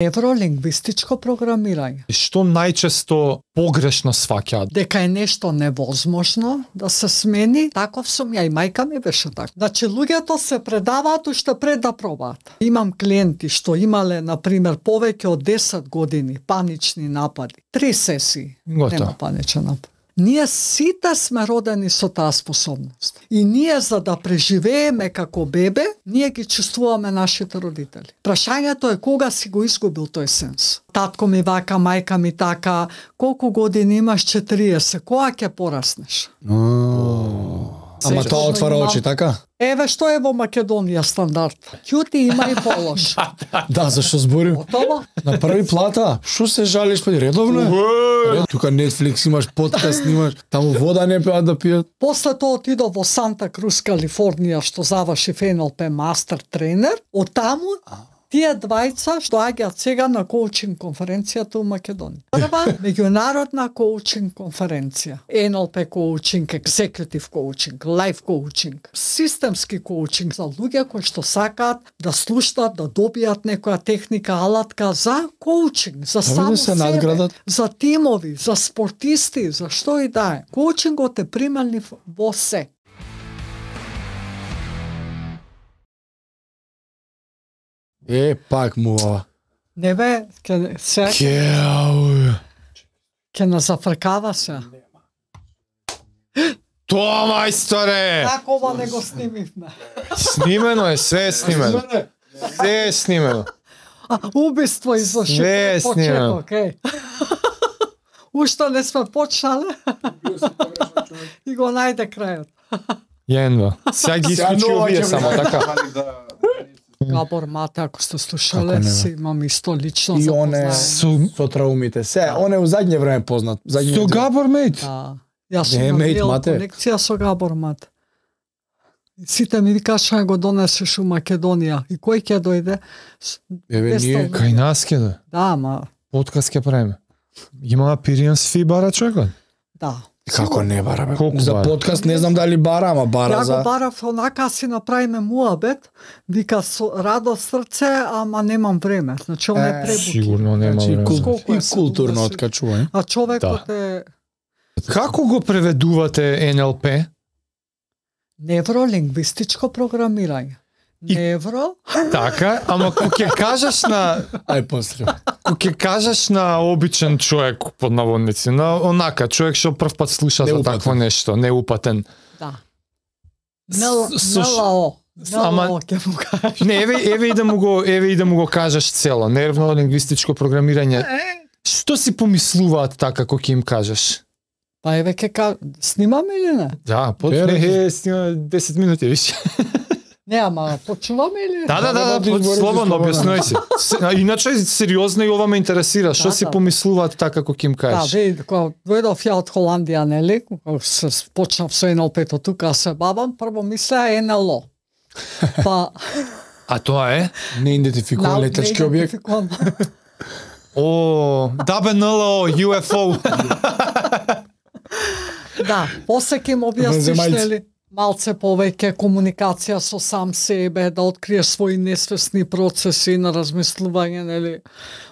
Невролингвистичко програмирање. Што најчесто погрешно сваќаат? Дека е нешто невозможно да се смени, таков сум ја и мајка ми беше така. Значи луѓето се предаваат уште пред да пробаат. Имам клиенти што имале на пример повеќе од 10 години панични напади. 3 сесии. Нема паничен напад. Ние сите сме родени со таа способност. И ние за да преживееме како бебе, ние ги чувствуваме нашите родители. Прашањето е кога си го изгубил тој сенс. Татко ми вака, мајка ми така, колку години имаш? 40, кога ќе пораснеш? Ама тоа отвара очи, така? Еве што е во Македонија стандард. Ќути има и полош. Да, зашто зборим? Готово? На први плата? Што се жалиш, па редовно е? Тука Netflix имаш, подкаст имаш, таму вода не пеат да пијат. После тоа отидов во Санта Крус, Калифорнија, што заврши НЛП мастер тренер. Од таму тие двајца што доаѓаат сега на коучинг конференцијата у Македонија. Прва меѓународна коучинг конференција. НЛП коучинг, екзекутив коучинг, лайф коучинг, системски коучинг за луѓе кои што сакаат да слушнат, да добијат некоја техника, алатка за коучинг, за само се себе, надградат. за тимови, за спортисти, за што и да е. Коучингот е прималив во се. Пак му ова. Не бе, ќе не зафркава се. Тоа, мајсторе! Како ова не го снимивме? Снимено е, све е снимено. Све е снимено. Убиство изврши Све е снимено. Уште не сме почнале и го најде крајот. Јенва. Сега ги исклучи овие само, така? Габор Мате, ако сте слушале, си имам исто лично И он е запознање. со траумите. Он е у задње време познат. Со Габор Мейт? Да. Јас Не, сум мејт, имал Мате. конекција со Габор Мате. И сите ми викаат што го донесеш у Македонија. И кој ќе дојде? Еве ние Кај нас ке да. Да, ма, Подкаст ке правиме. Има Appearance fee бара човекот? да. како не бара бе. Колку За бара? подкаст не знам дали бара, ама бара Ја за го барав онака си направиме муабет, вика со радо срце, ама немам време. Значи он е пребуки. Сигурно нема Значи, време. Колку е и културно да си- откачување. А човекот е Како го преведувате НЛП? невролингвистичко програмирање. И- Невро, Така, ама кога ќе кажеш на Ај после. кога ќе кажеш на обичен човек под наводници, на онака човек што прв пат слуша за Неупатен. такво нешто, неупатен. да. Со- НЛО. Ама- НЛО ќе му кажеш. Не, еве и да му го кажеш цело, нервно-лингвистичко програмирање. Што си помислуваат така кога ќе им кажеш? Па еве ќе снимаме или не? Да, снима 10 минути више. Не, ама почуваме или? Да, избори, слободно слободно. објаснувај си. Иначе сериозно и ова ме интересира, што Да, си да. помислуваат така кога ќе им Да, кажеш? види, кога дојдов ја од Холандија, нели, кога се почнав со НЛП-то тука се бавам, прво мислеа НЛО. Па А тоа е? Неидентификуван летачки објект. неидентификуван. О, ДБНЛО, UFO. Да, после ќе им објасниш, Венземајци. нели, малце повеќе комуникација со сам себе, да откриеш своји несвесни процеси на размислување, нели,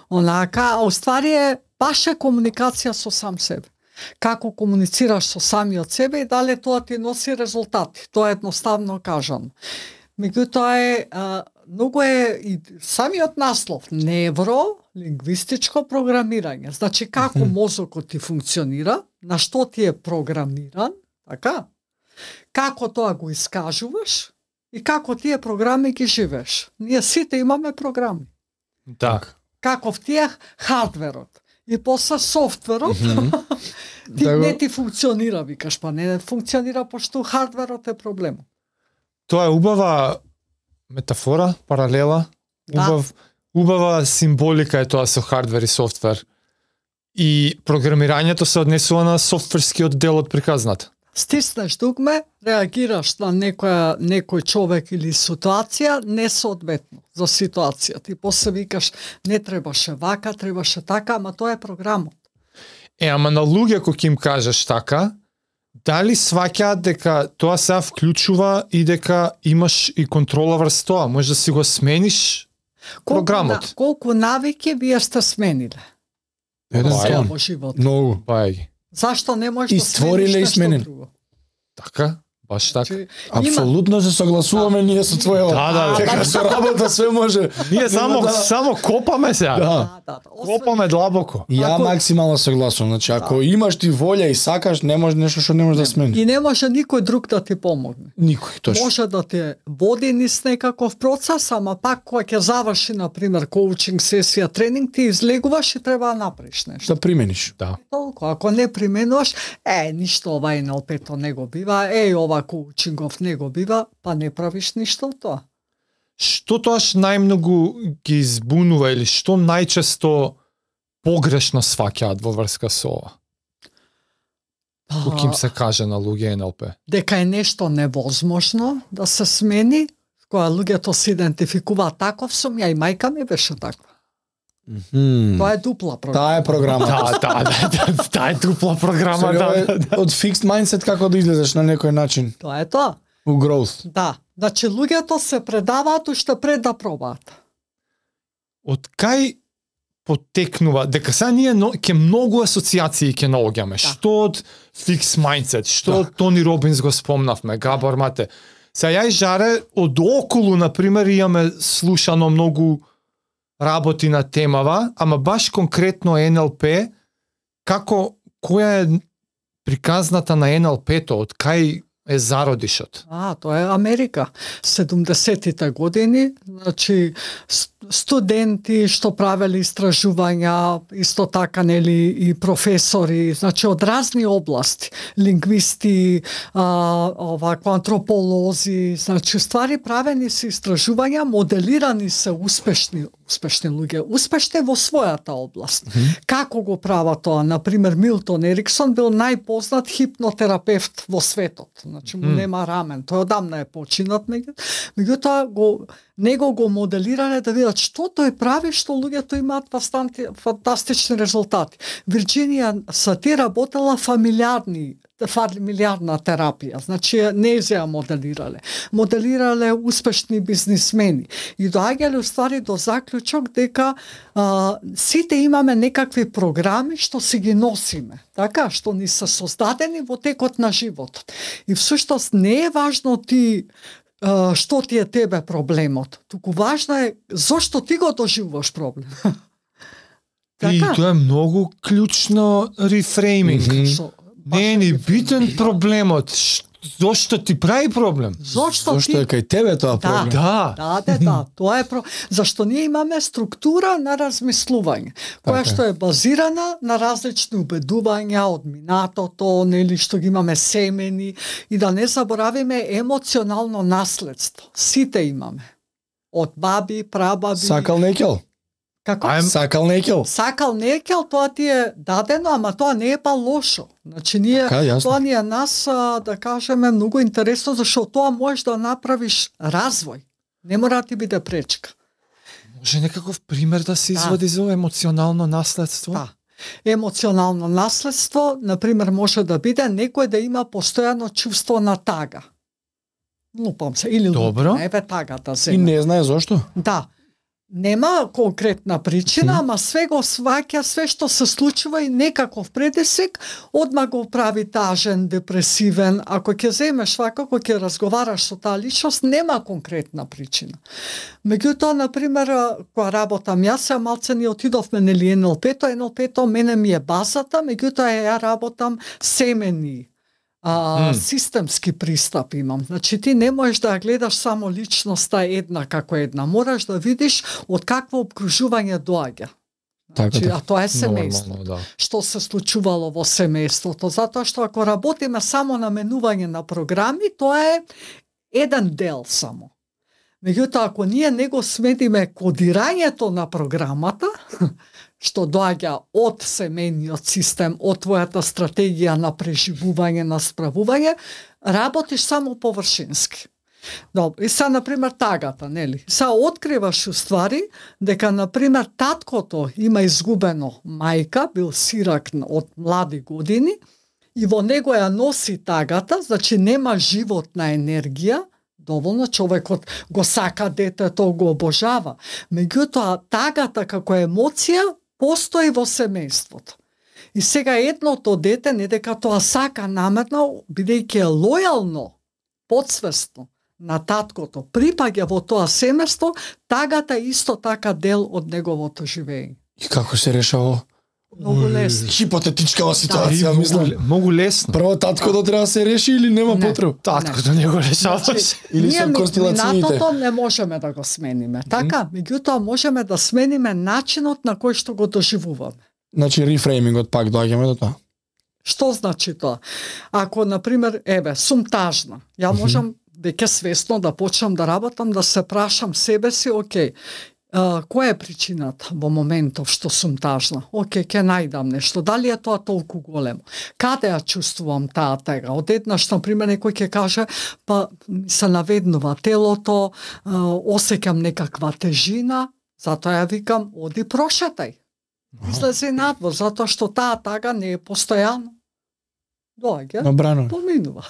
онака, а уствари е баш е комуникација со сам себе. Како комуницираш со самиот себе и дали тоа ти носи резултати. Тоа е едноставно кажано. Меѓутоа многу е и самиот наслов невролингвистичко програмирање. Значи како мозокот ти функционира, на што ти е програмиран, така? Како тоа го искажуваш и како тие програми ги живееш. Ние сите имаме програми. Да. Каков ти е хардверот. И после софтверот, ти Да го- не ти функционира, викаш, па не функционира пошто хардверот е проблемот. Тоа е убава метафора, паралела, Да. убава символика е тоа со хардвер и софтвер. И програмирањето се однесува на софтверскиот дел од приказната. Стиснеш дугме, реагираш на некој човек или ситуација несоодветно за ситуацијата. И после викаш, не требаше вака, требаше така, ама тоа е програмот. Ама на луѓе кои ќе им кажеш така, дали сваќаат дека тоа се вклучува и дека имаш и контрола врз тоа? Може да си го смениш програмот. Колку навики вие сте смениле? Еден Бај, сон. Во живот. Многу. Бај, Зашто не можеш И да створиле смениш и нешто смениле. друго? така, баш така. Значи, Апсолутно се согласуваме ние со твојот. Да. Дека со работа све може. Ние само да- само копаме сега. Да. Копаме длабоко. Ја Ако- максимално согласувам. Значи, ако имаш ти волја и сакаш, не може нешто што не можеш да смениш. И не може никој друг да ти помогне. Никој, точно. Може да те води низ некаков процес, ама пак кога ќе заврши, например, коучинг сесија, тренинг, ти излегуваш и треба да направиш нешто. Да примениш. Да. Толку, ако не применуваш, ништо ова NLP-то не го бива, ова коучингов не го бива, па не правиш ништо од тоа. Што тоаш најмногу ги избунува или што најчесто погрешно сваќаат во врска со ова? Кога им се каже на луѓе НЛП? Дека е нешто невозможно да се смени, кога луѓето се идентификуваат таков сум, ја и мајка ми беше таква. Тоа е дупла програма. Таа е програма. Таа е дупла програма, Сега да. е од fixed mindset како да излезеш на некој начин Тоа е тоа. у growth. Да. Значи луѓето се предаваат уште пред да пробаат. Од кај потекнува, дека сега ние ќе многу асоциации ќе наоѓаме. Што од fixed mindset, што од Тони Робинс го спомнавме, Габор Мате. Сега ја и Жаре од околу, например, имаме слушано многу работи на темава, ама баш конкретно НЛП, која е приказната на НЛП-то, од кај е зародишот? Тоа е Америка. 70-тите години, значи студенти што правеле истражувања, исто така нели и професори, значи од разни области, лингвисти, антрополози, значи ствари правени се истражувања, моделирани се успешни луѓе, успешни во својата област. Како го прават тоа? Например, Милтон Ериксон бил најпознат хипнотерапевт во светот. Значи му нема рамен. Тој одамна е починат, меѓутоа него го моделирале да видат што тој прави, што луѓето имаат фантастични резултати. Вирџинија Сати работела фамилиарна терапија, значи не ја моделирале. Моделирале успешни бизнисмени и доаѓале уствари до заклучок дека сите имаме некакви програми што си ги носиме, така, што ни се создадени во текот на животот. И всуштост не е важно ти што ти е тебе проблемот, туку важно е зошто ти го доживуваш проблем. И тоа е многу клучно рефрейминг. Не е ни битен проблемот, зошто ти прави проблем? Зошто е кај тебе тоа проблем? Да. Тоа е зашто ние имаме структура на размислување, која што е базирана на различни убедувања од минатото, нели што ги имаме семени, и да не заборавиме емоционално наследство. Сите имаме. Од баби, прабаби. Сакал некел. Како? Сакал некел. Сакал некел, тоа ти е дадено, ама тоа не е па лошо. Значи ние тоа ни е нас да кажеме многу интересно, зашто тоа можеш да направиш развој. Не мора да ти биде пречка. Може некаков пример да се извади за емоционално наследство? Да. Емоционално наследство, например, може да биде некој да има постојано чувство на тага. Лупам се, или лупам, еве тагата се. И не знае зошто? Да. Нема конкретна причина, ама све го сваќа, све што се случува и некаков предисек, одма го прави тажен, депресивен. Ако ќе земеш вака, ако ќе разговараш со таа личност, нема конкретна причина. Меѓутоа, например, кога работам јас, малце ни отидовме нели НЛП-то, НЛП-то мене ми е базата, меѓутоа ја работам семени. Системски пристап имам. Значи ти не можеш да гледаш само личноста една како една. Мораш да видиш од какво обкружување доаѓа. Значи, а тоа е семејство. Да. Што се случувало во семејството. Затоа што ако работиме само на менување на програми, тоа е еден дел само. Меѓутоа, ако ние не го смедиме кодирањето на програмата, што доаѓа од семејниот систем, од твојата стратегија на преживување, на справување, работиш само површински. Добро, и сега, например, тагата, нели? Сега откриваш уствари дека, например, таткото има изгубено мајка, бил сирак од млади години, и во него ја носи тагата, значи нема животна енергија, доволно, човекот го сака детето, го обожава. Меѓутоа, тагата како емоција постои во семејството. И сега едното дете, не дека тоа сака намерно, бидејќи е лојално, подсвесно на таткото, припаѓа во тоа семејство, тагата е исто така дел од неговото живење. И како се решава? Многу лесно. Хипотетичкава ситуација, мислам. Многу лесно. Прво таткото треба да се реши или нема потреба? Таткото не го решаваш. Или со констелациите. Минатото не можеме да го смениме. Така, меѓутоа можеме да смениме начинот на кој што го доживуваме. Значи рефреймингот пак доаѓаме до тоа. Што значи тоа? Ако, например, сум тажна, ја можам веќе свесно да почнам да работам, да се прашам себе си, окей, која е причината во моментов што сум тажна? Океј, ќе најдам нешто. Дали е тоа толку големо? Каде ја чувствувам таа тега? Одеднаш, например, некој ќе каже, па се наведнува телото, осеќам некаква тежина, затоа ја викам, оди прошетај. Излези надвор, затоа што таа тага не е постојано. Доаѓа, поминува.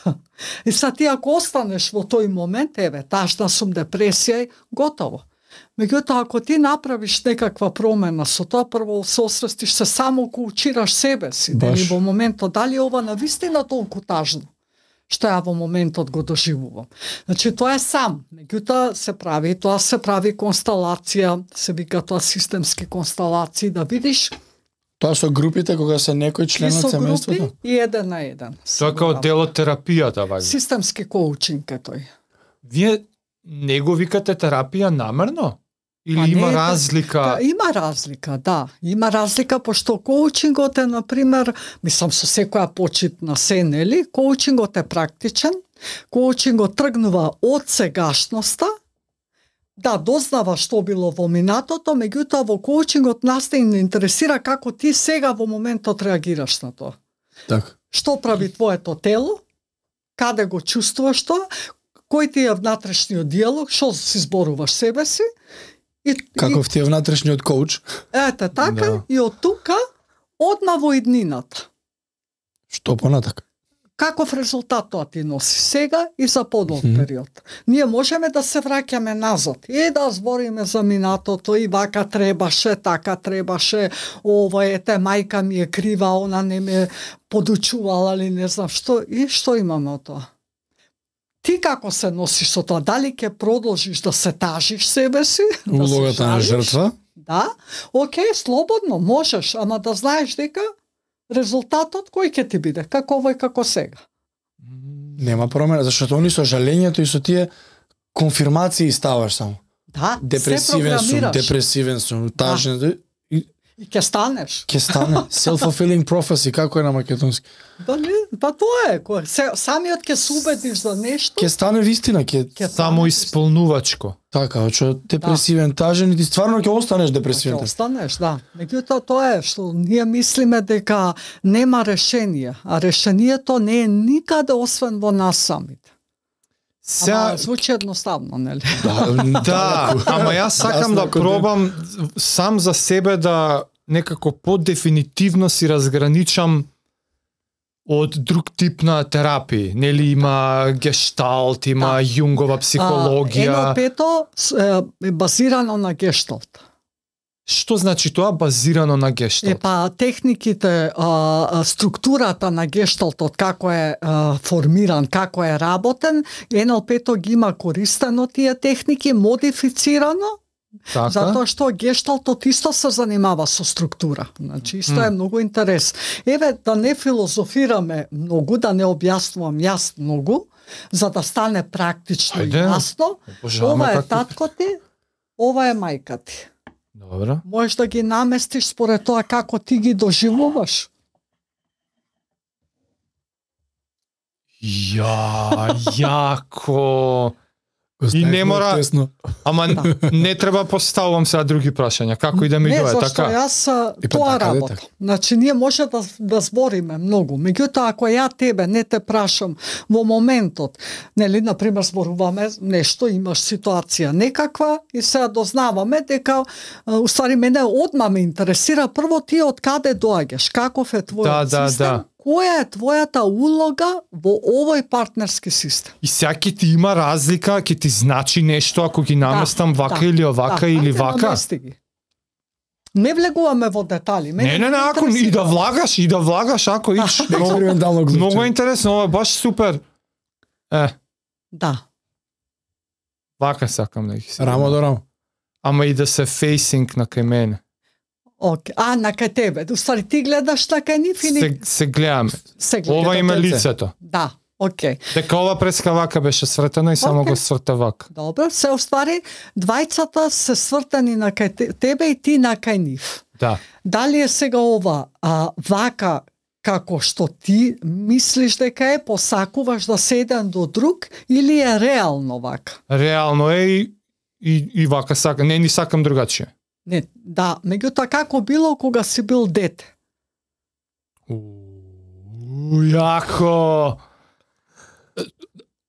И са ти ако останеш во тој момент, тажна сум, депресија, готово. Меѓутоа, ако ти направиш некаква промена со тоа, прво се освестиш се само коучираш себе си, дали во моментот, дали ова навистина толку тажно, што ја во моментот го доживувам. Значи, тоа е сам. Меѓутоа, тоа се прави констелација, се вика тоа системски констелации, да видиш. Тоа со групите, кога се некој член од семејството? И со групи и еден на еден. Тоа како дел од терапијата, ваѓа. Системски коучинг е тој. Вие не го викате терапија намерно? Или има разлика? Има разлика, да. Има разлика, пошто коучингот е, например, мислам со секоја почитна се, нели? Коучингот е практичен, коучингот тргнува од сегашноста, да, дознава што било во минатото, меѓутоа во коучингот нас те интересира како ти сега во моментот реагираш на тоа. Так. Што прави твоето тело? Каде го чувствуваш тоа? Кој ти е внатрешниот диалог? Што си зборуваш себе си? Каков ти е внатрешниот коуч? Ете, така, да. И од тука одма во иднината. Што понатак? Каков резултат тоа ти носи сега и за подолг период. Ние можеме да се враќаме назад и да збориме за минатото и вака требаше, така требаше, ова ете, мајка ми е крива, она не ме подучувала или не знам што, и што имаме од тоа? Ти како се носиш со тоа? Дали ќе продолжиш да се тажиш себе си? Улогата на жртва? Да, окей, слободно, можеш, ама да знаеш дека резултатот кој ќе ти биде, како овој, како сега. Нема промена, зашто они со жалењето и со тие конфирмации ставаш само. Да, депресивен сум, тажен, да. И ќе станеш. Ќе стане. Self-fulfilling prophecy, како е на македонски? Па тоа е. Самиот ќе се убедиш за нешто. Ќе стане вистина. Само исполнувачко. Така, што депресивен, тажен, и ти стварно ќе останеш депресивен. Ќе останеш, да. Меѓутоа тоа е што ние мислиме дека нема решение, а решението не е никаде освен во нас самите. Ама звучи едноставно, нели? Да, ама јас сакам да пробам сам за себе да некако подефинитивно си разграничам од друг тип на терапии. Нели има гешталт, има јунгова психологија. НЛП-то е базирано на гешталт. Што значи тоа базирано на гешталт? Техниките, структурата на гешталтот, како е формиран, како е работен, НЛП-то ги има користено тие техники, модифицирано, така? Затоа што гешталтот исто се занимава со структура. Значи, исто е многу интерес. Да не филозофираме многу, да не објаснувам јас многу, за да стане практично и јасно. Ова е татко ти, ова е мајка ти. Добро. Можеш да ги наместиш според тоа како ти ги доживуваш. Јако. И не мора, ама не треба поставувам сега други прашања, како и да ми дое, така? Не, зашто јас тоа работам. Значи, ние може да збориме многу, меѓутоа, ако ја тебе не те прашам во моментот, нели, например, зборуваме нешто, имаш ситуација некаква и сега дознаваме дека, уствари, мене одма ме интересира прво ти од каде доаѓаш, каков е твојот систем, која е твојата улога во овој партнерски систем. И сега ќе ти има разлика, ќе ти значи нешто ако ги наместам вака или овака или ајде, вака. намести ги. Не влегуваме во детали. Не, ако и да влагаш, ако иш. Експериментално го звучи. Многу е интересно, ова е баш супер. Да. Вака сакам да ги се. Рамо до рамо. Ама и да се фейсинг на кај мене. Океј. На кај тебе. Уствари ти гледаш на кај нив или Се гледаме. се гледа? Ова има дете. лицето. Да. Океј. Дека ова преска вака беше свртена и само Океј. го сврта вака. Добро, се уствари двајцата се свртани на кај тебе и ти на кај нив. Да. Дали е сега ова вака како што ти мислиш дека е, посакуваш да се еден до друг, или е реално вака? Реално е и вака сакам. Не, ни сакам другачие. Не, да, меѓутоа како било кога си бил дете? Јако.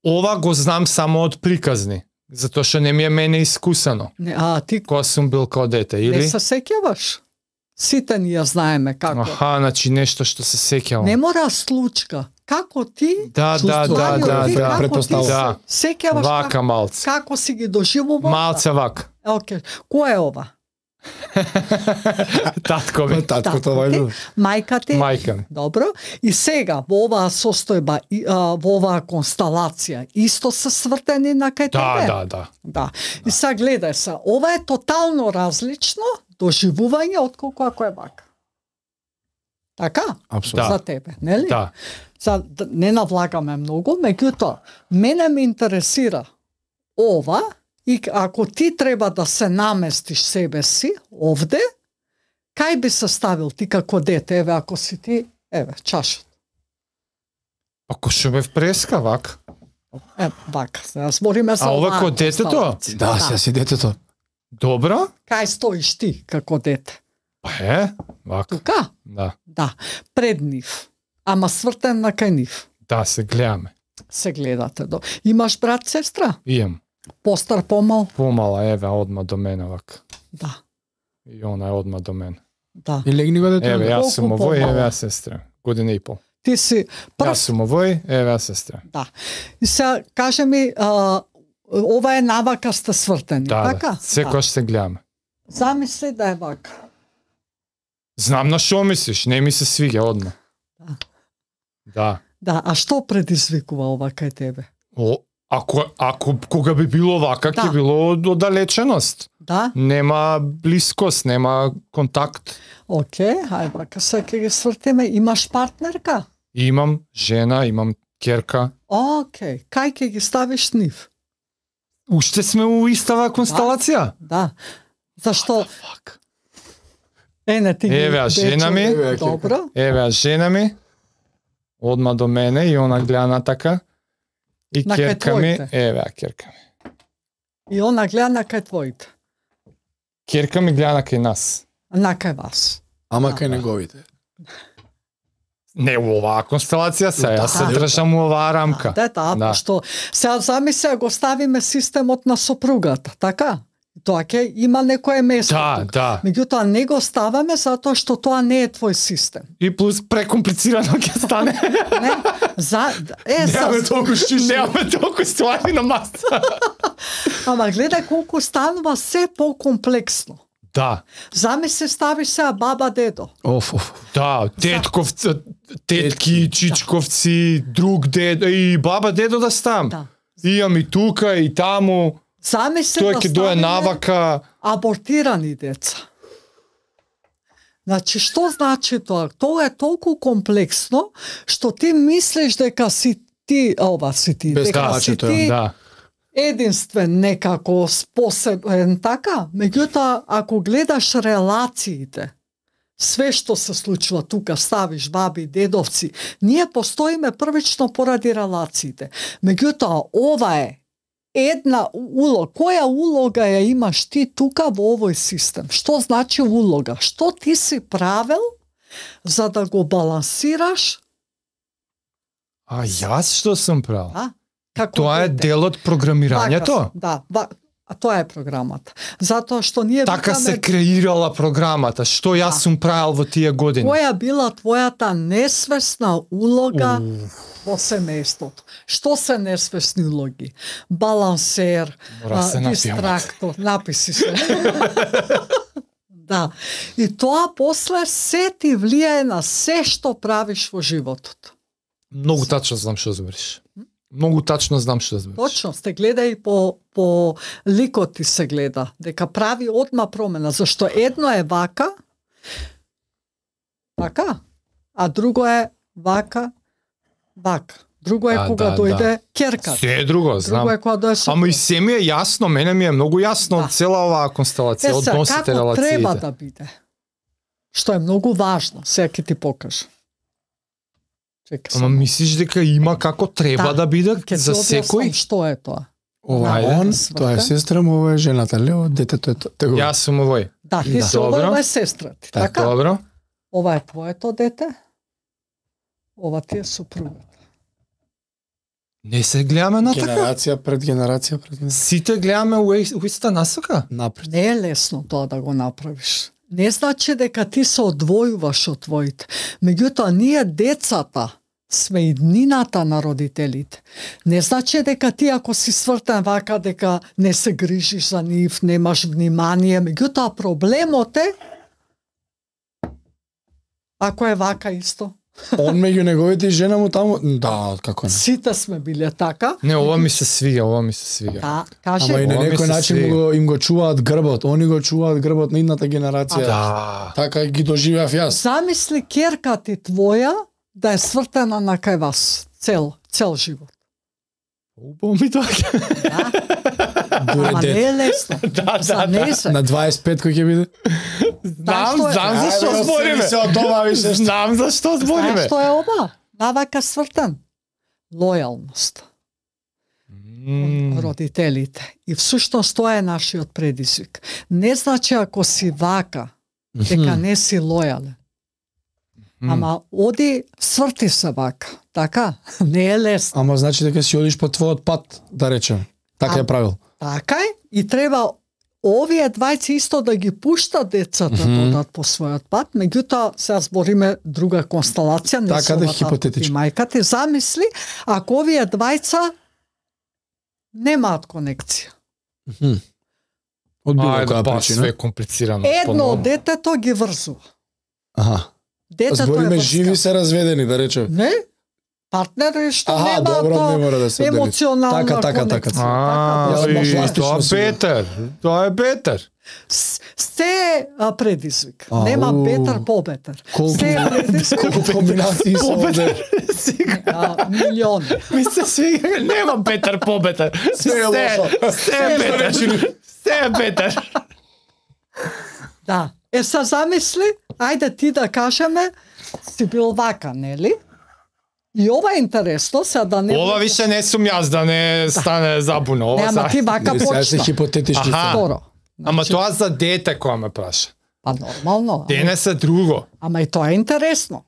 Ова го знам само од приказни, затоа што не ми е мене искусено. Не, ти Кога сум бил као дете, или? не се сеќаваш? Сите ни ја знаеме како. Значи нешто што се сеќавам. Не мора случка. Како ти? Да, чувствувањето ти, како ти претпоставка. Да. се сеќаваш Вака малце. како си ги доживувал? Малце вака. Океј. Кој е ова? Татко ми. Таткото вајде. Мајка ти? Мајка ми. Добро. И сега во оваа состојба, во оваа констелација, исто се свртени на кај тебе? Да. И сега гледај се, ова е тотално различно доживување отколку ако е вака. Така? Апсолутно. За тебе, нели? Да. Не навлагаме многу, меѓутоа, мене ме интересира ова, и ако ти треба да се наместиш себе си овде, кај би се ставил ти како дете? Еве, ако си ти, еве, чашот. Ако што бев преска вака. Вака, сега збориме за ова оваа ко детето? констелација. Да, се си детето. Добро? Кај стоиш ти како дете? Па вака. Тука? Да. Да, пред нив. Ама свртен на кај нив. Да, се гледаме. Се гледате. Имаш брат, сестра? Имам. Постар, помал? Помала, еве, одма до мене вака. Да. И она е одма до мене. Да. И легни го дете. Еве, јас сум Колку овој, помала? еве, јас сестра. Година и пол. Ти си прв. Јас сум овој, еве, јас сестра. Да. И сега, каже ми, ова е навака сте свртени, така? Да. Секојаш се гледаме. Замисли да е вака. Знам на што мислиш, не ми се свиѓа одма. Да. Да. Да, а што предизвикува ова кај тебе? Ако кога би било вака, ќе било оддалеченост. Да? Нема блискост, нема контакт. Океј, хај вака се ќе ги свртиме. Имаш партнерка? Имам жена, имам керка. Океј, кај ќе ги ставиш нив? Уште сме у истава констелација? Да. Зашто? Не ти ги... Еве, жена ми. Добро. Еве, жена ми. Одма до мене и она гледа на така. И на керка ми, еве, керка ми. И она гледа на кај твоите. Керка ми гледа на кај нас. На кај вас. Ама кај неговите. Не у оваа констелација се, јас се држам у оваа рамка. Да, што сега замисли го ставиме системот на сопругата, така? Тоа ќе има некое место. Да. Меѓутоа не го ставаме затоа што тоа не е твој систем. И плюс прекомплицирано ќе стане. Не, Немаме толку ствари на маса. Ама гледај колку станува се по-комплексно. Да. Замисли ставиш сега баба, дедо. Да, тетки, чичковци, друг дедо и баба, дедо да ставам. Да. Имам и тука и таму. Замисли Тој да ќе дое ставиме навака. абортирани деца. Значи, што значи тоа? Тоа е толку комплексно, што ти мислиш дека си ти, дека си ти единствен некако способен, така? Меѓутоа, ако гледаш релациите, све што се случува тука, ставиш баби, дедовци, ние постоиме првично поради релациите. Меѓутоа, ова е една улога. Која улога ја имаш ти тука во овој систем? Што значи улога? Што ти си правил за да го балансираш? А јас што сум правил? Да? Како Тоа е дете? дел од програмирањето? Да. А тоа е програмата. Затоа што ние Така викаме, се креирала програмата, што јас сум правил во тие години. која била твојата несвесна улога во семејството. Што се несвесни улоги? Балансер, Мора се напијам. дистрактор, написи се. Да. И тоа после се ти влијае на се што правиш во животот. Многу тачно знам што збориш. Многу тачно знам што збориш. Точно, сте гледа и по ликот ти се гледа, дека прави одма промена, зашто едно е вака, така, а друго е вака. Друго е кога дојде керката. Се е друго, знам. Друго е кога дојде Ама и се ми е јасно, мене ми е многу јасно од цела оваа констелација, односите, како релациите. треба да биде. Што е многу важно, сега ќе ти покажа. Чекај Ама само. мислиш дека има како треба да биде Ќе за се објаснам секој? што е тоа. Ова Ајде. он, Сврта. тоа е сестра му, ова е жената, лево, детето е tego. Јас сум овој. Да, ти Да. си Добро. ова е сестра ти, така? Добро. Ова е твоето дете, ова ти е супругата. Не се гледаме на така. Генерација пред генерација пред генерација. Сите гледаме у иста насока. Напред. Не е лесно тоа да го направиш. Не значи дека ти се одвојуваш од твоите. Меѓутоа, ние децата сме иднината на родителите. Не значи дека ти ако си свртен вака, дека не се грижиш за нив, немаш внимание. Меѓутоа, проблемот е ако е вака исто. Он меѓу неговите и жена му таму, да, како не. Сите сме биле така. Не, ова ми се свига, ова ми се свига. Да, каже, Ама и на Ова ми некој се начин свига. им го чуваат грбот, они го чуваат грбот на идната генерација. Да. Така ги доживеав јас. замисли керка ти твоја да е свртена на кај вас цел живот. Убаво ми доаѓа. Дуре Ама дете. не е лесно. Да, За да, незе. На 25 кој ќе биде? Знам, што е? знам за што Ајде, збориме. се од ова више. Знам за што Знаеш збориме. што е ова? Навака свртен. Лојалност. Родителите. И всушност тоа е нашиот предизвик. Не значи ако си вака, дека не си лојален. Ама оди сврти се вака. Така? Не е лесно. Ама значи дека си одиш по твојот пат, да речем. Така е правил. Така е. И треба овие двајци исто да ги пуштат децата да одат по својот пат, меѓутоа сега збориме друга констелација, не Така со да, оваа хипотетички. и мајка ти замисли ако овие двајца немаат конекција. Од било Ајде, која па, све причина. комплицирано. Едно поновно. од детето ги врзува. Аха. Детето Збориме е живи се разведени, да речем. Не? Партнери што Аха, нема добро, тоа не мора да се дели. емоционална Така. конекција. Така, А, да. Јас и пластично тоа си го- бетер. Тоа е бетер. Се е предизвик. Ау. Нема бетер побетер. Колку- Се е предизвик. Колку комбинации се овде. Милиони. Ми се свига, нема бетер побетер. Се е лошо. Се е бетер. Се е бетер. Да. Се замисли, ајде ти да кажеме, си бил вака, нели? И ова е интересно, сега да не... Ова више не сум јас да не стане забуна. Не, Ова ама са... ти вака Сега се почна. хипотетички. Аха. Скоро. Ама тоа за дете која ме праша. Па нормално. Денес е друго. Ама и тоа е интересно.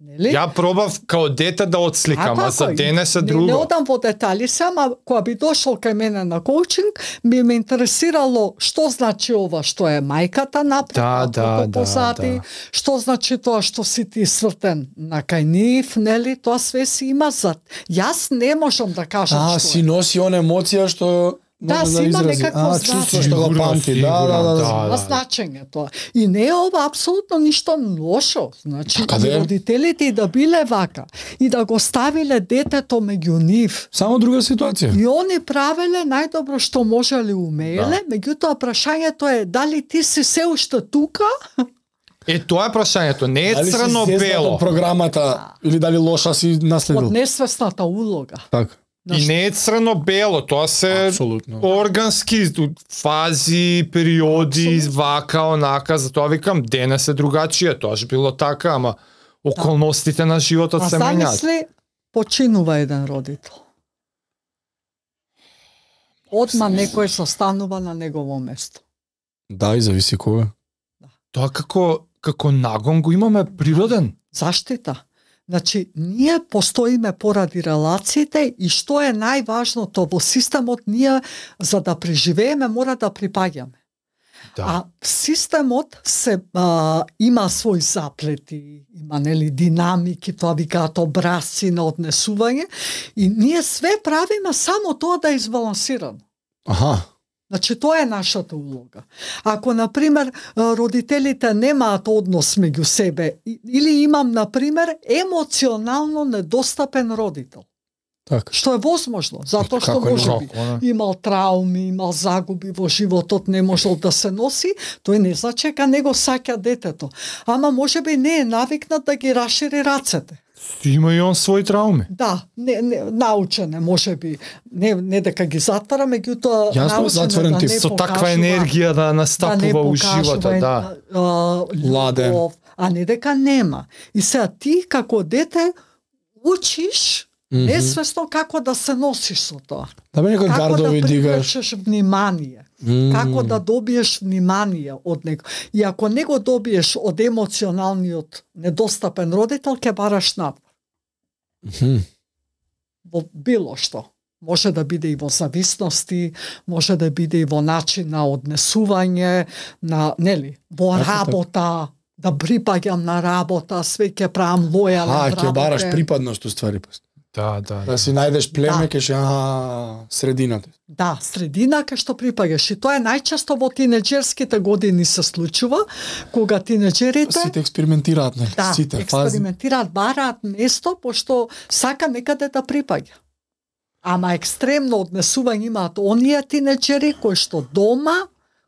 Нели? Ја пробав као дете да отсликам, а за денес е Не друго. одам во детали сама, кога би дошол кај мене на коучинг, би ме интересирало што значи ова што е мајката напред, Да, позади, да. што значи тоа што си ти свртен на кај нив, нели, тоа све си има зад. Јас не можам да кажам што си е. носи она емоција што Да, може си има изрази. некакво чувство што го Сигурно, памти. сигурно, Да. Има значење тоа. И не е ова апсолутно ништо лошо. Значи, Така да и е. родителите и да биле вака, и да го ставиле детето меѓу нив, Само друга ситуација. и они правеле најдобро што можеле умееле, меѓутоа прашањето е дали ти си се уште тука? Е, тоа е прашањето. Не е Дали си зезнат црно-бело. од програмата или дали лоша си Од наследил? несвесната улога. Така. И не е црно-бело, тоа се Апсолутно. органски фази, периоди, вака, онака, затоа викам денес е другачие, тоа ж било така, ама околностите на животот А се менјаат. замисли, починува еден родител. Одма некој состанува на негово место. Да, и зависи кога. Тоа како нагон го имаме природен. Заштита. Значи, ние постоиме поради релациите и што е најважното во системот, ние за да преживееме мора да припаѓаме. Да. А системот има свои заплети, има динамики, тоа викаат образци на однесување и ние све правиме само тоа да е избалансирано. Аха. Значи, тоа е нашата улога. Ако, например, родителите немаат однос меѓу себе, или имам, например, емоционално недостапен родител, Така. што е возможно, затоа што Како може би имал трауми, имал загуби во животот, не можел да се носи, тој не значи дека него саќа детето. Ама може би не е навикнат да ги рашири рацете. Има и он своји трауми. Да, научене, може би, не дека ги затвара, меѓутоа Јасно, затворен да тип. не Со таква покажува, енергија да настапува у живота, да. Ладен. Љубов, а не дека нема. И сега ти како дете учиш несвесно како да се носиш со тоа. Да бе некои Како гардови да дигаш. привлечеш внимание. Како да добиеш внимание од него. И ако не го добиеш од емоционалниот недостапен родител, ќе бараш надвор. Во било што. Може да биде и во зависности, може да биде и во начин на однесување, на, во работа, да припаѓам на работа, све ќе правам лојален ќе бараш припадност уствари. Да. Да си најдеш племе, ќе средината. Да, средина кај што припаѓаш. И тоа е најчесто во тинеџерските години се случува, кога тинеџерите Сите експериментираат, нели? да, Сите експериментираат, бараат место, пошто сака некаде да припаѓа. Ама екстремно однесување имаат оние тинеџери кои што дома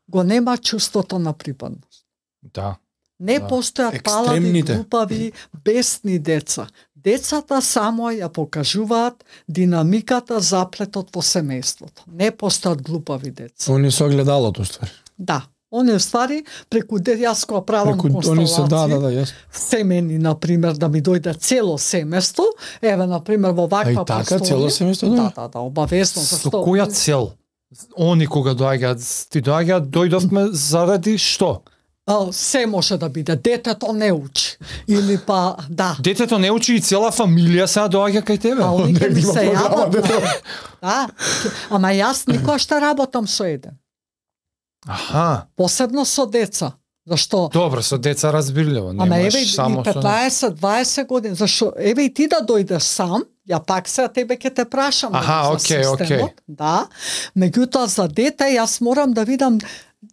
го нема чувството на припадност. Да. Не постојат палади, Екстремните. глупави, бесни деца. Децата само ја покажуваат динамиката, заплетот во семејството. Не постојат глупави деца. Они со огледалото уствари. Да. Они ствари преку јас кога правам констелации. Они се јас. Семени, например, да ми дојде цело семејство, еве например во ваква така цело семејство? Да, обавезно. Со која цел? Они кога дојдовме заради што? Се може да биде. Детето не учи. Или па, да. Детето не учи и цела фамилија сега доаѓа кај тебе. Они ќе ми се јават. Да. Ама јас никош што работам со еден. Аха. Посебно со деца. Зашто? Добро, со деца разбирливо. Ама еве и само 15-20 години. Зашто еве и ти да дојдеш сам, ја пак сега тебе ќе те прашам. Аха, окей. Да. Меѓутоа за дете јас морам да видам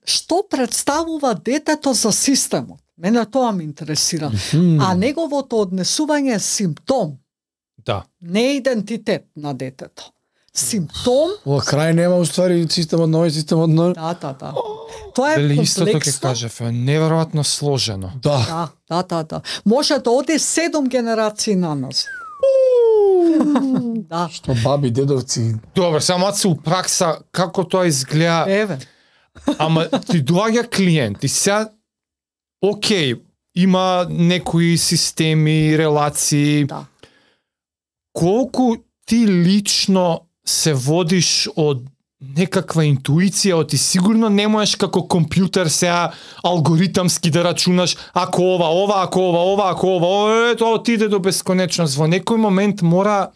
што представува детето за системот. Мене тоа ме интересира. А неговото однесување е симптом. Да. Не е идентитет на детето. Симптом. Во крај нема уствари системот на овој системот на. Да. Тоа е Дали комплексно. истото ќе кажев, неверојатно сложено. Да. Да. Може да оди 7 генерации на нас. Да. Што баби, дедовци. Добро, само се у пракса како тоа изгледа. Еве. Ама ти доаѓа клиент и сега окей, има некои системи, релации. Да. Колку ти лично се водиш од некаква интуиција, ти сигурно не можеш како компјутер сега алгоритамски да рачунаш ако ова, тоа отиде до бесконечност. Во некој момент мора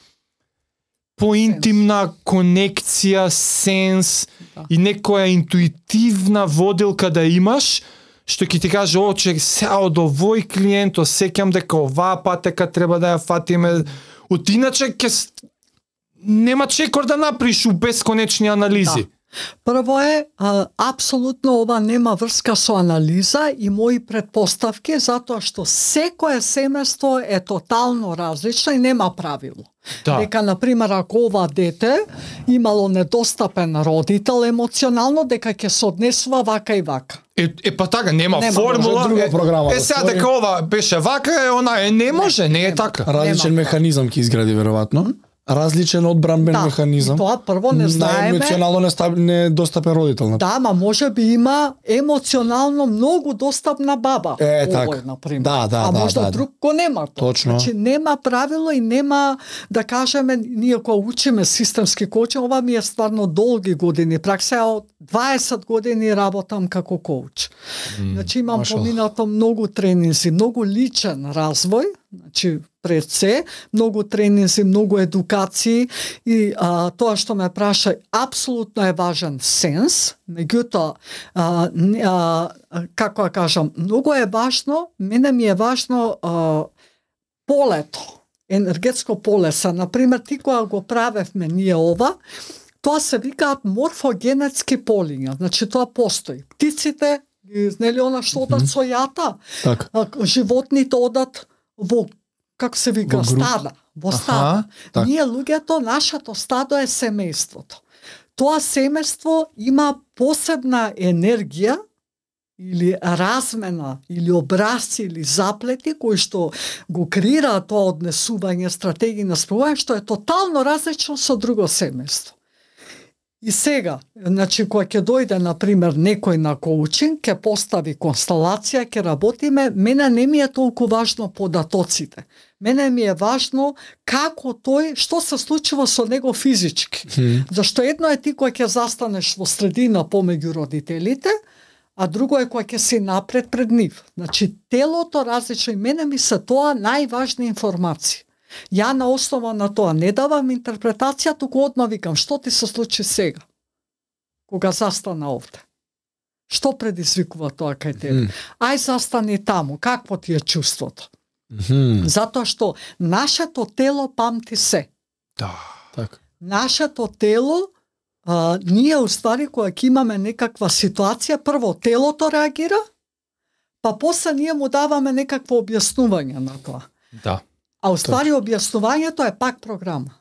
поинтимна конекција, сенс и некоја интуитивна водилка да имаш, што ќе ти каже, че сега од овој клиент осеќам дека оваа патека треба да ја фатиме. Од иначе нема чекор да направиш у бесконечни анализи. Да. Прво е, апсолутно ова нема врска со анализа и мои предпоставки, затоа што секое семејство е тотално различно и нема правило. Да. Дека, например, ако ова дете имало недостапен родител емоционално, дека ќе се однесува вака и вака. Па така, нема формула. Друга програма. Сега дека ова беше вака, она не може, не е така. Различен механизам ќе изгради веројатно. Различен одбранбен механизам. И тоа прво не знаеме. Емоционално недостапен родител. Да, ма може би има емоционално многу достапна баба. Така. Например. Да, а можда друг го нема тоа. Точно. Значи нема правило и нема, да кажеме, ние кога учиме системски коучинг, ова ми е стварно долги години пракса, од 20 години работам како коуч. Значи имам поминато многу тренинзи, многу личен развој, значи пред се, многу тренинзи, многу едукации и тоа што ме праша апсолутно е важен сенс, меѓутоа како да кажам, многу е важно, мене ми е важно полето, енергетско поле са, например, ти кога го правевме ние ова, тоа се викаат морфогенетски полиња, значи тоа постои. Птиците, нели она што одат со јата, животните одат во, како се вика, стада, во стада. Ние луѓето, нашето стадо е семејството. Тоа семејство има посебна енергија, или размена, или образци, или заплети, кои што го креираат тоа однесување, стратегија на спровање, што е тотално различно со друго семејство. И сега, значи, кога ќе дојде, например, некој на коучинг, ќе постави констелација, ќе работиме, мене не ми е толку важно податоците. Мене ми е важно како тој, што се случува со него физички. Зашто едно е ти кој ќе застанеш во средина помеѓу родителите, а друго е кој ќе си напред пред нив. Значи, телото различно и мене ми се тоа најважни информации. Ја на основа на тоа не давам интерпретација, туку одма викам, што ти се случи сега, кога застана овде? Што предизвикува тоа кај тебе? Ај застани таму, какво ти е чувството? Затоа што нашето тело памти се. Да. Така. Нашето тело, ние уствари кога ќе имаме некаква ситуација, прво телото реагира, па после ние му даваме некакво објаснување на тоа. Да. А уствари објаснувањето е пак програма.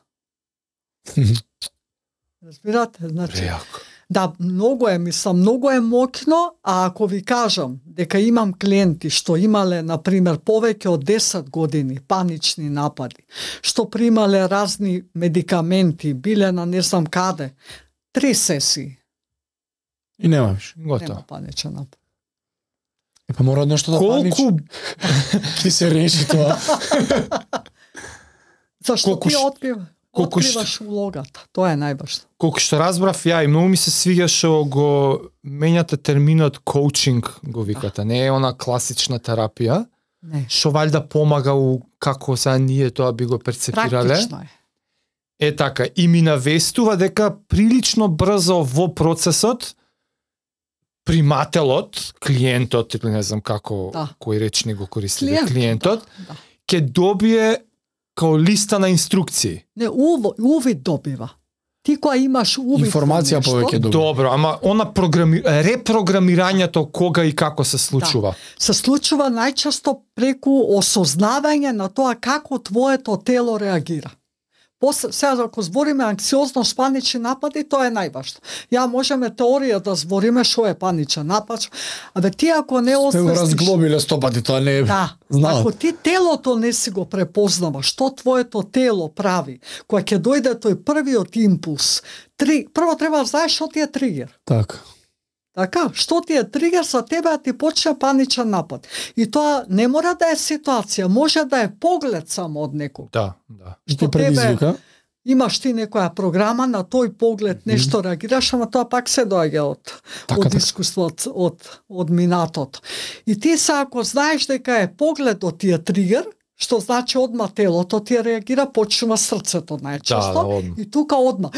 Разбирате? Значи, да, многу е моќно, а ако ви кажам дека имам клиенти што имале, например, повеќе од 10 години панични напади, што примале разни медикаменти, биле на не знам каде, 3 сесии. И нема виш. Нема паничен напад. Па мора нешто да панич. Колку ќе се реши тоа? Зашто ти откриваш улогата. Тоа е најважно. Колку што разбрав ја и многу ми се свиѓа што го менјате терминот коучинг, го викате. Не е она класична терапија. Не. Што валјда помага како сега ние тоа би го перцепирале. Практично е. Е така, и ми навестува дека прилично брзо во процесот примателот, клиентот, или не знам како, кој речник го користи, клиентот, ќе добие као листа на инструкции. Не, увид добива. Ти која имаш увид информација повеќе добива. Добро, ама она репрограмирањето кога и како се случува? Да. Се случува најчесто преку осознавање на тоа како твоето тело реагира. Сега, ако збориме анксиозност, панични напади, тоа е најважно. Ја можеме теорија да збориме што е паничен напад. Абе ти ако не освестиш... Сте го разглобиле 100 пати, тоа не е... Да. Ако ти телото не си го препознава, што твоето тело прави, кога ќе дојде тој првиот импулс, прво треба да знаеш што ти е тригер. Така, што ти е тригер за тебе да ти почне паничен напад. И тоа не мора да е ситуација, може да е поглед само од некој. Да. Што предизвика? Имаш ти некоја програма, на тој поглед нешто реагираш, ама тоа пак се доаѓа од искуството, од минатото. И ти са, ако знаеш дека е погледот ти е тригер, што значи одма телото ти реагира, почнува срцето најчесто. И тука одма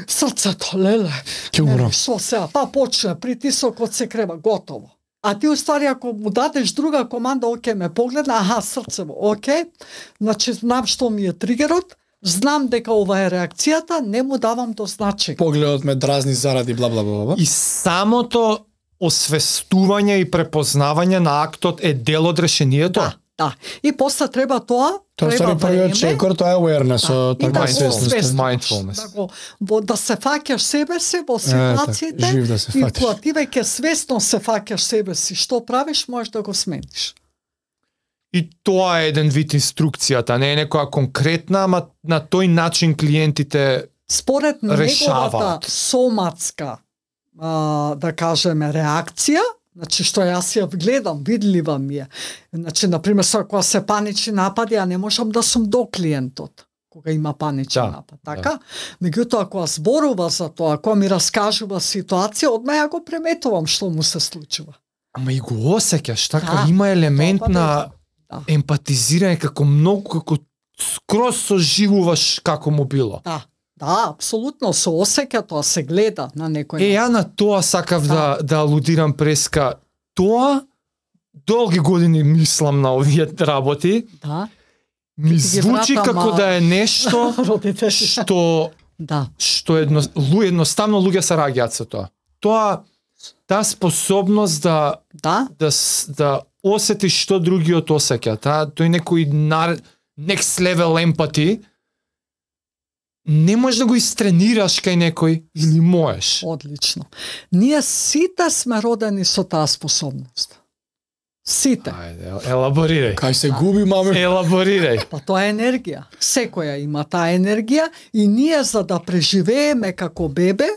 срцето, леле. Ќе умрам. Што сега, па почне притисокот се крева, готово. А ти уствари ако му дадеш друга команда, оке ме погледна, срцево, оке, значи знам што ми е тригерот, знам дека ова е реакцијата, не му давам до значење. Погледот ме дразни заради бла бла бла. И самото освестување и препознавање на актот е дел од решението. Да. И после треба тоа треба првиот чекор, тоа е awareness, така mindfulness. Да се фаќаш себе си во ситуациите и кога ти веќе свесно се фаќаш себе си, што правиш, можеш да го смениш. И тоа е еден вид инструкцијата, не е некоја конкретна, ама на тој начин клиентите според неговата соматска, да кажеме, реакција. Значи, што јас ја гледам, видлива ми е. Значи, например, кога се панични напади, ја не можам да сум до клиентот, кога има паничен напад. Така? Меѓутоа, кога зборува за тоа, кога ми раскажува ситуација, одма ја го приметувам што му се случува. Ама и го осеќаш, така, има елемент на Да. емпатизирање, како многу, како скроз соживуваш како му било. Да, апсолутно се осеќа тоа, се гледа на некој начин. Ја на тоа сакав да алудирам преска. Тоа долги години мислам на овие работи. Да. Ми звучи како да е нешто Родители. што едноставно луѓе се раѓаат со тоа. Таа способност да осетиш што другиот осеќа, тој некој next level empathy, не можеш да го истренираш кај некој или можеш. Одлично. Ние сите сме родени со таа способност. Сите. Ајде, елаборирај. Кај се губи, маме? Елаборирај. Па тоа е енергија. Секоја има таа енергија и ние за да преживееме како бебе,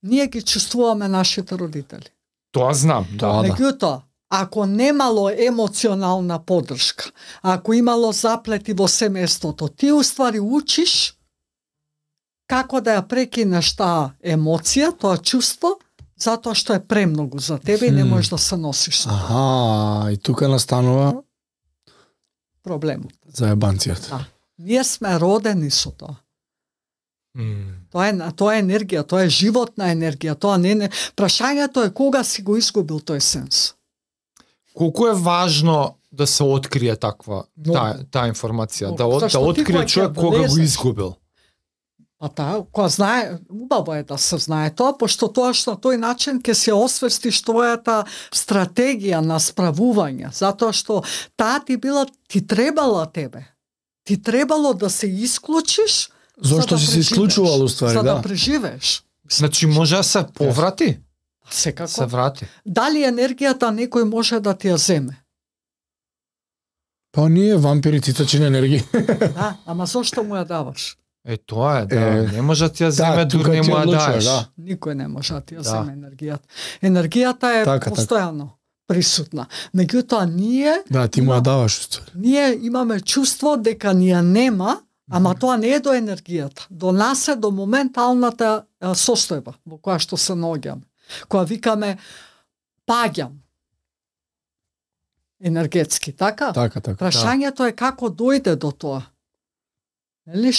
ние ги чувствуваме нашите родители. Тоа знам, да. Меѓутоа, ако немало емоционална поддршка, ако имало заплети во семејството, ти уствари учиш како да ја прекинеш таа емоција, тоа чувство, затоа што е премногу за тебе и не можеш да се носиш со тоа. Аха, и тука настанува Проблемот. заебанцијата. Да. Ние сме родени со тоа. Тоа е енергија, тоа е животна енергија, тоа не. Прашањето е кога си го изгубил тој сенс. Колку е важно да се открие таква таа информација, да открие човек кога го изгубил. А кога знае, убаво е да се знае тоа, пошто тоа што на тој начин ќе се освестиш твојата стратегија на справување, затоа што таа ти требала тебе. Ти требало да се исклучиш. Зошто си се исклучувал уствари, за да да. преживееш. Значи може да се поврати? Секако. Се врати. Дали енергијата некој може да ти ја земе? Па ние вампири цитачи на енергија. Да, ама зошто му ја даваш? Тоа е, не може да ти ја земе, дури не му ја даеш. Никој не може да ти ја земе енергијата. Енергијата е постојано присутна. Меѓутоа ние ти му ја даваш уствари. Ние имаме чувство дека ни ја нема, ама тоа не е до енергијата. До нас е до моменталната состојба во која што се наоѓаме. Која викаме паѓам енергетски, така? Така. Прашањето е како дојде до тоа. Нели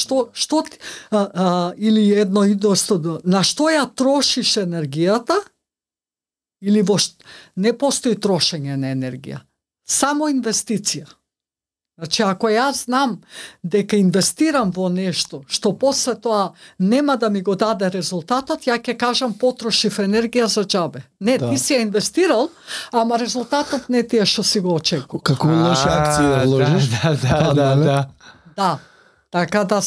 или едно и досто, на што ја трошиш енергијата или не постои трошење на енергија. Само инвестиција. Значи, ако јас знам дека инвестирам во нешто, што после тоа нема да ми го даде резултатот, ја ќе кажам потрошив енергија за џабе. Не, ти си ја инвестирал, ама резултатот не ти е што си го очекувал. Како лоши акции да вложиш. Да. Така да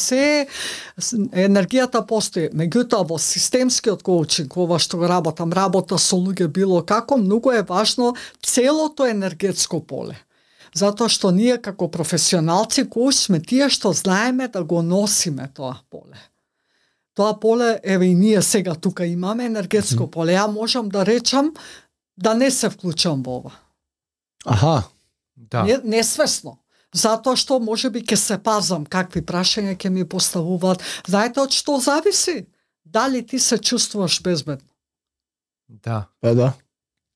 енергијата постои. Меѓутоа во системскиот коучинг, ова што работа со луѓе било како, многу е важно целото енергетско поле. Затоа што ние како професионалци коуч сме тие што знаеме да го носиме тоа поле. Тоа поле, еве и ние сега тука имаме енергетско поле. Ја можам да речам да не се вклучам во ова. Аха. Да. Несвесно. Затоа што можеби ќе се пазам какви прашања ќе ми поставуваат. Знаете од што зависи? Дали ти се чувствуваш безбедно? Да. Па да.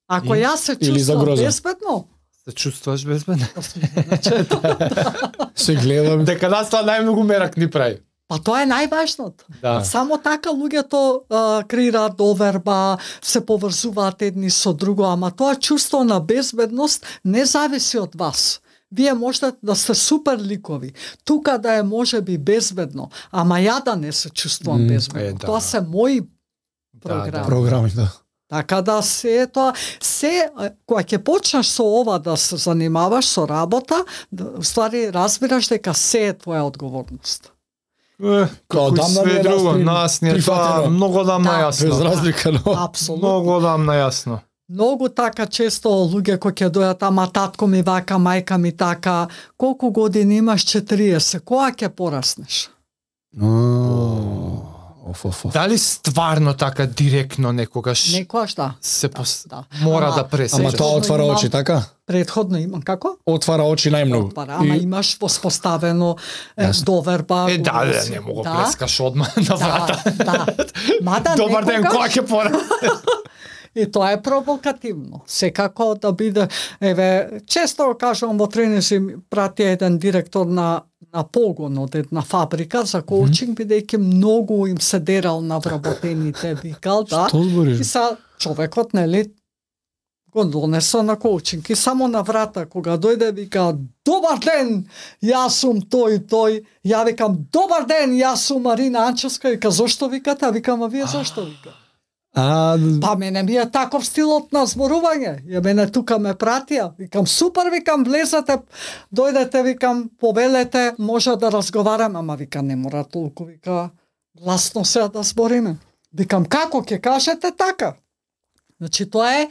Ако јас се чувствувам безбедно, се чувствуваш безбедно? Се гледам. Дека нас тоа најмногу мерак ни прави. Па тоа е најважното. Да. Само така луѓето креираат доверба, се поврзуваат едни со друго, ама тоа чувство на безбедност не зависи од вас. Вие можете да сте супер ликови. Тука да е можеби безбедно, ама ја да не се чувствувам безбедно. Тоа се мои програми. Програми, да. Така да кога ќе почнеш со ова да се занимаваш со работа, ствари разбираш дека се е твоја одговорност. Како и све друго, нас не е тоа многу дамна јасно. Без разлика, но апсолутно. Многу дамна јасно. Многу така често луѓе кои ќе дојат, ама татко ми вака, мајка ми така, колку години имаш? 40, кога ќе пораснеш? Дали стварно така директно некогаш? Некогаш да. Мора да пресечеш. Ама тоа отвара очи, така? Предходно имам како? Отвара очи најмногу. Ама имаш воспоставено доверба. Не мога прескаш одма на врата. Да. Мада добар ден, кога ќе пора? И тоа е провокативно. Секако да биде, често го кажувам во тренинзи, прати еден директор на погон од една фабрика за коучинг, бидејќи многу им се дерал на вработените, викал, да. Што збориш? И са човекот, нели, го донесо на коучинг и само на врата кога дојде вика добар ден, јас сум тој, ја викам добар ден, јас сум Марина Анчевска, вика зошто викате, а викам а вие зошто вика? Па мене ми е таков стилот на зборување. Ја мене тука ме пратија. Викам супер, викам влезете, дојдете, викам повелете, може да разговараме, ама вика не мора толку, вика гласно се да збориме. Викам како ќе кажете така? Значи тоа е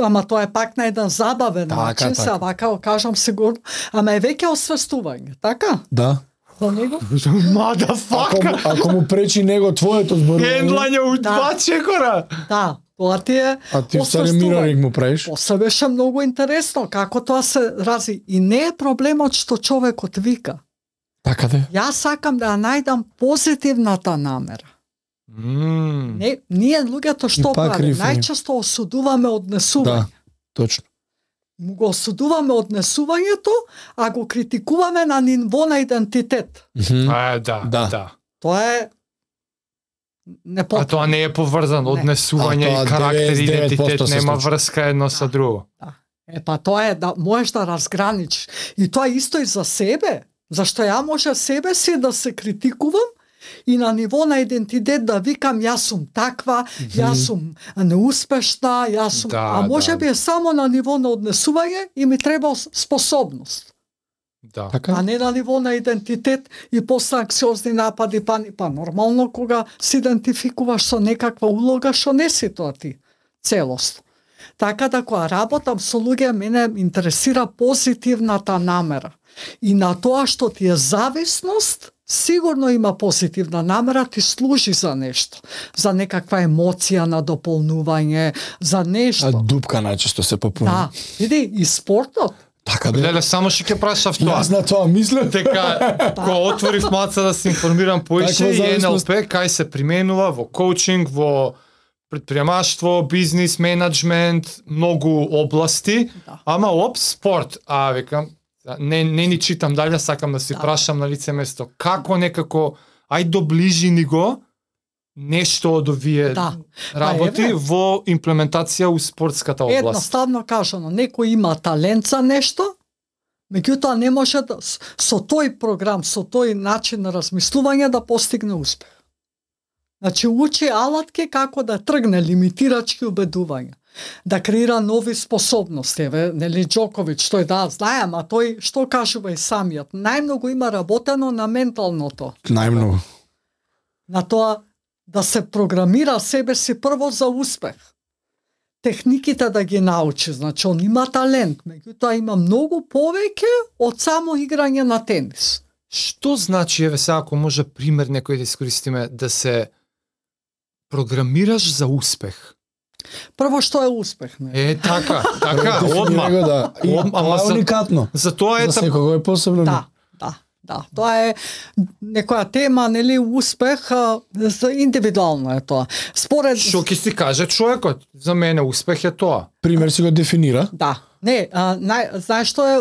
ама тоа е пак на еден забавен начин, се вака кажам сигурно, ама е веќе освестување, така? Да. За него? Мадафака! Ако му пречи него твоето зборување. Ендлање у два чекора. Да, тоа ти е А ти стари мироринг му правиш? После беше многу интересно како тоа се рази и не е проблемот што човекот вика. Така да. Јас сакам да ја најдам позитивната намера. Не, ние луѓето што правиме? Најчесто осудуваме однесување. Да, точно. Го осудуваме однесувањето, а го критикуваме на ниво на идентитет. Да. Тоа е А тоа не е поврзано, однесување и карактер и идентитет нема врска едно со друго. Па тоа е да можеш да разграничиш. И тоа исто и за себе. Зашто ја може себе си да се критикувам и на ниво на идентитет да викам јас сум таква, јас сум неуспешна, јас сум... а може би е само на ниво на однесување и ми треба способност. Да. А не на ниво на идентитет и после анксиозни напади, па нормално кога се идентификуваш со некаква улога што не си тоа ти целост. Така да кога работам со луѓе, мене интересира позитивната намера. И на тоа што ти е зависност, сигурно има позитивна намера, ти служи за нешто. За некаква емоција на дополнување, за нешто. А дупка најчесто се попуни. Да, види, и спортот. Така да. Леле, само ќе ќе прашав тоа. Јас на тоа мислам. Дека, кога отворив маца да се информирам поише, и НЛП кај се применува во коучинг, во предприемаштво, бизнис, менеджмент, многу области, ама спорт. А викам, не ни читам дале, сакам да си прашам на лице место. Како некако, ај доближи ни го нешто од овие работи во имплементација у спортската област. Едноставно кажано, некој има талент за нешто, меѓутоа не може да, со тој програм, со тој начин на размислување да постигне успех. Значи учи алатки како да тргне лимитирачки убедувања, да креира нови способности. Нели Џоковиќ, тој знае, ама тој што кажува и самиот, најмногу има работено на менталното. Најмногу. На тоа да се програмира себе си прво за успех. Техниките да ги научи, значи он има талент, меѓутоа има многу повеќе од само играње на тенис. Што значи, еве сега ако може пример некој да искористиме, да се програмираш за успех? Прво што е успех, не? Така, одма. Да. Ама уникатно. За тоа за секого е посебно. Да, тоа е некоја тема, нели, успех, индивидуално е тоа. Според... Што ќе си каже човекот? За мене успех е тоа. Пример си го дефинира. Да. Не, знаеш што е,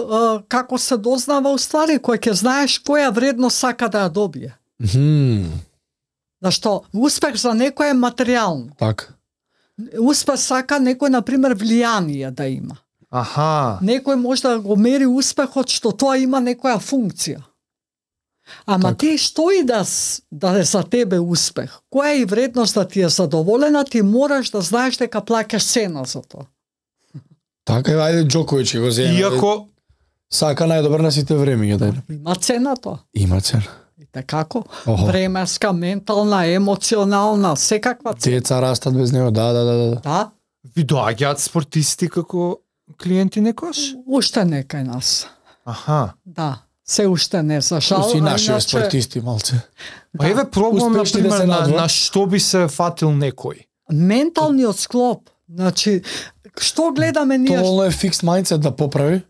како се дознава уствари, кој ќе знаеш која вредност сака да ја добие. Зашто успех за некој е материјално. Така. Успех сака некој, например, влијание да има. Некој може да го мери успехот што тоа има некоја функција. Ама ти што и да е за тебе успех, која е и вредност да ти е задоволена, ти мораш да знаеш дека плаќаш цена за тоа. Така, ајде Џоковиќ го зема. Иако сака најдобар на сите времиња, дај. Има цена тоа. Има цена. И како? Временска, ментална, емоционална, секаква цена. Деца растат без него, да. Ви доаѓаат спортисти како клиенти некош? Уште не кај нас. Да. Се уште не, за жал. Си наши спортисти малце. Па еве пробувам например на што би се фатил некој. Менталниот склоп. Значи, што гледаме ние? Тоа е фикс мајндсет да поправи.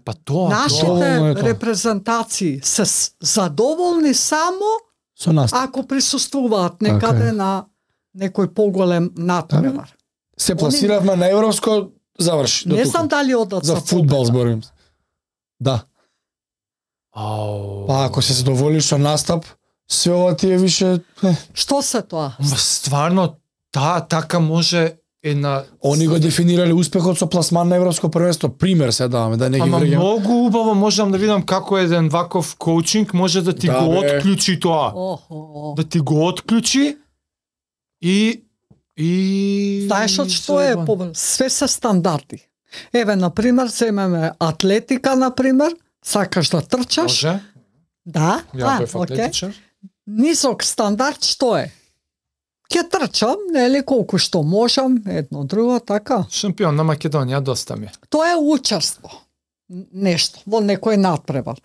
Па тоа. Нашите репрезентации се задоволни само со нас. Ако присуствуваат некаде на некој поголем натпревар. Се пласиравме на европско, заврши. Не знам дали одат за фудбал зборим. Да. Ау. Па ако се задоволиш со настап, се ова ти е више... Што се тоа? Ма стварно, така може една... Они го дефинирале успехот со пласман на европско првенство. Пример се даваме, да не ги Ама врегам. многу убаво можам да видам како еден ваков коучинг може да ти Да, го бе. отклучи тоа. Да ти го отклучи и Знаеш од што е? Све се стандарди. Еве, например, земеме атлетика, например, сакаш да трчаш. Може? Да, Ја бев окей. атлетичар. Низок стандард што е? Ке трчам, нели колку што можам, едно друго, така. Шампион на Македонија доста ми. Тоа е учество. Нешто, во некој надпревар.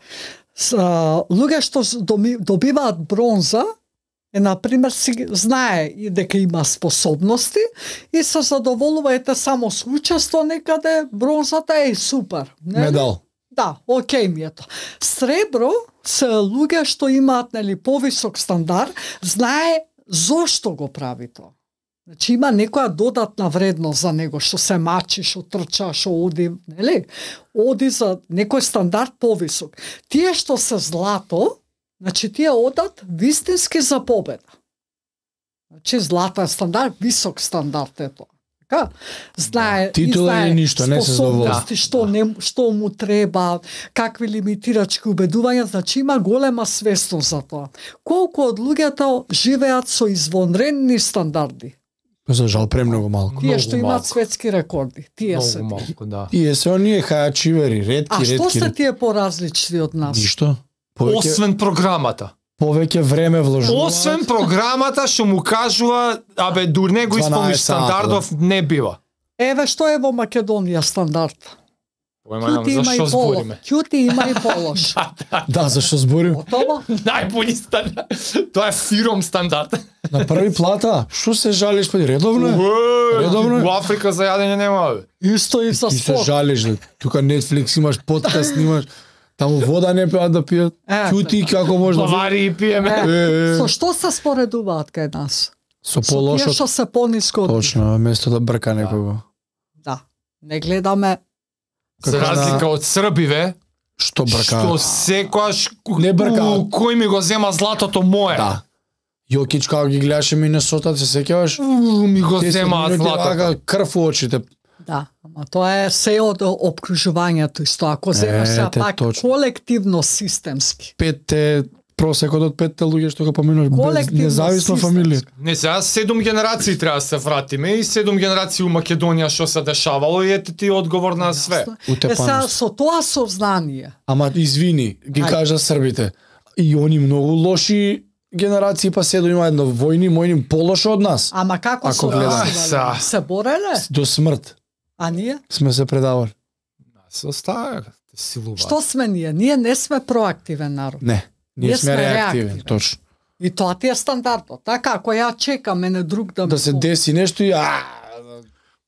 Луѓе што добиваат бронза, например, си знае и дека има способности и се задоволува ете само со учество некаде, бронзата е супер. Нели? Медал. Да, окей ми е тоа. Сребро се луѓе што имаат нели повисок стандард, знае зошто го прави тоа. Значи има некоја додатна вредност за него, што се мачи, што трча, што оди, нели? Оди за некој стандард повисок. Тие што се злато, значи тие одат вистински за победа. Значи злато е стандард, висок стандард е тоа. Така? Знае, Титула знае е ништо, не се задоволува. способности, што му треба, какви лимитирачки убедувања, значи има голема свесност за тоа. Колку од луѓето живеат со извонредни стандарди? За жал премногу малку. Тие што Многу имаат малку. светски рекорди, тие се. Многу малку, да. Тие се оние хајачивери, ретки, А што ретки. се тие поразлични од нас? Ништо. Повеќе, Освен програмата. повеќе време вложуваат. Освен програмата што му кажува, абе дур не го 12 исполниш сата, стандардов, не бива. Еве што е во Македонија стандард. Поема Ќути за има и што полош. збориме. Ќути има и полош. Да, зашто зборим? Готово? Најболи стандард. Тоа е фиром стандард. На први плата, што се жалиш, па редовно е? Редовно е? Во Африка за јадење нема. Бе. Исто и за Ти се спорт. жалиш, да. Тука Netflix имаш, подкаст снимаш, таму вода не пеат да пијат. Ќути како може да... Бавари и пиеме. Со што се споредуваат кај нас? Со Со тие полошот. што се пониско од... Точно, место да брка некого. Да. Не гледаме За разлика од србиве, Што брка? што секојаш Не бркаат. кој ми го зема златото мое. Да. Јокич како ги гледаше Минесота, се сеќаваш? Ми го 10 земаат минути златото. вака, крв у очите. Да, ама тоа е се од обкружувањето исто. Ако земеш се Ете, пак точно. колективно системски. Петте, просекот од петте луѓе што го поминуваш, без Колективно, независно системски. фамилија. Не, сега 7 генерации треба да се вратиме и 7 генерации у Македонија што се дешавало и ете ти одговор на све. Е сега Утепаност. со тоа сознание. Ама извини, ги Ајде. кажа србите. И они многу лоши генерации, па се има едно војни, мојни полошо од нас. Ама како Ако се гледаме. бореле? Се бореле? До смрт А ние? сме се предавали. Се остава силува. Што сме ние? Ние не сме проактивен народ. Не, ние Ние сме сме реактивни, реактивни. точно. И тоа ти е стандардот. Така, ако ја чекам мене друг да Да се деси нешто и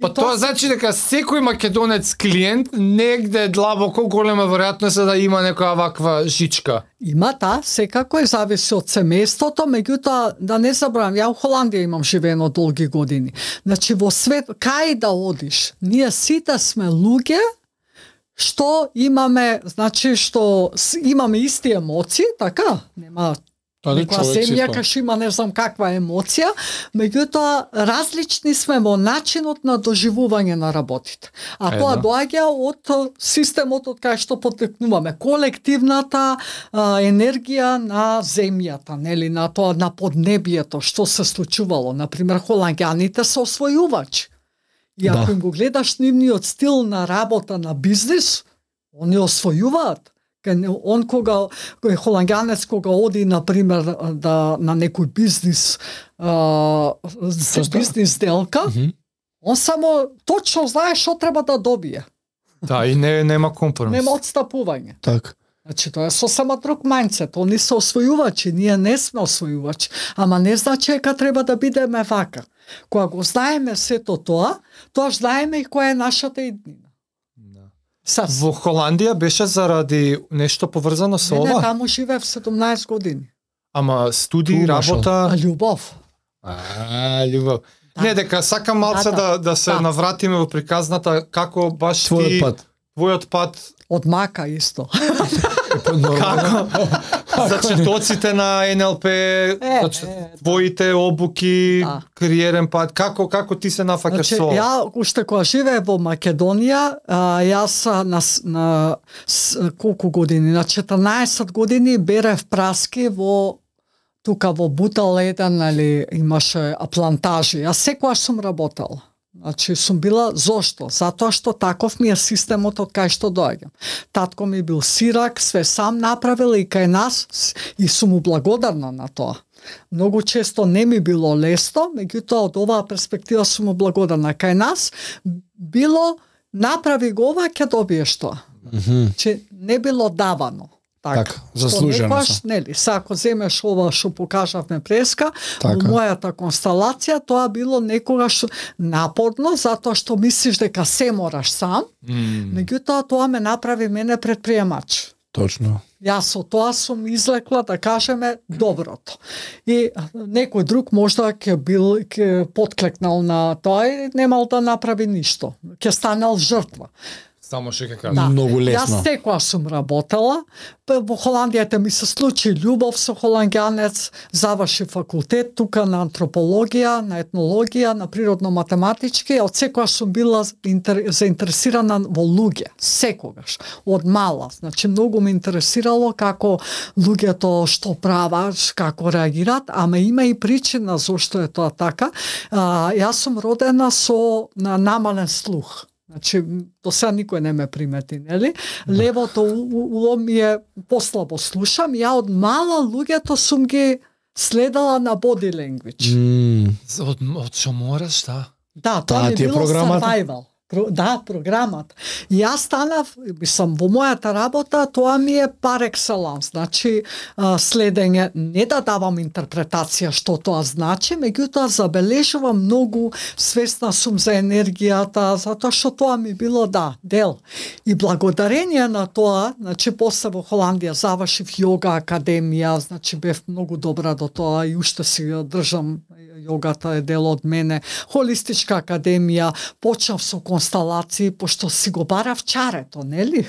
Па И тоа значи дека секој македонец клиент негде длабоко голема веројатност е да има некоја ваква жичка. Има, да, секако е зависи од семејството, меѓутоа да не забравам, ја у Холандија имам живеено долги години. Значи во свет, кај да одиш, ние сите сме луѓе што имаме, значи што имаме исти емоции, така, нема некоја земја кај што има не знам каква емоција, меѓутоа различни сме во начинот на доживување на работите. А тоа доаѓа од системот од кај што потекнуваме, колективната енергија на земјата, нели, на тоа на поднебието, што се случувало. Например, холанѓаните се освојувачи. И ако Да. им го гледаш нивниот стил на работа на бизнис, они освојуваат. Он кога холанѓанец кога оди на пример да на некој бизнис бизнис делка, он само точно знае што треба да добие. Да, и нема компромис. Нема отстапување. Так. Значи тоа е сосема друг мајндсет. Они се освојувачи, ние не сме освојувачи, ама не значи дека треба да бидеме вака. Кога го знаеме сето тоа, тоа знаеме и која е нашата иднина. Во Холандија беше заради нешто поврзано со Не, ова? таму живеев 17 години. Ама студии, Ту, Машал. работа... А љубов. Љубов. Не, дека сакам малце да се навратиме во приказната како баш твојот пат одмака исто. Како? За четоците на НЛП, твоите обуки, кариерен пат, како ти се нафаќаш со? Ја уште кога живеев во Македонија, јас на колку години, на 14 години берев праски во тука во Бутал еден, нели, имаше плантажи. Јас секогаш сум работела. Значи сум била, зошто? Затоа што таков ми е системот од кај што доаѓам. Татко ми бил сирак, све сам направил и кај нас и сум му благодарна на тоа. Многу често не ми било лесно, меѓутоа од оваа перспектива сум му благодарна. Кај нас било направи го ова, ќе добиеш тоа. Че не било давано. Така, заслужено се. Нели, ако земеш ова што покажавме преска, во мојата констелација тоа било некогаш напорно, затоа што мислиш дека се мораш сам, меѓутоа тоа ме направи мене предприемач. Точно. Јас со тоа сум излекла, да кажеме, доброто. И некој друг можда ќе подклекнал на тоа и немал да направи ништо. Ќе станал жртва. Само што ќе кажам. Многу лесно. Јас секоја сум работела, во Холандијата ми се случи љубов со холанѓанец, заврши факултет тука на антропологија, на етнологија, на природно-математички, од секоја сум била заинтересирана во луѓе, секогаш, од мала. Значи многу ме интересирало како луѓето што прават, како реагираат, ама има и причина зошто е тоа така. Јас сум родена со намален слух. Значи, до сега никој не ме примети, нели? Левото уло ми е послабо слушам, ја од мала луѓето сум ги следала на body language. Од што мораш, Да, тоа ми било survival. Да, програмата. И јас станав, во мојата работа, тоа ми е par excellence, значи следење, не да давам интерпретација што тоа значи, меѓутоа забележувам многу, свесна сум за енергијата, затоа што тоа ми било дел. И благодарение на тоа, значи после во Холандија завршив йога академија, значи бев многу добра до тоа и уште си држам, јогата е дел од мене. Холистичка академија, почнав со констелации, пошто си го барав чарето, нели?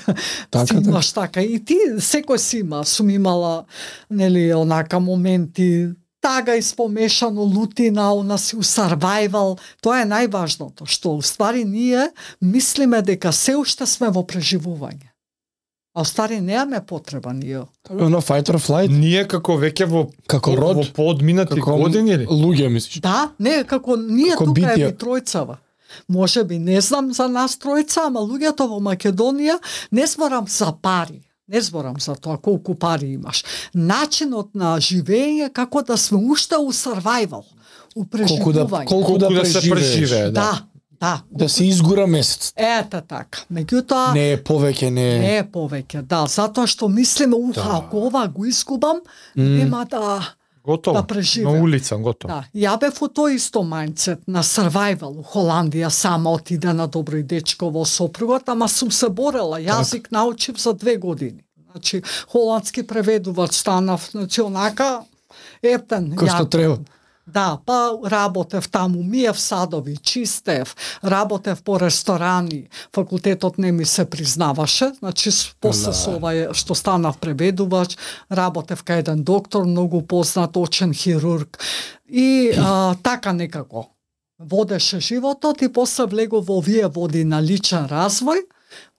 Си имаш така. И ти, секој си има. Сум имала, нели, онака моменти, тага испомешано, лутина, у нас у survival. Тоа е најважното, што уствари ние мислиме дека се уште сме во преживување. А стари неаме потреба ние. На fight or flight. Ние како веќе во подминати години или? Луѓе мислиш? Да, не, како ние тука е тројцава. Може би не знам за нас тројца, ама луѓето во Македонија не зборам за пари. Не зборам за тоа колку пари имаш. Начинот на живење како да сме уште у survival, у преживување. Колку да се преживее, да се изгура месец. Ета така. Меѓутоа не е повеќе, не е повеќе. Да, затоа што мислиме ако ова го изгубам, нема готово, да преживеам. На улица, готово. Да, ја бев во тој исто мајндсет на survival у Холандија, сама отиде на добро и дечко во сопругот, ама сум се борела, јазик научив за 2 години. Значи, холандски преведувач станав, значи, онака, ептен. Кој што треба. Да, па работев таму, миев садови, чистев, работев по ресторани, факултетот не ми се признаваше, значи после со ова што станав преведувач, работев кај еден доктор, многу познат, очен хирург и така некако водеше животот и после влегов во овие води на личен развој.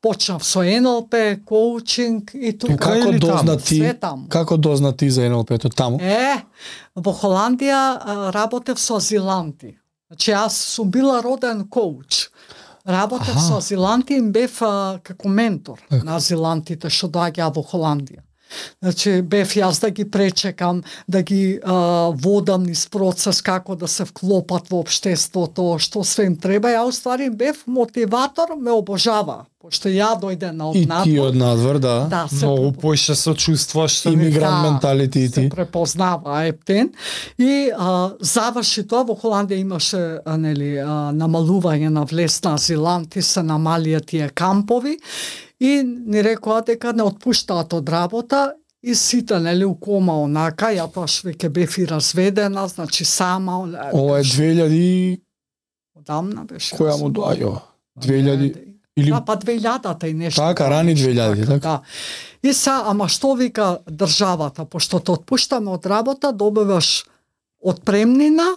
Почнав со НЛП, коучинг и тука. Како дозна ти за НЛП-то таму? Во Холандија работев со азиланти. Значи јас сум била роден коуч. Работев со азиланти и бев како ментор на азилантите што доаѓаа во Холандија. Значи, бев јас да ги пречекам, да ги водам низ процес како да се вклопат во општеството, што све им треба. Ја уствари бев мотиватор, ме обожава. Пошто ја дојде на однадвор. И ти однадвор, да. Многу поише се чувствуваш. Имигрант менталити и ти. Се препознава ептен. И заврши тоа, во Холандија имаше намалување на влез на азиланти, се намалија тие кампови. И ни рекоа дека не отпуштаат од работа и сите, у кома онака, ја тоа веќе бев и разведена, значи сама. Ова е 2000 Одамна беше. Која му доаѓа? 2000 или Да, па 2000-та и нешто. така, рани 2000, така? Да. И ама што вика државата, пошто те отпуштаме од работа, добиваш отпремнина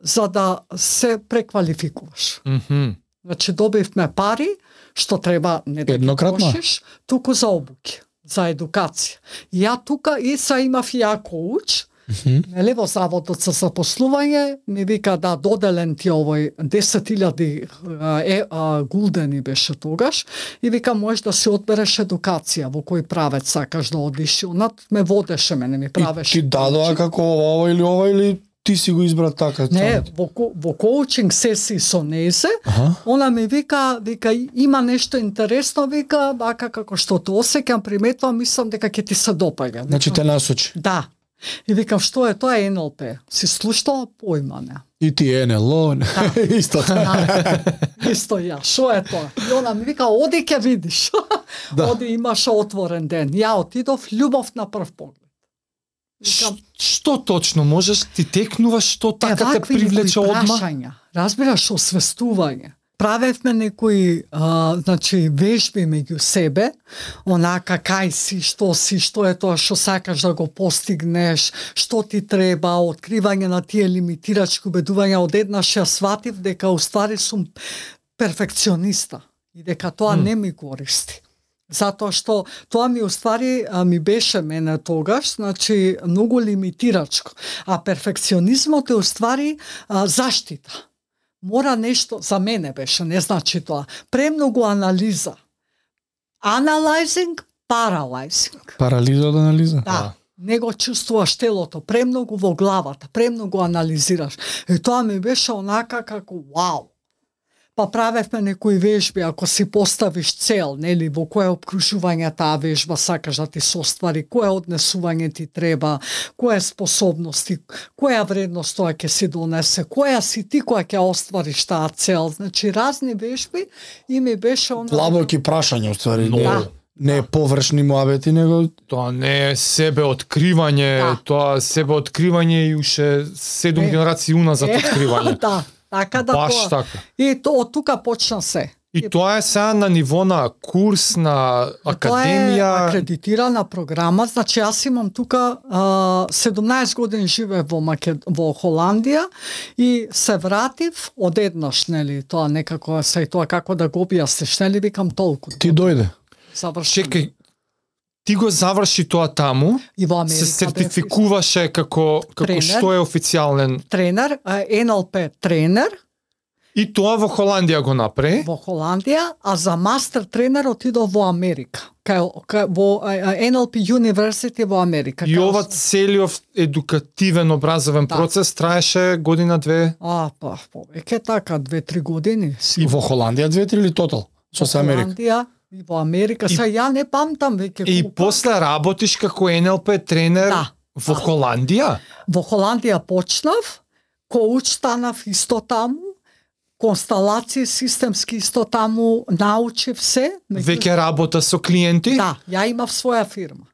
за да се преквалификуваш. Значи добивме пари, што треба не да ги Еднократно? трошиш, туку за обуки, за едукација. И ја тука и имав и ја коуч, нели, во Заводот за запослување, ми вика да доделен ти овој 10.000 гулдени беше тогаш, и вика можеш да си одбереш едукација, во кој правец сакаш да одиш, онат ме водеше, мене ми правеше. И ти дадоа како ова или ти си го избра така? Не, во коучинг сесии со незе, она ми вика има нешто интересно, вика, вака како што те осеќам, приметувам, мислам дека ќе ти се допаѓа. Значи те насочи. Да. И викам, што е тоа НЛП? Си слушала, појма не. И ти НЛО, исто така. Исто ја, што е тоа? И она ми вика, оди ќе видиш. Да. Оди, имаше отворен ден. Ја отидов, љубов на прв поглед. Викам, Што точно можеш ти текнуваш, што така те привлече одма? Разбираш, освестување. Правевме некои значи вежби меѓу себе, онака кај си, што е тоа што сакаш да го постигнеш, што ти треба, откривање на тие лимитирачки убедувања. Одеднаш ја сватив дека уствари сум перфекциониста и дека тоа не ми користи. Затоа што тоа ми уствари ми беше мене тогаш, значи многу лимитирачко, а перфекционизмот е уствари заштита. Мора нешто, за мене беше, не значи тоа, премногу анализа. Analyzing, paralyzing. Парализа од анализа? Да. Не го чувствуваш телото, премногу во главата, премногу анализираш. И тоа ми беше онака како вау. Па правевме некои вежби, ако си поставиш цел, нели, во кое обкружување таа вежба сакаш да ти се оствари, кое однесување ти треба, која способности, која вредност тоа ќе си донесе, која си ти која ќе оствариш таа цел. Значи разни вежби и ми беше длабоки прашања, уствари. Да. Не е површни муабети, него Тоа не е себеоткривање, тоа себеоткривање и уште 7 генерации уназад откривање. Да. Така да Баш тоа. така. И од тука почна се. И тоа е сега на ниво на курс, на академија. Тоа е акредитирана програма, значи јас имам тука 17 години живеев во Холандија и се вратив одеднаш, нели, тоа некако се тоа како да го објасниш, нели, викам толку. ти дојде. Завршив. Чекај, ти го заврши тоа таму, И во Америка се сертификуваше како Тренер. што е официјален. тренер, НЛП тренер И тоа во Холандија го направи. во Холандија, а за мастер тренер отидов во Америка. Во NLP University во Америка. И ова целиот едукативен образовен процес траеше година-две. Па, повеќе така, 2-3 години. И во Холандија 2-3 или тотал? Со Америка? Холандија и во Америка. Сега ја не памтам веќе И колку. после работиш како НЛП тренер во Холандија? Во Холандија почнав, коуч станав исто таму, консталации системски исто таму научив се. Веќе работа со клиенти? Да, ја имав своја фирма.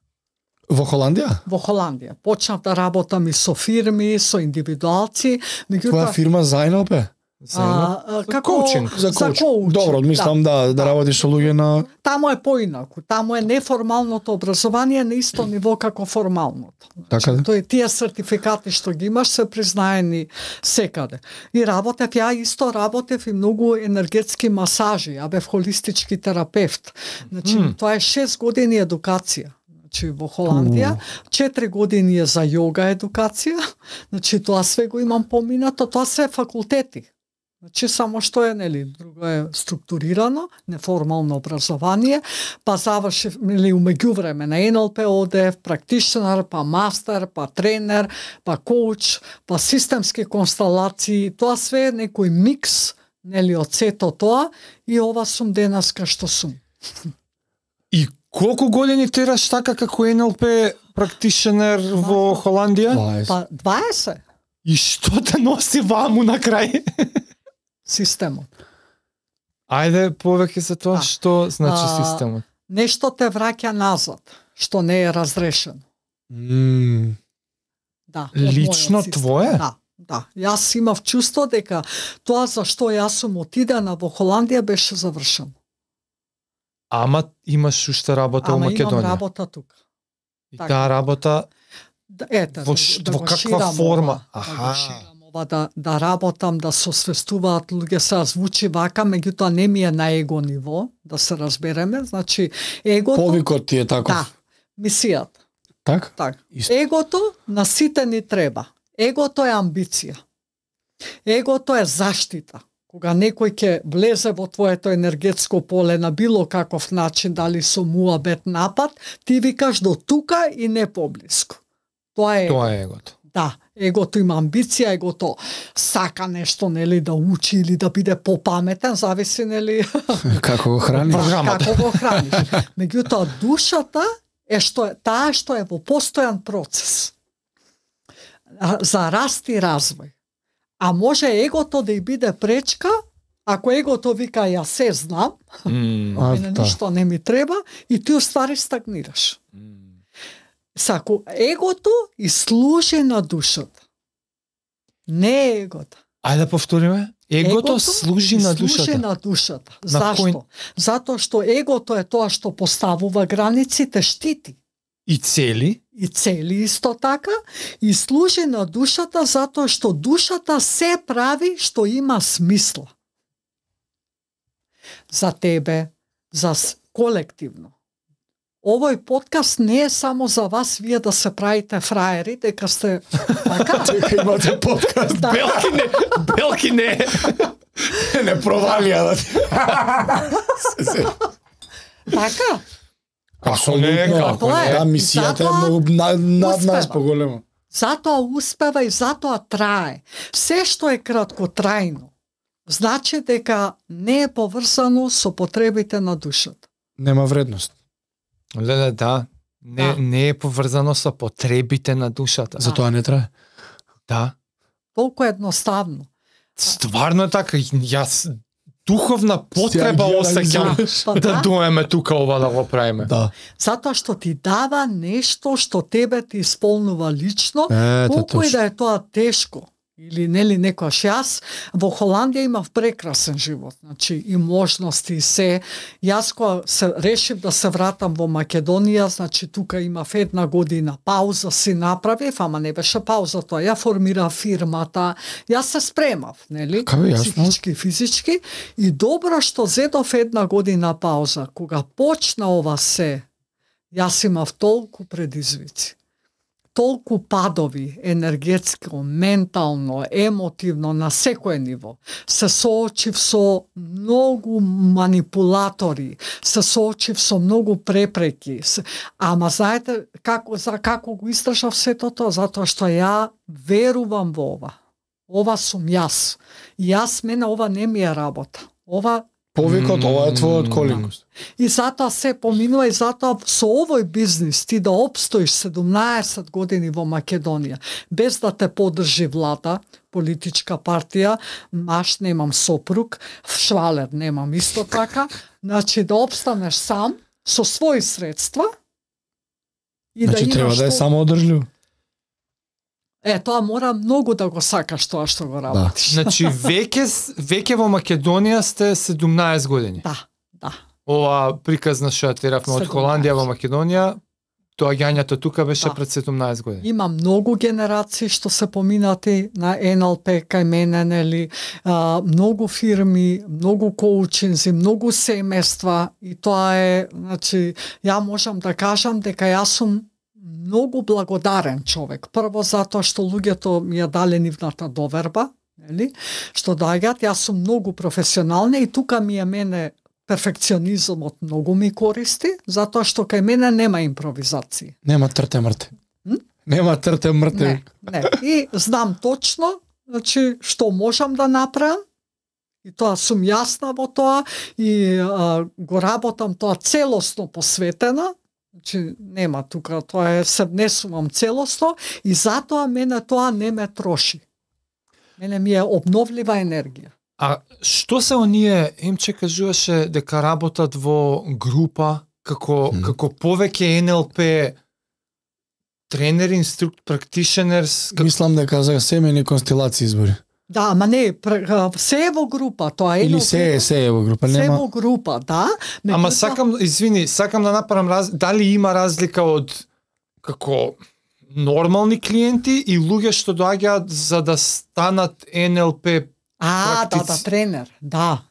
Во Холандија? Во Холандија. Почнав да работам и со фирми, со индивидуалци. Твоја фирма за НЛП? Како коучинг. За коучинг. Добро, мислам да работиш со луѓе на... Таму е поинаку. Таму е неформалното образование на исто ниво како формалното. Така да? Тој тие сертификати што ги имаш се признаени секаде. И работев, ја исто работев и многу енергетски масажи, ја бев холистички терапевт. Значи, тоа е 6 години едукација. Значи, во Холандија, 4 години е за јога едукација, значи тоа све го имам поминато, тоа се факултети. Значи, само што е, нели, друго е структурирано, неформално образование, па завршив, нели, умеѓувреме на НЛП одев, практичнар, па мастер, па тренер, па коуч, па системски консталации, тоа све е некој микс, нели, од сето тоа, и ова сум денеска што сум. И колку години тераш така како НЛП практичнер во Холандија? 20. Па 20 И што те носи ваму на крај? системот. Ајде повеќе за тоа, Да. што значи системот. Нешто те враќа назад, што не е разрешено. Да. од Лично мојот систем. твое? Да. Да, јас имав чувство дека тоа за што јас сум отидена во Холандија беше завршено. Ама имаш уште работа во Ама Македонија. имам работа тука. И така. таа работа Ете, во го каква ширам форма? ова, да го ширам ова, да работам, да се освестуваат луѓе, се звучи вака, меѓутоа не ми е на его ниво, да се разбереме, значи егото... Повикот ти е таков. Да, мисијата. Так? Так. Исто. Егото на сите ни треба. Егото е амбиција. Егото е заштита. Кога некој ќе влезе во твоето енергетско поле на било каков начин, дали со муабет напад, ти викаш до тука и не поблиску. Тоа е Тоа е егото. Да, егото има амбиција, егото сака нешто, нели, да учи или да биде попаметен, зависи, нели, Како го храниш? Програмата. како го храниш. Меѓутоа, душата е таа што е во постојан процес за раст и развој. А може егото да и биде пречка, ако егото вика јас се знам, мене ништо не ми треба, и ти уствари стагнираш. Сако егото и служи на душата. Не е егото. Ајде да повториме. Егото служи на душата. Служи на душата. На Зашто? кој? Затоа што егото е тоа што поставува границите, штити. И цели. И цели исто така, и служи на душата затоа што душата се прави што има смисла. За тебе, за колективно. Овој подкаст не е само за вас, вие да се правите фраери, дека сте така. Дека имате подкаст. Да. Белки не. Не провалија да. Така. Апсолутно. Тоа е. Да, мисијата е Затоа многу над нас успева. поголема. Затоа успева и затоа трае. Се што е краткотрајно, значи дека не е поврзано со потребите на душата. Нема вредност. Леле, да. Не е поврзано со потребите на душата. Затоа не трае. Да. Толку едноставно. Стварно е така. Јас духовна потреба Ја осеќам Па да да, доеме тука ова да го правиме. Да. затоа што ти дава нешто што тебе ти исполнува лично, Ете, колку и точно. да е тоа тешко. Или нели некојаш јас во Холандија имав прекрасен живот, значи и можности и се. Јас кога се решив да се вратам во Македонија, значи тука имав 1 година пауза си направив, ама не беше пауза тоа. Ја формирав фирмата, јас се спремав, нели? Како јасно. Психички, физички, и добро што зедов 1 година пауза. Кога почна ова се, јас имав толку предизвици. Толку падови, енергетско, ментално, емотивно, на секое ниво. Се соочив со многу манипулатори, се соочив со многу препреки. Ама знаете како го истражав сето тоа? Затоа што ја верувам во ова. Ова сум јас. Јас, мене ова не ми е работа. Ова Повикот, ова е твојот колинг. И затоа се поминува и затоа со овој бизнис ти да обстоиш 17 години во Македонија, без да те поддржи влада, политичка партија, маш немам сопруг, швалер немам исто така, значи да обстанеш сам, со своји средства, и Значи да треба имаш да е тоа- само одржливо. тоа мора многу да го сакаш тоа што го работиш. Значи веќе во Македонија сте 17 години. Да. Ова приказна што ја теравме од 17. Холандија во Македонија, доаѓањето тука беше Да. пред 17 години. Има многу генерации што се поминати на НЛП кај мене, нели, многу фирми, многу коучинзи, многу семејства, и тоа е, значи, ја можам да кажам дека јас сум многу благодарен човек. Прво затоа што луѓето ми ја дале нивната доверба, нели, што доаѓаат, јас сум многу професионална и тука ми е мене перфекционизмот многу ми користи, затоа што кај мене нема импровизации. Нема трте мрте. Нема трте мрте. Не. И знам точно, значи, што можам да направам, и тоа сум јасна во тоа, и го работам тоа целосно посветена, значи нема тука, тоа е, се внесувам целосно, и затоа мене тоа не ме троши. Мене ми е обновлива енергија. А што се оние, Емче кажуваше дека работат во група, како повеќе НЛП тренери, инструктор, практишенерс, Мислам дека за семејни констелации избори. Да, ама не, се е во група, тоа е Или се е во група, се нема. во група, да. Ама меѓутоа- сакам да направам дали има разлика од како нормални клиенти и луѓе што доаѓаат за да станат НЛП практици. тренер. Да.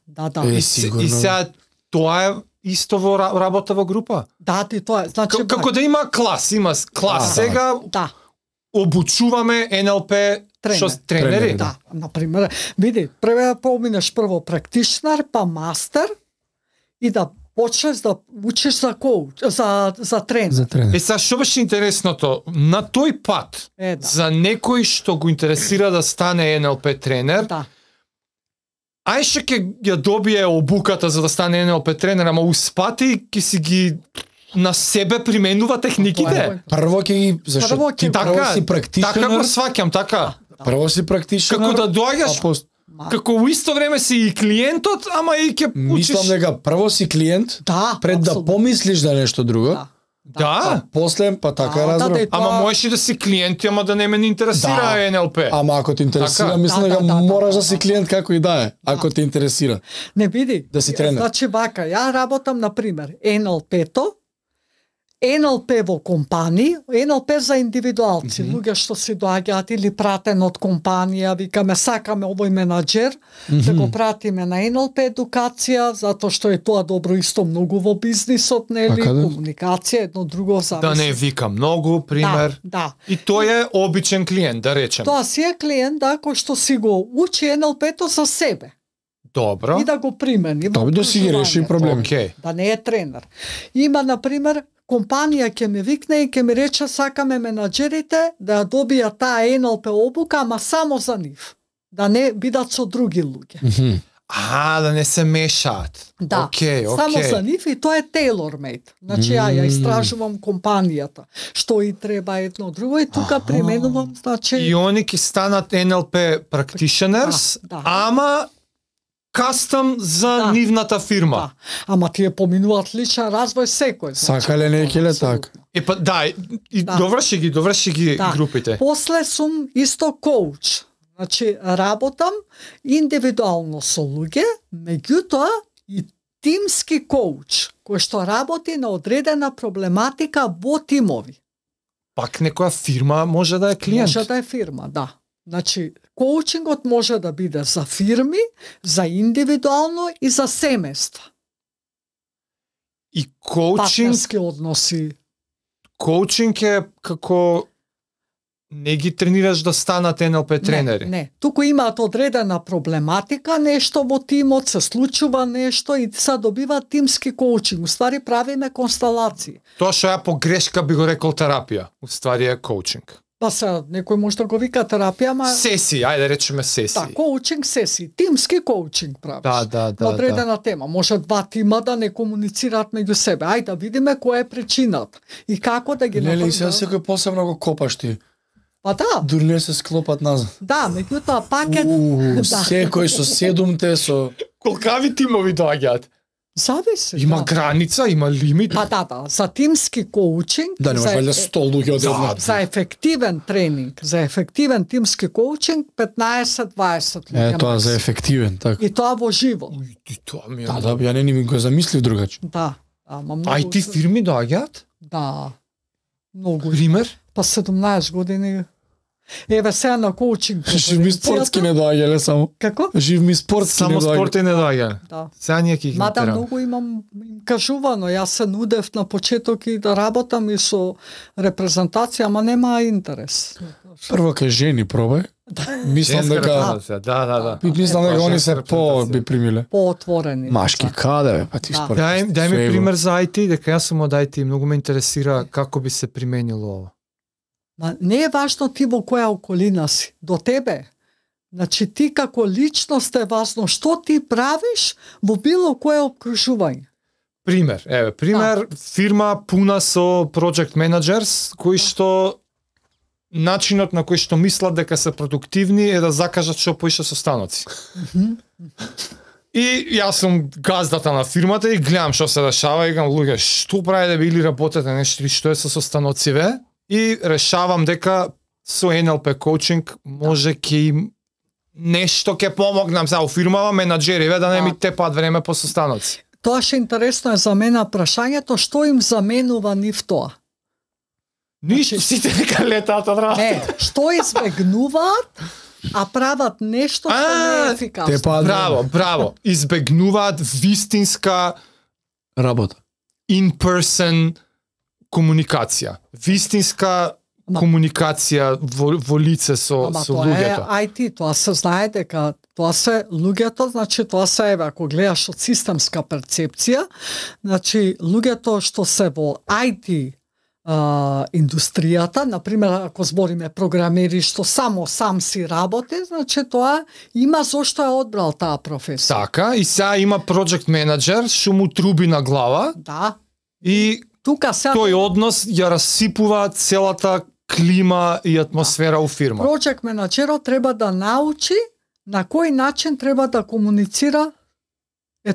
Е, сигурно. И сега тоа е исто во работа во група. Да, ти тоа е. Значи, Како да има клас, Да. сега да. обучуваме НЛП тренери. Тренери, Да, например, види, прво поминеш прво практишнар, па мастер и да почнеш да учиш за коуч, за тренер. За тренер. Сега што беше интересното, на тој пат Е, да. за некој што го интересира да стане НЛП тренер, Да. ај што ќе ја добие обуката за да стане НЛП тренер, ама успати ќе си ги на себе применува техниките. Прво ќе ги зашто Прво ти ќе- прво Така, си така го практишенар, сваќам, така. прво си практишенар. Како да доаѓаш, а пос- како у исто време си и клиентот, ама и ќе учиш. Мислам дека прво си клиент, Да, пред да апсолутно. помислиш за нешто друго, Да. Да, после па така Да, разбрав. да, ама тоа- можеш и да си клиент, ама да не ме интересира Да. НЛП. Ама ако те интересира, Така. мислам Да, дека да, мораш да да, си да. клиент како и да е, ако те интересира. Не види. Да си тренер. Значи вака, ја работам на пример НЛП-то, НЛП во компании, НЛП за индивидуалци, луѓе што си доаѓаат или пратен од компанија, викаме сакаме овој менаџер, да го пратиме на НЛП едукација, затоа што е тоа добро исто многу во бизнисот, нели, Така да. комуникација, едно друго зависи. Да не вика многу, пример. Да. И тој е обичен клиент, да речем. Тоа си е клиент, да, кој што си го учи НЛП-то за себе Добро. и да го примени. во Тоа да си ги реши образованието. проблеми. Океј. Да не е тренер. Има, например, компанија ќе ми викне и ќе ми рече сакаме менаџерите да ја добијат таа НЛП обука, ама само за нив. Да не бидат со други луѓе. Да не се мешаат. Да, Океј, само за океј. нив и тоа е tailor made. Значи ја истражувам компанијата, што и треба едно друго и тука применувам, значи И они ќе станат NLP practitioners, Да. ама кастом за Да. нивната фирма. да. Ама тие поминуваат личен развој секој. Сакале некеле така. Па да, и Да. доврши ги Да. групите. После сум исто коуч. Значи, работам индивидуално со луѓе, меѓутоа и тимски коуч, кој што работи на одредена проблематика во тимови. Пак некоја фирма може да е клиент. Може да е фирма, да. Значи, коучингот може да биде за фирми, за индивидуално и за семејства. И коучинг, Партнерски односи. коучинг е како не ги тренираш да станат NLP тренери. Не. Туку имаат одредена проблематика, нешто во тимот, се случува нешто и се добива тимски коучинг. Уствари правиме констелации. Тоа што ја погрешка би го рекол терапија, уствари е коучинг. Па се, некој може да го вика терапија, ма Сесии, ајде речеме сесии. да, коучинг сесии, тимски коучинг правиш. Да. На одредена тема. Може два тима да не комуницираат меѓу себе. Ајде да видиме која е причината и како да ги Нели се направиме. секој посебно го копаш ти. Па да, Дури не се склопат назад. да, меѓутоа пакет да. Секој со седумте, со... Колкави тимови доаѓаат? Зависи. Има да. граница, има лимит. Па да, за тимски коучинг, Да, не за, може валјда 100 луѓе одеднаш. за ефективен тренинг, за ефективен тимски коучинг 15-20 луѓе. Тоа за максимум. ефективен, така. И тоа во живо. И тоа ми е. Да, ја не ми го замислив другаче. Да. Ама многу. IT фирми доаѓаат? Да. Многу. Пример? Па 17 години. Еве сега на коучинг. Жив ми спортски не доаѓале само. Како? Жив ми спортски не Само доаѓале. спорти не доаѓа. Да. Сега ние ќе ги Мада натераме. многу им кажувано, јас се нудев на почеток и да работам и со репрезентација, ама нема интерес. Прво кај жени пробај. Мислам Женска дека репрезентација, да. мислам дека они се Женска по репрезентација. би примиле. Поотворени. Машки каде бе, па ти Да. спорт. Дај ми Све пример за IT, дека јас сум од IT, многу ме интересира како би се применило ова. Ма не е важно ти во која околина си, до тебе. Значи ти како личност е важно што ти правиш во било кое окружување. Пример, фирма пуна со project managers кои што начинот на кој што мислат дека се продуктивни е да закажат што поише состаноци. И јас сум газдата на фирмата и гледам што се дешава и гам луѓе што правите да или работете нешто или што е со состаноциве и решавам дека со NLP коучинг може ќе им нешто ќе помогнам за фирмава менаџериве да не ми тепаат време по состаноци. Тоа ше интересно е за мене прашањето, што им заменува нив тоа? Ништо, сите нека летаат од работа. Не, што избегнуваат, а прават нешто што не е ефикасно. Браво. Избегнуваат вистинска работа. In-person комуникација. Вистинска комуникација во лице со луѓето. Тоа е IT, тоа се знае дека тоа се луѓето, значи тоа се еве ако гледаш од системска перцепција, значи луѓето што се во IT индустријата, например ако збориме програмери што сам си работи, значи тоа има зошто е одбрал таа професија. Така, и сега има project менаџер што му труби на глава. Да. И тука сега тој однос ја расипува целата клима и атмосфера у фирма. Project менаџерот треба да научи на кој начин треба да комуницира.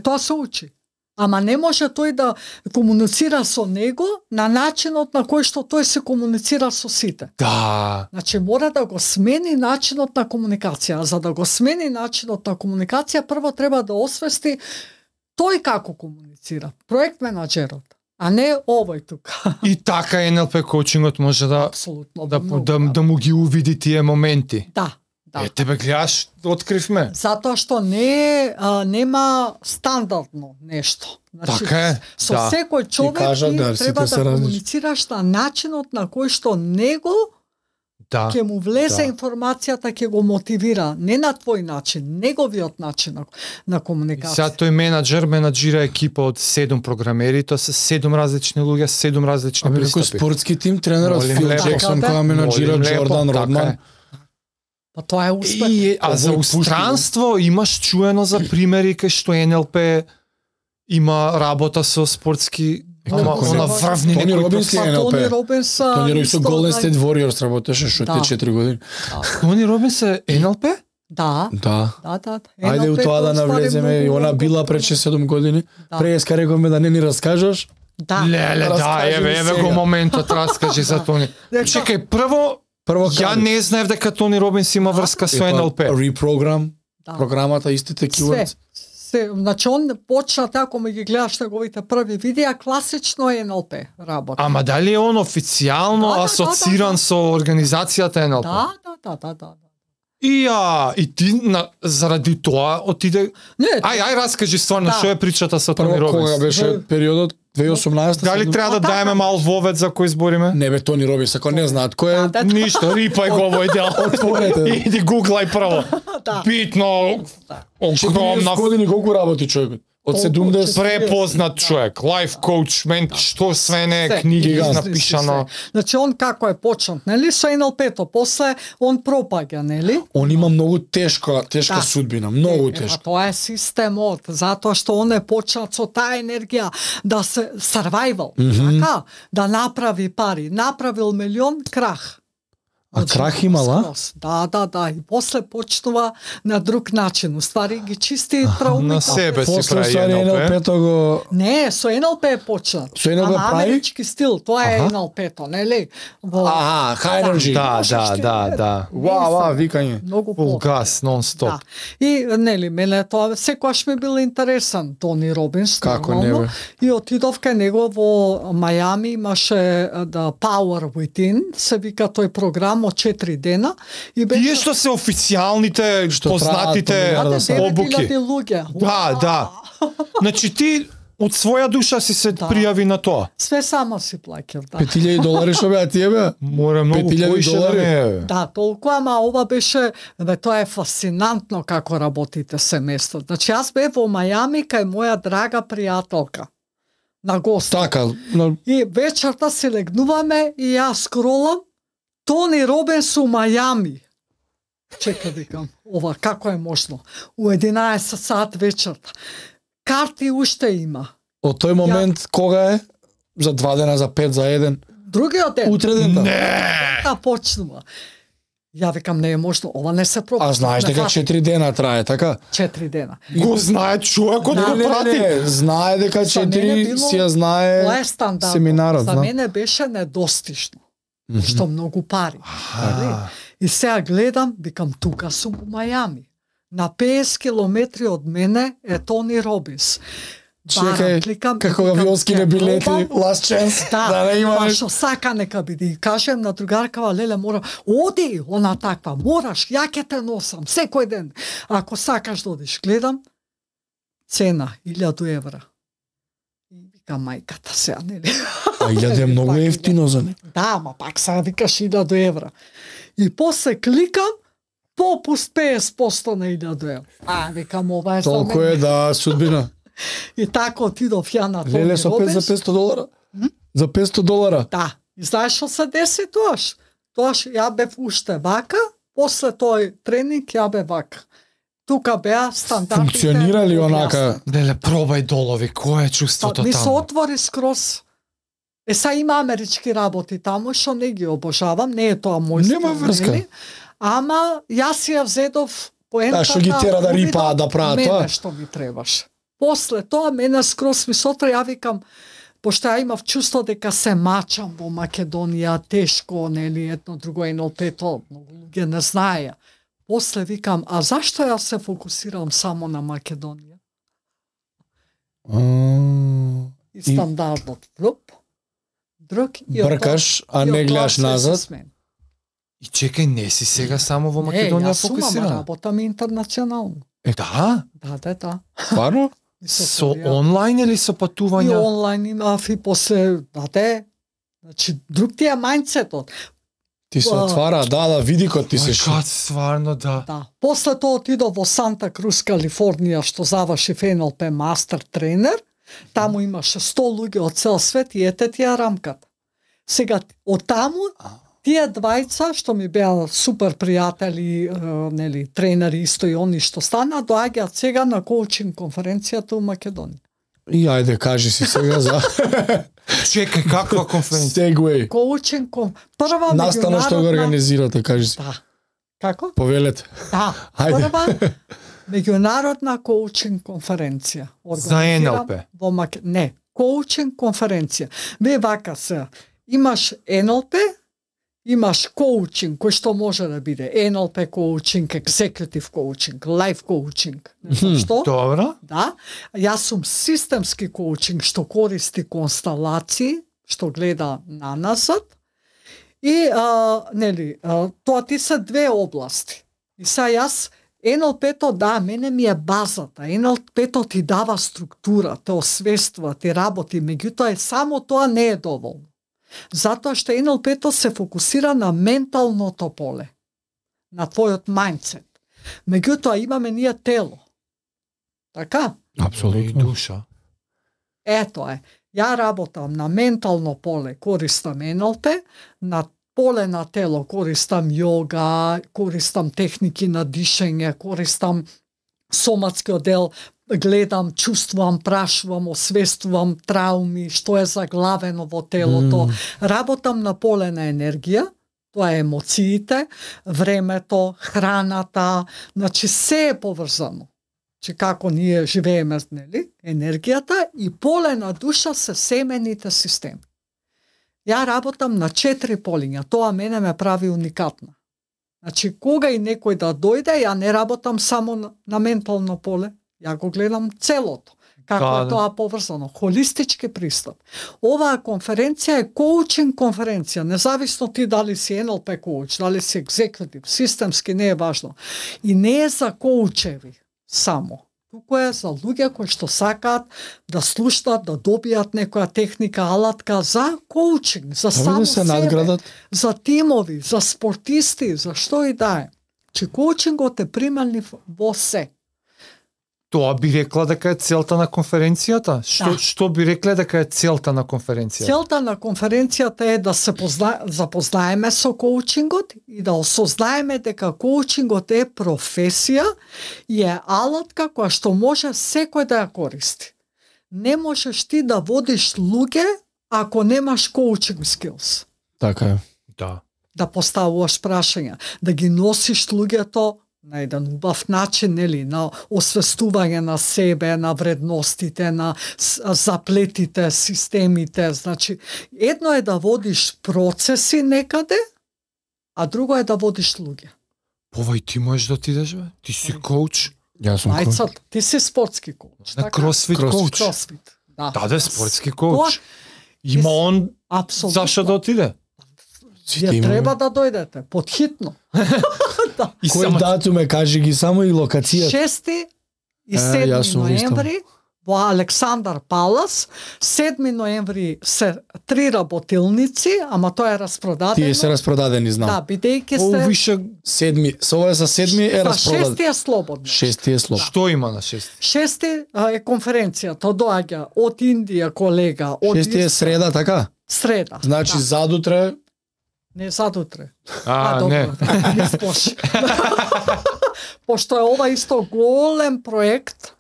Тоа се учи. Ама не може тој да комуницира со него на начинот на кој што тој се комуницира со сите. Да. Значи мора да го смени начинот на комуникација. За да го смени начинот на комуникација, прво треба да освести тој како комуницира. Проект менаџерот, а не овој тука. И така NLP коучингот може да апсолутно да му ги увиди тие моменти. Да. Тебе гледаш, откривме. Затоа што нема стандардно нешто. Значи, така е. Со секој човек ти треба да комуницираш на начинот на кој што него ќе му влезе информацијата, ќе го мотивира, не на твој начин, неговиот начин на комуникација. Сега тој менаџира екипа од 7 програмери, тоа се 7 различни луѓе, 7 различни пристапи. Некој спортски тим, тренерот Фил Джексон која менаџира Джордан Родман. Па тоа е успех. А за устранство имаш чуено за примери кај што NLP има работа со спортски на врвни Тони Робинс е NLP. Тони Робинс со Golden State Warriors работеше што те 4 години. Тони Робинс е NLP? Да. Ајде у тоа да навлеземе, и она била пред 6-7 години. Преска рековме да не ни раскажеш. Леле, да, еве го моментот, раскажи за Тони. Чекај, прво ја не знаев дека Тони Робинс има врска со NLP. Репрограм, програмата истите keywords. Значи он почна така, ме ги гледаш неговите први видеа, класично е NLP работа. Ама дали е он официјално асоциран со организацијата NLP? Да. И ти заради тоа отиде. Ај раскажи стварно што е причата со Тони Робинс. Кога беше периодот 2018? Дали треба да даеме мал вовед за кој збориме? Не бе, Тони Робинс, ако не знаат кој е, ништо, рипај го овој дел. Отворете. Иди гуглај прво. Битно, огромна. Години колку работи човекот? Од 70 препознат човек, лайф коуч, што све не книги напишано. Значи он како е почнат, нели, со NLP-то, после он пропаѓа, нели? Он има многу тешка судбина, многу тешка. Тоа е системот, затоа што он е почнат со таа енергија да се survival, така, да направи пари, направил милион, крах. А крах имала? Да. И после почнува на друг начин. Уствари ги чисти траумите. На себе си прави NLP-то го... Не, со NLP е почнат. Со NLP прави? Амерички стил, тоа е NLP-то, нели? High energy. Да. Вау, викање. Многу full gas, non-stop. Да. И, нели, мене тоа секогаш ми бил интересен, Тони Робинс. Како не бе? И отидов кај него во Мајами, имаше The Power Within, се вика тој програм од 4 дена. И Тие што се официјалните, познатите обуки. Да. Значи ти од своја душа си се пријави на тоа. Све само си плаќав, да. $5,000 што беа тие бе? Море многу поише да не е. Да, толку, ама ова беше, тоа е фасцинантно како работите семејство. Значи јас бев во Мајами кај моја драга пријателка на гост. Така, И вечерта се легнуваме и јас скролам Тони Робинс у Мајами. Чека, викам, ова како е можно? У 11 сат вечерта. Карти уште има. Од тој момент кога е? За 2 дена, за 5, за 1? Другиот ден. Утре ден. Да, почнува. Ја викам, не е можно, ова не се пробува. А знаеш дека 4 дена трае, така? 4 дена. Го знае човекот го прати. Знае дека 4 си ја знае тоа е стандард. семинарот. За мене беше недостижно. што многу пари. Нели? И сега гледам, викам, тука сум у Мајами. На 50 километри од мене е Тони Робинс. Чекај, како авионски билети, last chance, да не има па што сака нека биде. И кажем на другаркава, леле, мора, оди, она таква, мораш, ја ќе те носам, секој ден. Ако сакаш да одиш, гледам, цена, 1000 евра. И вика мајката сега, нели? А 1000 е многу ефтино за не. Да, ма пак сега викаш 1000 евра. И после кликам, попуст 50% на 1000 евра. Викам, ова е за Толку мене. е, да, судбина. И така отидов ја на Тони Леле, со Робинс. за $500? За $500? Да. И знаеш што се деси тоаш? Тоаш ја бев уште вака, после тој тренинг ја бев вака. Тука беа стандартите. Функционира ли онака? објаснати. Леле, пробај долови, кое е чувството Ми се таму? отвори скроз. Са има амерички работи таму, што не ги обожавам, не е тоа мој Нема стил, врска. нели? Ама јас ја взедов поентата. што ги тера да увидов рипаат да прават мене тоа? што ми требаше. После тоа мене скроз ми сотра ја викам, пошто ја имав чувство дека се мачам во Македонија, тешко, нели, едно друго НЛП-то, многу луѓе не знаеја. После викам, а зашто ја се фокусирам само на Македонија? И стандардот друг и Бркаш, а и не од тоа гледаш се назад? смени. И чекај, не си сега само во Македонија Не, јас сум, ама фокусирана? работам интернационално. Да? Да. Стварно? И Со Коrea. онлайн или со И патувања? онлайн имав и после, значи, друг ти е мајндсетот. Ти се отвара, да, видикот ти се Кад стварно, да. Да. После тоа отидов во Санта Крус, Калифорнија, што завршив НЛП мастер тренер. Таму имаше 100 луѓе од цел свет и ете ти ја рамката. Сега, од таму, тие двајца, што ми беа супер пријатели, нели, тренери исто и они што стана, доаѓаат сега на коучинг конференцијата у Македонија. И ајде, кажи си сега за Чекај, каква конференција? Segway. Коучинг прва Настана што го организирате, кажи си. Да. Како? Повелете. Да. Ајде. Прва меѓународна коучинг конференција. За НЛП? Во Не, коучинг конференција. Ве вака се. Имаш НЛП, имаш коучинг, кој што може да биде НЛП коучинг, executive коучинг, life коучинг. Не знам што? Добро. Да. Јас сум системски коучинг што користи констелации, што гледа на назад. И нели, тоа ти се две области. И са јас НЛП-то, да, мене ми е базата. НЛП-то ти дава структура, те освестува, ти работи, меѓутоа само тоа не е доволно. Затоа што НЛП-то се фокусира на менталното поле, на твојот мајндсет. Меѓутоа имаме ние тело. Така? И душа. Ето е. Ја работам на ментално поле, користам НЛП, на поле на тело користам јога, користам техники на дишење, користам соматскиот дел, гледам, чувствувам, прашувам, освестувам трауми, што е заглавено во телото. Работам на поле на енергија, тоа е емоциите, времето, храната, значи се е поврзано. Че како ние живееме, нели, енергијата и поле на душа се семените системи. Ја работам на 4 полиња, тоа мене ме прави уникатна. Значи, кога и некој да дојде, ја не работам само на ментално поле, ја го гледам целото. Како е тоа поврзано, холистички пристап. Оваа конференција е коучинг конференција, независно ти дали си НЛП коуч, дали си екзекутив, системски не е важно. И не е за коучеви само. Туку е за луѓе кои што сакаат да слушнат, да добијат некоја техника, алатка за коучинг, за само да се себе, надградат. за тимови, за спортисти, за што и да е. Че коучингот е примамлив во се. Тоа би рекла дека е целта на конференцијата? Што би рекле дека е целта на конференцијата? Целта на конференцијата е да се запознаеме со коучингот и да осознаеме дека коучингот е професија и е алатка која што може секој да ја користи. Не можеш ти да водиш луѓе ако немаш коучинг skills. Така е. Да. Да поставуваш прашања, да ги носиш луѓето на еден убав начин, нели, на освестување на себе, на вредностите, на заплетите, системите. Значи, едно е да водиш процеси некаде, а друго е да водиш луѓе. Ова и ти можеш да отидеш, бе? Ти си коуч. Јас сум коуч. Мајцата, ти си спортски коуч. На кросфит коуч. Кросфит. Да, спортски коуч. Има он Апсолутно. зашто да отиде? Вие треба да дојдете, подхитно. Да. И Кој само датум е, кажи ги само и локацијата. 6 и јас 7 сум во Истанбул. ноември во Александар Палас, 7 ноември се 3 работилници, ама тоа е распродадено. Тие се распродадени, знам. Да, бидејќи О, се више, Седми, со ова за седми е за распродаден. 6 е слободно. Шести е слоб. што има на 6? 6 е конференцијата, доаѓа од Индија колега, од Шести е среда, така? среда. Значи да. задутре Не задутре. Не. Не сплоши. Пошто е ова исто голем проект,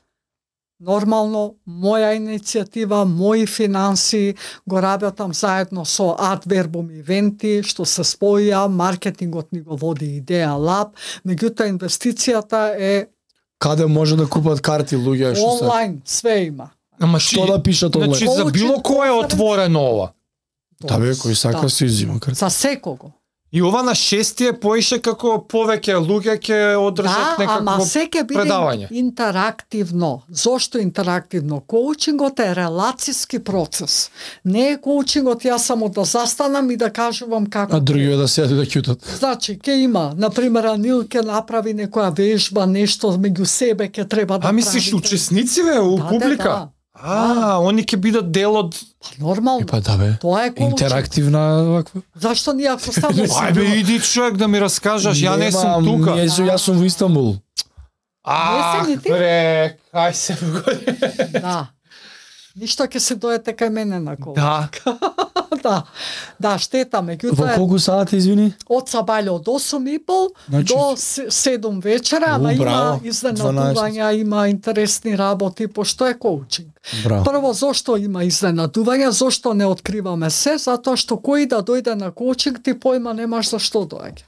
нормално, моја иницијатива, мои финанси, го работам заедно со Adverbum ивенти, што се споја, маркетингот ни го води Идеја Лаб, меѓутоа инвестицијата е каде може да купат карти луѓе што се. онлайн, све има. Ама Што да пишат онлайн? Значи, за било кој е отворено ова. Да бе, кој сака се изима карти. За секого. И ова на 6 е поише како повеќе луѓе ќе одржат Да, ама некакво се ќе биде предавање. интерактивно. Зошто интерактивно? Коучингот е релацијски процес. Не е коучингот јас само да застанам и да кажувам како. А другиве да седат и да ќутат. Значи, ќе има, например, Анил ќе направи некоја вежба, нешто меѓу себе ќе треба да мислиш правите. учесници бе, у Да, публика? да. Они ќе бидат дел од... Па нормално. Па да бе. Тоа е коучинг. Интерактивна ваква. Зашто ние ако само Ајде иди човек да ми раскажаш, ја не сум тука. Јас сум во Истанбул. А, Не си ни ти? бре, кај се вгоди. Да. Ништо ќе се доете кај мене на кола. Да. Да. Да, штета, Во меѓутоа е колку сати, извини? од сабаље од 8:30 Значи, до 7 вечера, ама има браво, изненадувања, има интересни работи, пошто е коучинг. Браво. Прво, зошто има изненадувања, зошто не откриваме се, затоа што кој да дојде на коучинг, ти појма немаш за што доаѓа.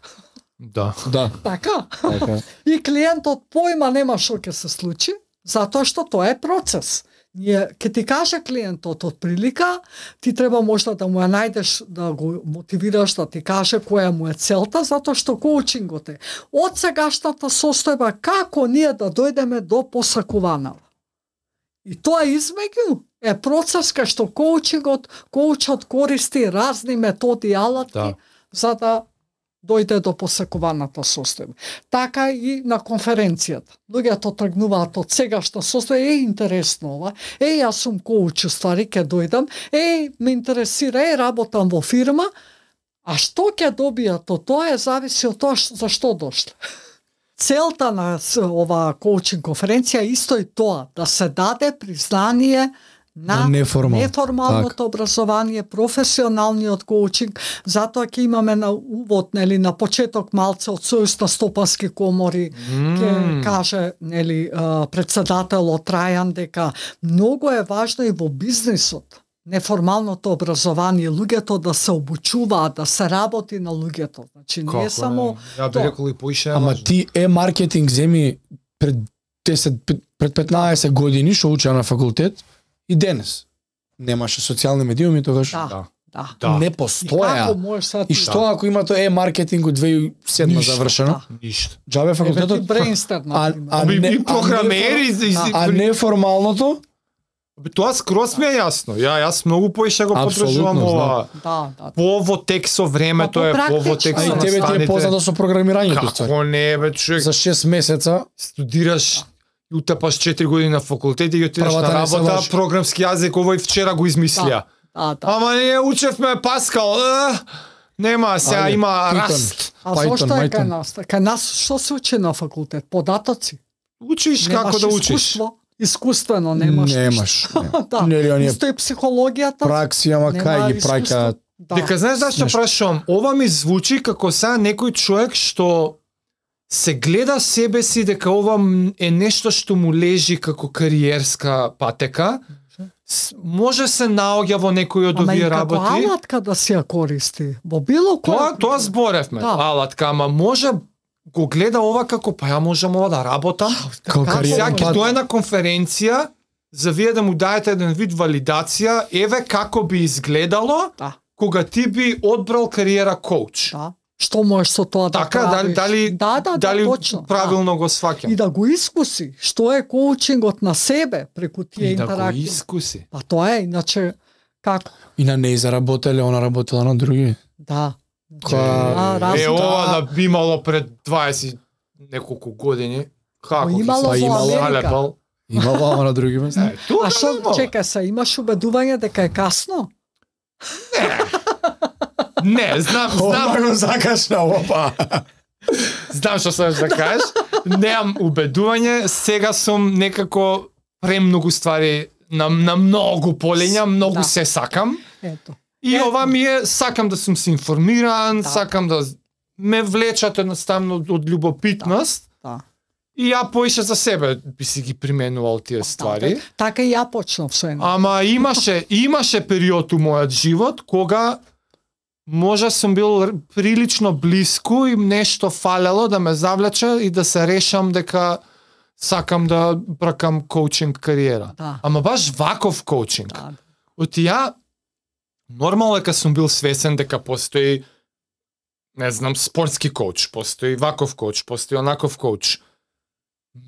Да. Да. Така? Така. И клиентот појма нема што ќе се случи, затоа што тоа е процес. Ние ќе ти каже клиентот од прилика, ти треба можда да му ја најдеш, да го мотивираш, да ти каже која му е целта, затоа што коучингот е од сегашната состојба како ние да дојдеме до посакуваната. И тоа измеѓу е процес кај што коучот користи разни методи и алатки Да. за да дојде до посакуваната состојба. Така и на конференцијата. Луѓето тргнуваат од сегашна состојба, интересно ова, јас сум коуч, ствари, ќе дојдам, ме интересира, работам во фирма, а што ќе добијат од тоа зависи од тоа за што дошле. Целта на ова коучинг конференција е исто и тоа, да се даде признание на неформалното образование, професионалниот коучинг, затоа ќе имаме на увод, нели, на почеток малце од Сојуз на стопански комори, ќе каже, нели, председателот Трајан дека многу е важно и во бизнисот неформалното образование, луѓето да се обучуваат, да се работи на луѓето. Значи не е само Ја би рекол и поише. Ама ти маркетинг земи пред 15 години што учеа на факултет и денес немаше социјални медиуми тогаш. Да. Не постоја. И што ако има тоа маркетинг од 2007 завршено? Ништо. Джабе факултетот. И програмери а неформалното? Тоа скроз ми е јасно. Јас многу поише го подржувам ова. Во тек со времето е, во тек со настаните. А и тебе ти е познато со програмирањето. Како не, бе, човек. За 6 месеца студираш и утепаш 4 години на факултет и отидеш на работа, програмски јазик, овој вчера го измислија. Ама ние учевме Паскал, нема, сега има Раст. А зошто е кај нас? Кај нас што се учи на факултет? Податоци. Учиш како да учиш. Искуствено немаш. Исто и психологијата. Пракси, ама кај ги праќаат. Дека знаеш зашто прашувам? Ова ми звучи како сега некој човек што се гледа себе си дека ова е нешто што му лежи како кариерска патека. Може се наоѓа во некој од овие работи. Ама и како алатка да си ја користи. Во било која. Тоа зборевме. Алатка, ама може го гледа ова како па ја можам ова да работам. Како Како кариера. Сега ќе дое на конференција за вие да му даете еден вид валидација, еве како би изгледало Да. кога ти би одбрал кариера коуч. Да. Што можеш со тоа да Така, правиш? дали точно. правилно го Да. сваќам? И да го искуси, што е коучингот на себе преку тие И да го интеракции. искуси. Па тоа е, иначе како? И на неј заработеле, она работела на други. Да. Која- Ова да би имало пред 20 неколку години. Како ќе имало се во Америка. залепал? Имала ама на други места. Тука А што, немало. чекај се, имаш убедување дека е касно? Не, знам, го закашна, опа. знам што сакаш да кажеш. Немам убедување, сега сум некако премногу ствари на многу полења, многу Да. се сакам. Ето. И Ето. ова ми е, сакам да сум се информиран, Да. сакам да ме влечат едноставно од љубопитност. Да. И ја поише за себе би си ги применувал тие ствари. Така и ја почнав со едно. Ама имаше период у мојот живот кога може сум бил прилично блиску и нешто фалело да ме завлече и да се решам дека сакам да бракам коучинг кариера. Да. Ама баш ваков коучинг. Да. Од ја нормално дека сум бил свесен дека постои не знам спортски коуч, постои ваков коуч, постои онаков коуч.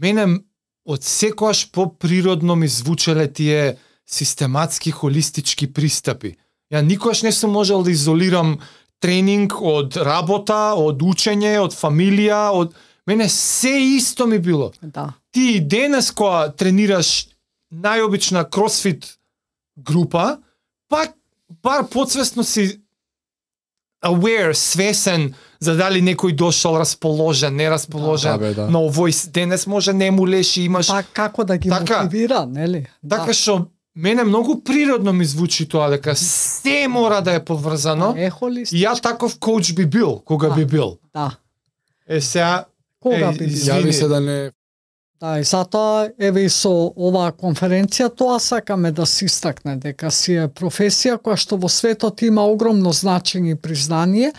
Мене од секојаш поприродно ми звучеле тие систематски холистички пристапи. Ја никогаш не сум можел да изолирам тренинг од работа, од учење, од фамилија, од мене се исто ми било. Да. Ти и денес кога тренираш најобична кросфит група, пак бар подсвесно си aware, свесен за дали некој дошол расположен, не расположен. Да, бе, да. Но овој денес може не му леши, имаш Па како да ги Така. мотивира, нели? така што мене многу природно ми звучи тоа дека се мора да е поврзано. Е холист. И ја таков коуч би бил кога Да. би бил. Да. Сега Кога би бил? Јави се да не Да, и затоа еве и со оваа конференција тоа сакаме да се истакне дека си е професија која што во светот има огромно значење и признание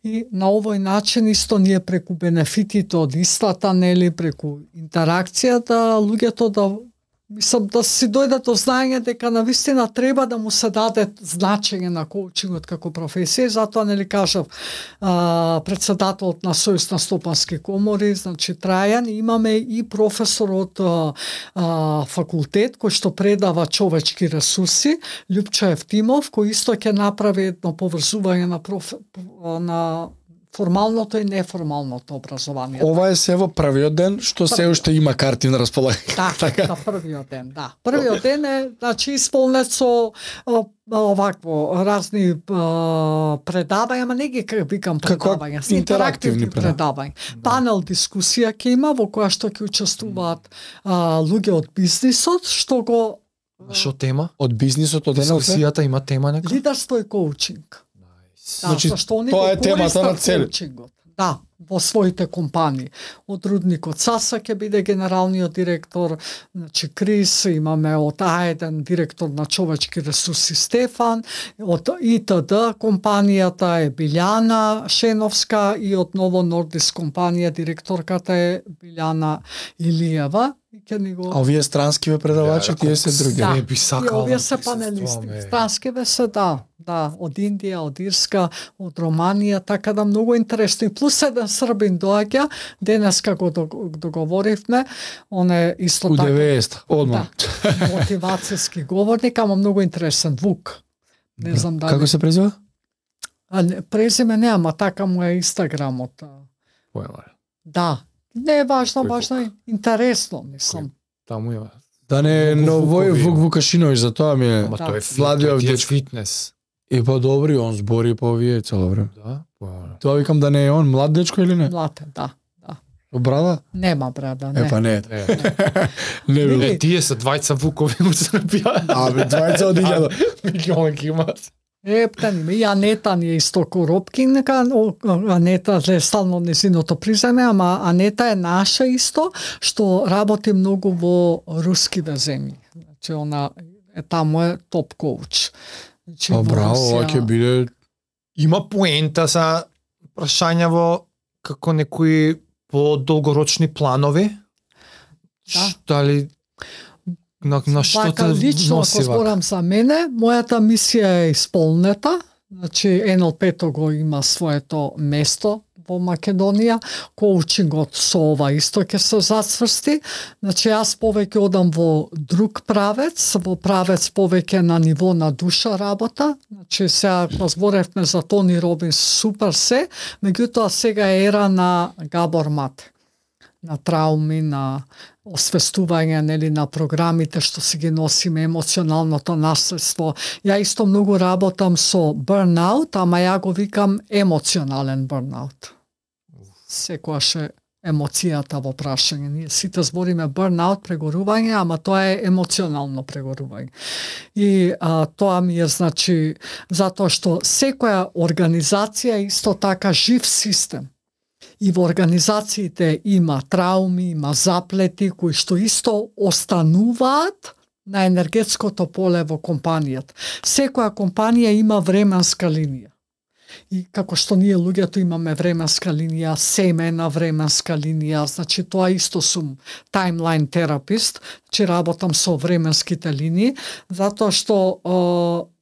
и на овој начин исто ние преку бенефитите од истата, нели, преку интеракцијата, луѓето мислам да си дојдат до знаење дека навистина треба да му се даде значење на коучингот како професија, затоа нели кажав председателот на Сојуз на стопански комори, значи Трајан, имаме и професор од факултет кој што предава човечки ресурси, Љупчо Евтимов, кој исто ќе направи едно поврзување на формалното и неформалното образование. Ова е се во првиот ден што се уште има карти на располагање. Така, на првиот ден, да. Првиот ден е, значи, исполнет со овакво разни предавања, ама не ги викам Како предавања, се интерактивни интерактивни предавања. Панел дискусија ќе има во која што ќе учествуваат луѓе од бизнисот, што го Што тема? Од бизнисот од НЛП. Дискусијата има тема нека? лидерство и коучинг. Да, Значи, зашто они тоа го е темата на користат цели. коучингот. Да, во своите компании. Од рудникот Саса ќе биде генералниот директор, значи Крис, имаме од А1 директор на човечки ресурси Стефан, од ИТД компанијата е Билјана Шеновска и од Ново Нордис компанија директорката е Билјана Илиева. И ќе ни го... А овие странскиве предавачи, тие се други. Да. Не би сакал И овие да се присуствувам, панелисти. е. Странскиве се да, од Индија, од Ирска, од Романија, така да многу интересно. И плюс еден србин доаѓа, денеска го договоривме, он е исто У така. 90, одма. Да, мотивацијски говорник, ама многу интересен, Вук. Не знам дали. Како се презива? Презиме не, ама така му е Инстаграмот. Да. Не е важно, Кој важно е интересно, мислам. Таму има. Да не е Многу новој Вукови Вук има. Вукашиновиќ, за тоа ми е. Ама Да. тој е Владиот тој е дечко. фитнес. И па добри, он збори по овие цело време. Да? Тоа викам да не е он млад дечко или не? Млад е, да. Со брада? Нема брада, не. Е па не. Не, Не бил. не, тие се двајца Вукови у Србија. Абе, двајца од 1000. Милион ги имат. Ептан и Анета ни е исто Коропкинка, Анета е стално незиното приземе, ама Анета е наша исто, што работи многу во рускиве земји. Значи, она е таму е топ коуч. Значи, Па во браво, Русија- ова ќе биде Има поента за прашања во како некои долгорочни планови? Да. Дали на што Вака, те лично, носи ако вака? зборам за мене, мојата мисија е исполнета. Значи, НЛП-то го има своето место во Македонија, коучингот со ова исто ќе се зацврсти. Значи, јас повеќе одам во друг правец, во правец повеќе на ниво на душа работа. Значи, сега зборевме за Тони Робинс, супер се, меѓутоа сега е ера на Габор Мате, на трауми, на освестување, нели, на програмите што си ги носиме, емоционалното наследство. Ја исто многу работам со burnout, ама ја го викам емоционален burnout. Секогаш е емоцијата во прашање. Ние сите збориме burnout, прегорување, ама тоа е емоционално прегорување. И тоа ми е, значи, затоа што секоја организација е исто така жив систем. И во организациите има трауми, има заплети кои што исто остануваат на енергетското поле во компанијата. Секоја компанија има временска линија. И како што ние луѓето имаме временска линија, семена временска линија, значи тоа исто сум таймлайн терапист, че работам со временските линии, затоа што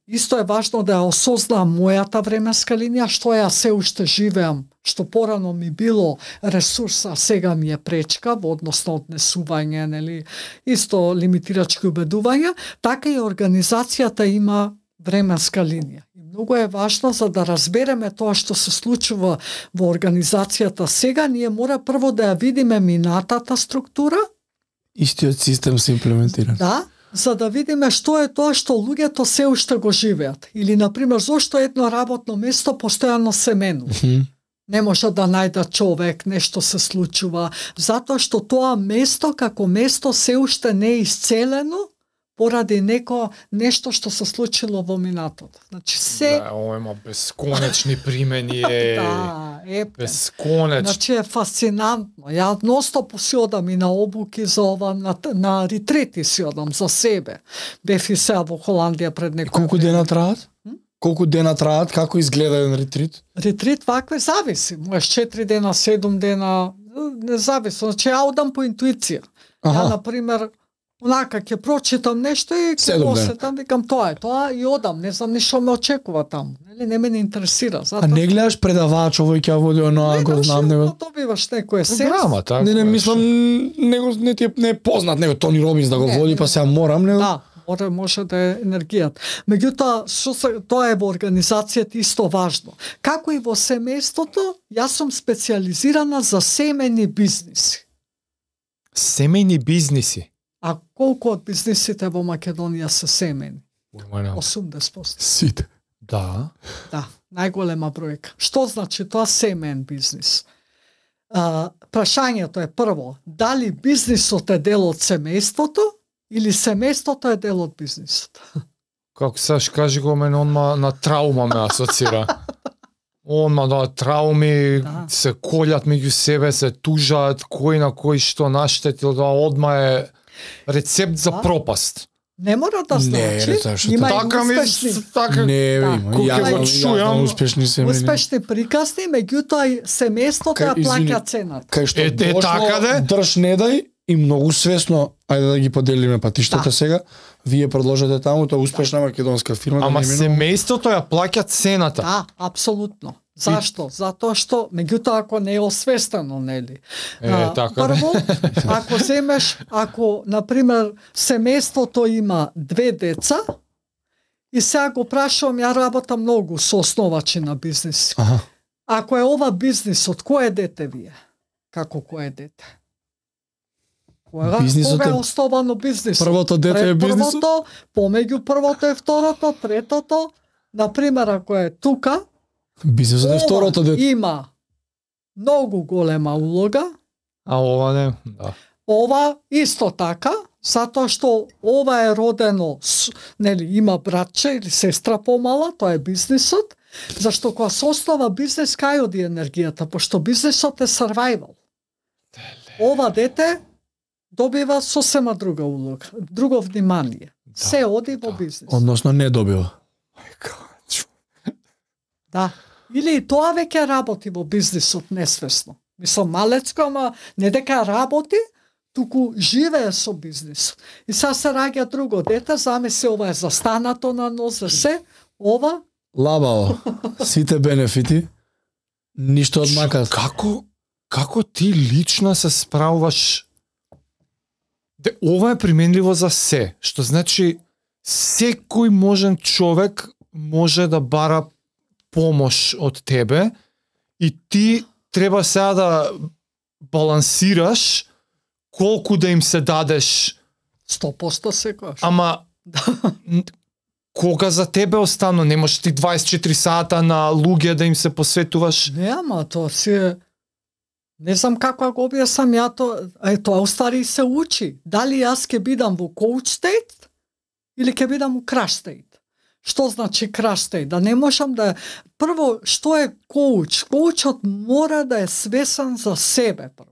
исто е важно да ја осознам мојата временска линија, што ја се уште живеам, што порано ми било ресурс, а сега ми е пречка во однос на однесување, нели, исто лимитирачки убедувања, така и организацијата има временска линија. И многу е важно за да разбереме тоа што се случува во организацијата сега, ние мора прво да ја видиме минатата структура. Истиот систем се имплементира. Да, за да видиме што е тоа што луѓето се уште го живеат. Или, например, зошто едно работно место постојано се менува. Не може да најде човек, нешто се случува, затоа што тоа место како место се уште не е исцелено поради нешто што се случило во минатото. Значи се Да, ова има бесконечни примени, да, бесконечно. Значи е фасцинантно. Ја ностоп си одам и на обуки за ова, на ретрити си одам за себе. Бев и сега во Холандија пред некој Колку дена траат? Колку дена траат? Како изгледа еден ретрит? Ретрит вакве зависи. Можеш 4 дена, 7 дена, не зависи. Значи ја одам по интуиција. Ја, например, онака ќе прочитам нешто и ќе Седум осетам, викам тоа е тоа и одам, не знам ни што ме очекува таму. Нели, не ме не интересира. А не гледаш предавач, овој ќе води оноа, го знам него. Добиваш некој Програма, така. Не мислам, него не ти не е познат, него Тони Робинс да го води, па сега морам, него. Да, може да е енергијата. Меѓутоа, тоа е во организацијата исто важно. Како и во семејството, јас сум специјализирана за семени бизниси. Семејни бизниси. А колку од бизнисите во Македонија се семени? 80%. Сите. Да. Да, најголема бројка. Што значи тоа семен бизнис? Прашањето е прво, дали бизнисот е дел од семејството или семејството е дел од бизнисот? Како саш кажи го мене, онма на траума ме асоцира. Онма да трауми се колјат меѓу себе, се тужаат, кој на кој што наштетил, да одма е рецепт за пропаст. Не мора да значи, има и успешни. Така, не, има. Ја успешни семени. Успешни приказни, меѓутоа семејството ја плаќа цената. Кај што дошло, така де? Држ не дај и многу свесно, ајде да ги поделиме патиштата сега, вие продолжете таму, тоа е успешна македонска фирма. Ама семејството ја плаќа цената. Да, апсолутно. Зашто? Затоа што, меѓутоа, ако не е освестено, нели? Така. Прво, ако земеш, например, семејството има 2 деца, и сега го прашувам, ја работам многу со основачи на бизнис. Ако е ова бизнисот, кој е дете вие? Како кој е дете? Кога е основано бизнисот? Првото дете е бизнисот? Првото, помеѓу првото и второто, третото, например, ако е тука, бизнисот е второто дете. Има многу голема улога. А ова не, да. Ова исто така, затоа што ова е родено, нели, има братче или сестра помала, тоа е бизнисот, зашто кога се основа бизнис, кај оди енергијата, пошто бизнисот е survival. Ова дете добива сосема друга улога, друго внимание. Се оди во бизнис. Односно не добива. Да. Или и тоа веќе работи во бизнисот несвесно. Мислам, малецко, ама не дека работи, туку живее со бизнис. И сега се раѓа друго дете, замисли ова е застанато на нозе се, ова Лабаво. Сите бенефити, ништо од макас. Како ти лично се справуваш? Ова е применливо за се, што значи секој можен човек може да бара помош од тебе и ти треба сега да балансираш колку да им се дадеш 100% секојаш. Ама кога за тебе остано? Не можеш ти 24 сата на луѓе да им се посветуваш? Не, ама тоа си е... Не знам како го објаснам ја тоа устари се учи. Дали јас ќе бидам во coach state или ќе бидам во crash state? Што значи crash state? Да не можам да... Прво, што е коуч? Коучот мора да е свесен за себе прво.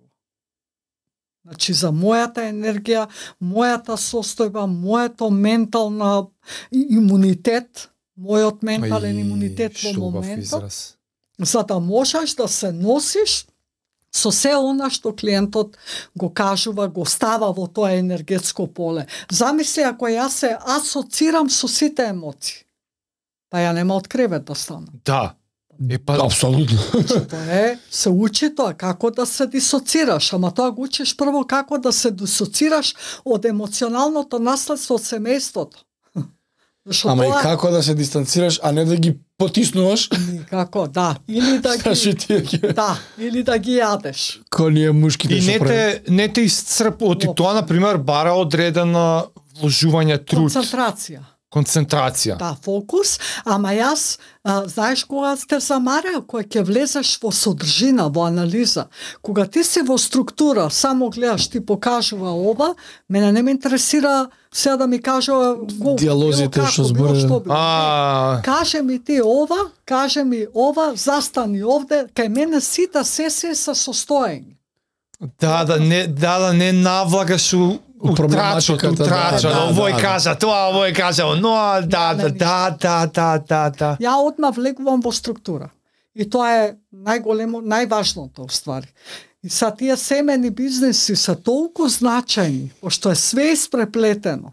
Значи за мојата енергија, мојата состојба, моето ментална имунитет, мојот ментален имунитет во моментот, за да можеш да се носиш со се она што клиентот го кажува, го става во тоа енергетско поле. Замисли ако јас се асоцирам со сите емоции, па ја нема од кревет да станам. Да. Апсолутно. Тоа се учи тоа, како да се дисоцираш, ама тоа го учиш прво како да се дисоцираш од емоционалното наследство од семејството. Ама и како да се дистанцираш, а не да ги потиснуваш? Како, да. Или да ги... Да, или да ги јадеш. Ко ние мушките што прави. И не те исцрпува. И тоа, например, бара одредена вложување труд. Концентрација. Да, фокус, ама јас, знаеш кога те замара, кога ќе влезеш во содржина, во анализа, кога ти си во структура, само гледаш, ти покажува ова, мене не ме интересира сега да ми кажува диалозите што зборува. Каже ми ти ова, каже ми ова, застани овде, кај мене сите сесии се состојање. Да не навлагаш утрачот, овој кажа тоа, овој кажа оно, да. Ја одма влегувам во структура. И тоа е најважното уствари. И са тие семени бизнеси се толку значајни, пошто е све испреплетено.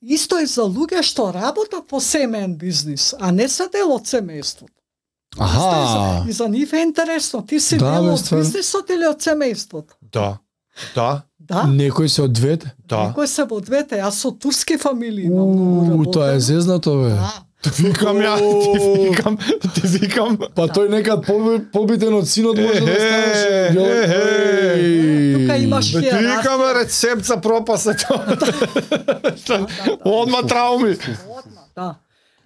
Исто и за луѓе што работат во семен бизнис, а не се дел од семејството. И за нив е интересно, ти си дел од бизнисот или од семејството? Да. Некој се од двете? Да. Некој се од двете, јас со турски фамилии имам. Тоа е зезнато, бе. Ти викам. Па тој некад побитен од синот може да станеш. Тука имаш хиерархија. Ти викаме рецепт за пропасето. Одма трауми. Да.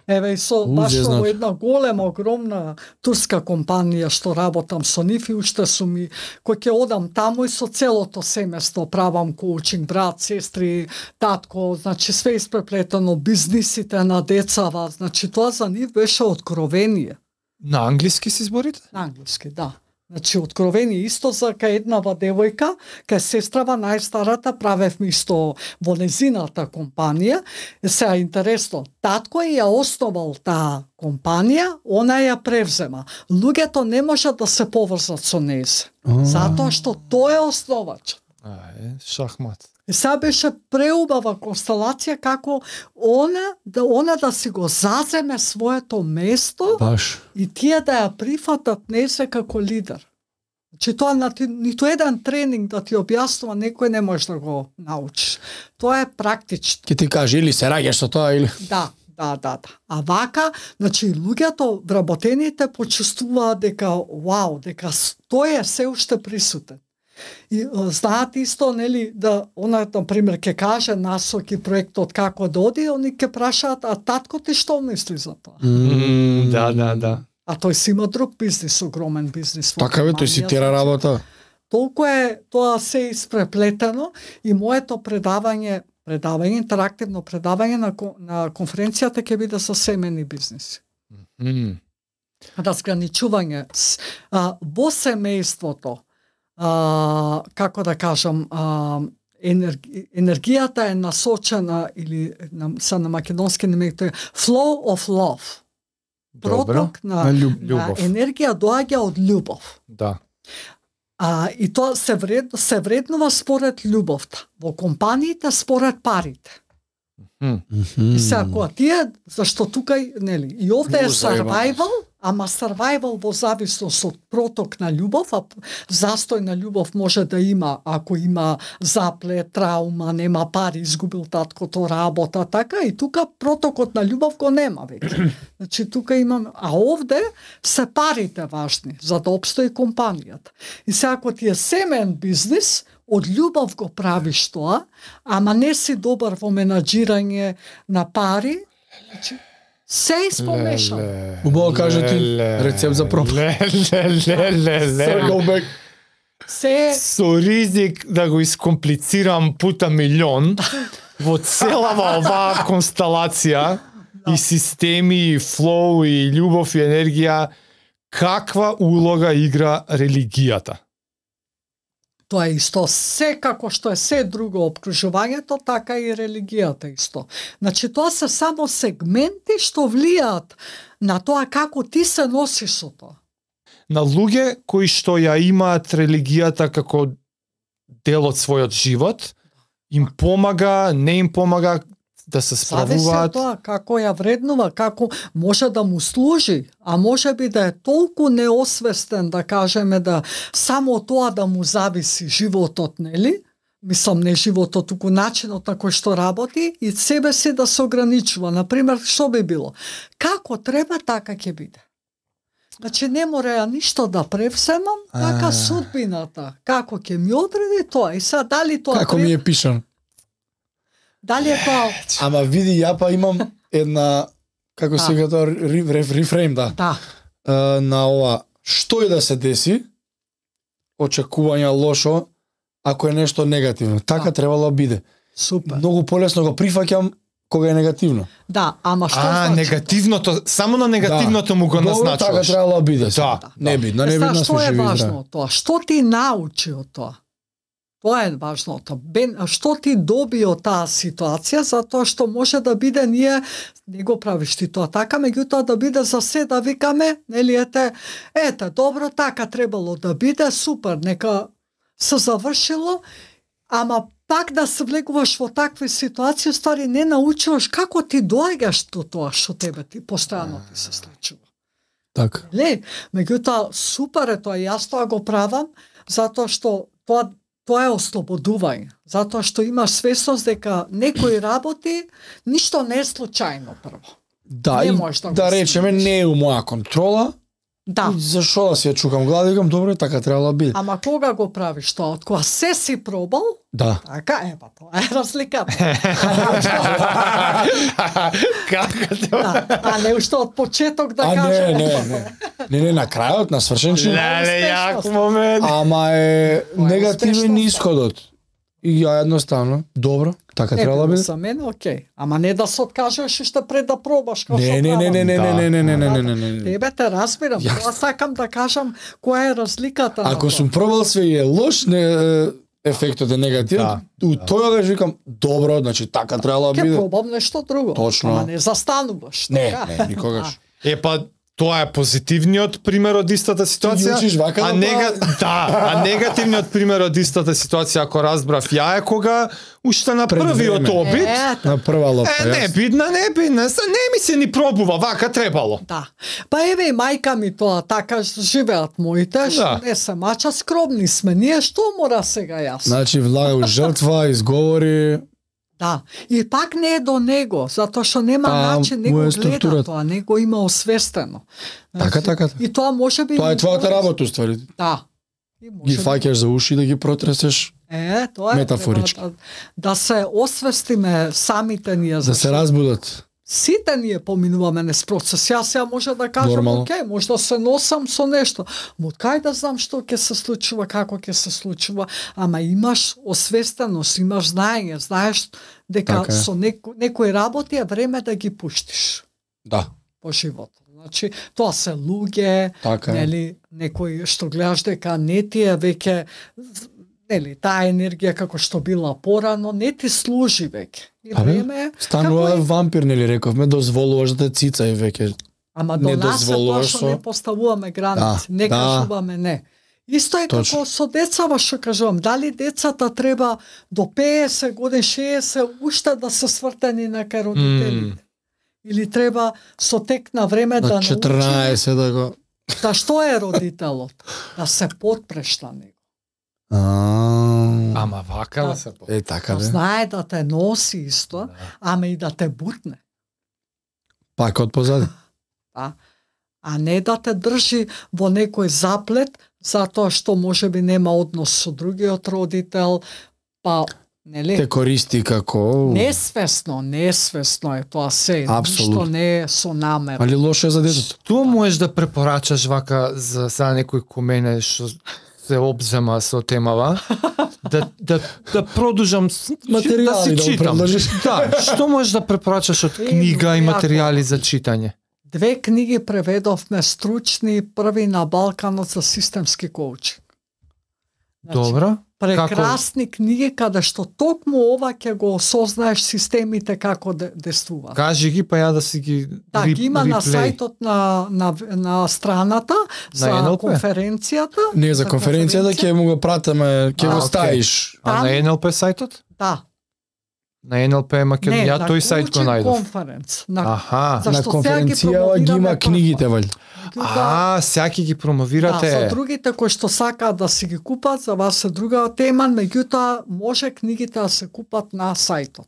Еве и со баш во една голема, огромна турска компанија што работам со нив и уште сум и кој ќе одам таму и со целото семејство правам коучинг, брат, сестри, татко, значи све испреплетено, бизнисите на децава, значи тоа за нив беше откровение. На англиски си зборите? На англиски, да. Значи, откровение исто за кај еднава девојка, кај сестрава најстарата, правевме исто во незината компанија. Сега интересно, татко ја основал таа компанија, она ја превзема. Луѓето не можат да се поврзат со нејзе, затоа што тој е основач. Шахмат. И сега беше преубава констелација како она да си го заземе своето место и тие да ја прифатат нејзе како лидер. Значи тоа ниту еден тренинг да ти објаснува некој не може да го научиш. Тоа е практично. Ке ти каже или се раѓаш со тоа или... Да. А вака, значи луѓето вработените почувствуваат дека дека тој е се уште присутен. И знаат исто, нели, да она, например, ќе каже насоки проектот како да оди, они ќе прашаат, а татко ти што мисли за тоа? Да. А тој си има друг бизнис, огромен бизнис. Така бе, тој си тера работа. Толку е тоа се испреплетено и моето предавање, интерактивно предавање на конференцијата ќе биде за семени бизниси. Разграничување во семејството. Како да кажам, енергијата е насочена или на македонски немекте flow of love. Проток на енергија доаѓа од љубов. Да. И тоа се вреднува според љубовта. Во компаниите според парите. И сега, кога тие, зашто тука, нели, и овде е survival, ама survival во зависност од проток на љубов, а застој на љубов може да има ако има заплет, траума, нема пари, изгубил таткото работа, така, и тука протокот на љубов го нема веќе. Значи, тука имаме, а овде се парите важни, за да обстои компанијата. И сега, ако ти е семен бизнис, од љубов го правиш тоа, ама не си добар во менаџирање на пари, значи, се испомешал. Убаво кажа ти рецепт за пропаст. Се Со ризик да го искомплицирам пута милион, во целава оваа констелација и системи, и флоу, и љубов, и енергија, каква улога игра религијата? Тоа е исто, се како што е се друго обкружувањето, така и религијата исто. Значи, тоа се само сегменти што влијаат на тоа како ти се носиш со тоа. На луѓе кои што ја имаат религијата како дел од својот живот, им помага, не им помага да се Зависи од справуваат? тоа како ја вреднува, како може да му служи, а може би да е толку неосвестен, да кажеме, да само тоа да му зависи животот, нели? Мислам, не животот, туку начинот на кој што работи и себе си да се ограничува. Например, што би било? Како треба, така ќе биде. Значи, не мора ја ништо да превземам, така судбината. Како ќе ми одреди тоа? И сега, дали тоа Како ми е пишан. Дали е тоа... Ама види, ја па имам една, како сега тоа, рефрейм, да. Да. На ова, што и да се деси, очекувања лошо, ако е нешто негативно. Така требало да биде. Супер. Многу полесно го прифаќам кога е негативно. Да, ама што значи? Негативното, само на негативното му го Добро, така назначуваш. требало да биде. Да. Небитно, Сега, небитно што сме е живи и важно здрави. од тоа? Што ти научи од тоа? Тоа е важното. Што ти доби од таа ситуација, затоа што може да биде ние не го правиш ти тоа така, меѓутоа да биде за се да викаме, нели ете, добро, така требало да биде, супер, нека се завршило, ама пак да се влегуваш во такви ситуации, ствари не научуваш како ти доаѓаш до тоа што тебе ти постојано ти се случува. Така. Не, меѓутоа супер е тоа, јас тоа го правам, затоа што тоа е ослободување, затоа што имаш свесност дека некои работи ништо не е случајно прво. Да, Не и можеш да го да речеме, снимаш. не е у моја контрола. Да. И зашо да си ја чукам глава, викам, добро, така требало да биде. Ама кога го правиш тоа, од кога се си пробал, Да. така па тоа е разликата. Како Да, а не уште од почеток да А кажем. не, на крајот, на свршен чин. Леле, јак момент. Ама е Тоа е негативен успешноста. исходот. И ја едноставно, добро, така Не требало да било биде. за мене, окей. Ама не да се откажеш уште пред да пробаш. како Не, што не, правам. не. Тебе те разбирам, тоа сакам да кажам која е разликата. на Ако тоа. сум пробал све и е лош, ефектот е негативен, у тој викам, добро, значи така требало да Ке биде. пробам нешто друго. Точно. Ама не застануваш. Не, така? никогаш. Па тоа е позитивниот пример од истата ситуација. Ти учиш вака да а негативниот пример од истата ситуација, ако разбрав ја, е кога уште на Пред првиот време. обид, На прва лопта, не бидна, не ми се ни пробува, вака требало. Да. Па еве и мајка ми тоа, така живеат моите, Да. не се мача, скромни сме. Ние што мора сега јас? Значи, влага жртва, изговори, Да. И пак не е до него, затоа што нема начин, не му го е гледа структурата. тоа, не го има освестено. Така. И тоа може би... Тоа е твојата работа, уствари. Да. И Ги може би- фаќаш за уши да ги протресеш, Тоа е. метафорички. треба да се освестиме самите ние. да се разбудат. Сите ние поминуваме нез процес. Јас ја може да кажам, Нормално. окей, може да се носам со нешто. Од кај да знам што ќе се случува, како ќе се случува, ама имаш освестеност, имаш знаење, знаеш дека Така е. со некои работи е време да ги пуштиш Да, по животот. Значи, тоа се луѓе, така е. нели, некои што гледаш дека не ти е веќе, нели, таа енергија како што била порано, не ти служи веќе. И Абе, време е, Станува како е- вампир, нели рековме, дозволуваш да те цица и веќе. Ама до не нас е тоа дозволуваш што со- не поставуваме граници, Да, не да. кажуваме не. Исто е Точно. како со децава што кажувам, дали децата треба до 50 години, 60 уште да се свртени на кај родителите. Или треба со тек на време да На научи 14 да го... да што е родителот, да се подпреш на него. Ама вака да се Е, така Да да. знае да те носи исто, ама и да те бутне. Пак од позади. А не да те држи во некој заплет, затоа што можеби нема однос со другиот родител, па нели? Те користи како... Несвесно е тоа се, Апсолутно. ништо не е со намера. Али лошо е за детето. Што можеш да препорачаш вака за сега некој ко мене што се обзема со темава? Да продолжам Материјали да си да читам. предложиш. Да, што можеш да препорачаш од книга и материјали за читање? 2 книги преведовме стручни, први на Балканот за системски коучинг. Добро. Прекрасни книги каде што токму ова ќе го осознаеш системите како действуваат. Кажи ги па ја да си ги Да, ги има на реплей. сајтот на страната за NLP? конференцијата. Не, за конференцијата ќе му го пратиме, ќе го окей. ставиш. А Там- на NLP сајтот? Да. На NLP Македонија, на тој сајт го Coaching најдов. Conference. На, Аха. Зашто На сега ги конференцијава ги има промовираме книгите, валјда. Сега ќе ги Да, промовирате. со другите кои што сакаат да си ги купат, за вас е друга тема, меѓутоа може книгите да се купат на сајтот.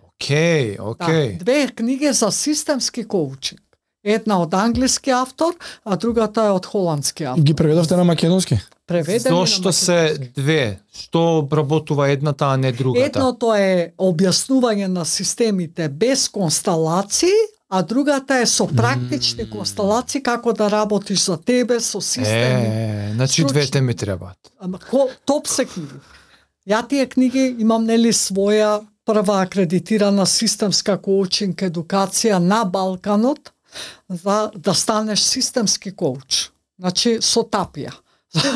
Океј, Да, океј. 2 книги за системски коучинг. Една од англиски автор, а другата е од холандски автор. Ги преведовте на македонски? Преведени на Зошто се две? Што обработува едната, а не другата? Едното е објаснување на системите без констелации, а другата е со практични констелации како да работиш за тебе со системи. Значи Стручни. двете ми требаат. Ама топ се книги. Ја тие книги имам нели своја прва акредитирана системска коучинг едукација на Балканот за да станеш системски коуч. Значи со тапија.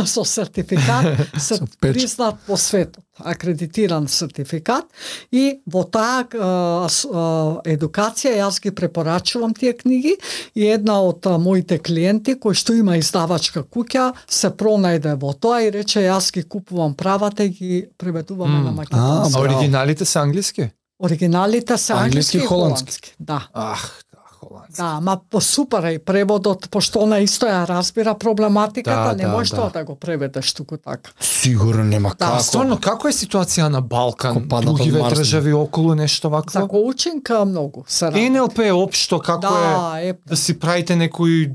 Со сертификат, печат. признат по светот, акредитиран сертификат и во таа едукација јас ги препорачувам тие книги и една од моите клиенти кој што има издавачка куќа се пронајде во тоа и рече јас ги купувам правата и ги преведуваме на македонски. А оригиналите се англиски? Оригиналите се англиски и холандски. Да. Ах, холандски. Да, ама по супер е и преводот, пошто она исто ја разбира проблематиката, не можеш тоа да го преведеш туку така. Сигурно нема како. Стварно, како е ситуација на Балкан, Како паднат од другиве Марс? држави околу нешто За вакво? коучинг многу се работи. НЛП е општо, како е да си правите некои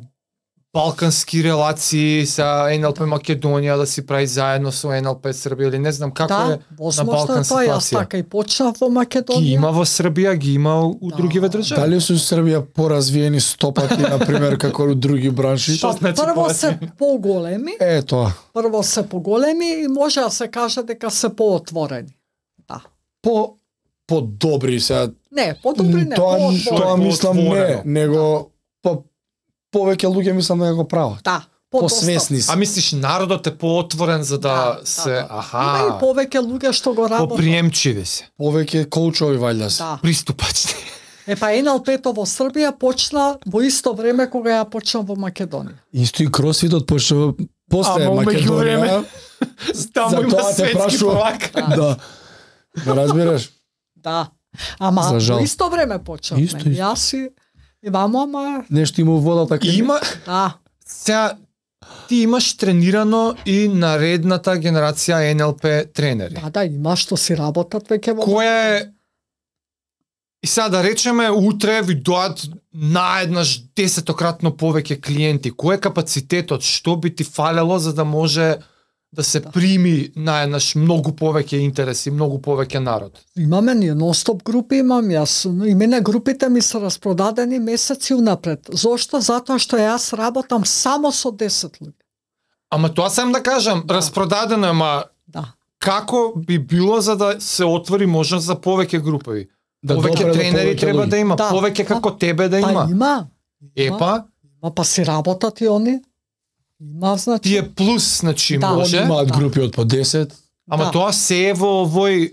балкански релации со НЛП Македонија, да си прави заедно со НЛП Србија или не знам како да, е на возможно е Балкан тоа, јас ситуација. така и почнав во Македонија. Ги има во Србија, ги има у другиве држави. Дали се Србија поразвиени стопати, например, како у други бранши? Што значи Прво се поразвиени? поголеми, Е, тоа. прво се поголеми и може да се каже дека се поотворени. Да. По-добри сега. Не, подобри не, Тоа поотворени. мислам не, Отворено. него повеќе луѓе мислам да го прават. Да, Посвесни се. А мислиш народот е поотворен за да Да, се, да. Има и аха, повеќе луѓе што го работат. поприемчиви се, Повеќе коучови валјда се. Да. приступачни. Па НЛП-то во Србија почна во исто време кога ја почнав во Македонија. Исто и кросфитот почнува после Ама, меѓу време. Македонија. Таму има Затоа те светски прашувам. prvак. Да. Не разбираш? Да. Ама За жал. во исто време почнавме. Исто. Јас и имам, ама Нешто има у водата кај Има, да. сега, ти имаш тренирано и наредната генерација НЛП тренери. Да, има што си работат веќе во Која е И сега да речеме, утре ви доаат наеднаш 10-кратно повеќе клиенти. Кој е капацитетот? Што би ти фалело за да може да се прими наеднаш многу повеќе интереси, многу повеќе народ? Имаме ние нон-стоп групи, имам јас. И мене групите ми се распродадени месеци унапред. Зошто? Затоа што јас работам само со 10 луѓе. Ама тоа сам да кажам, распродадено, ама Да. како би било за да се отвори можност за повеќе групи? Да Повеќе допре до тренери повеќе треба луѓе. да има, Да. повеќе како тебе да Па има. има. Епа, Па си работат и они. Има, значи. тие плюс, значи Да, може. Имаат Да. групи од по 10. Ама Да. тоа се е во овој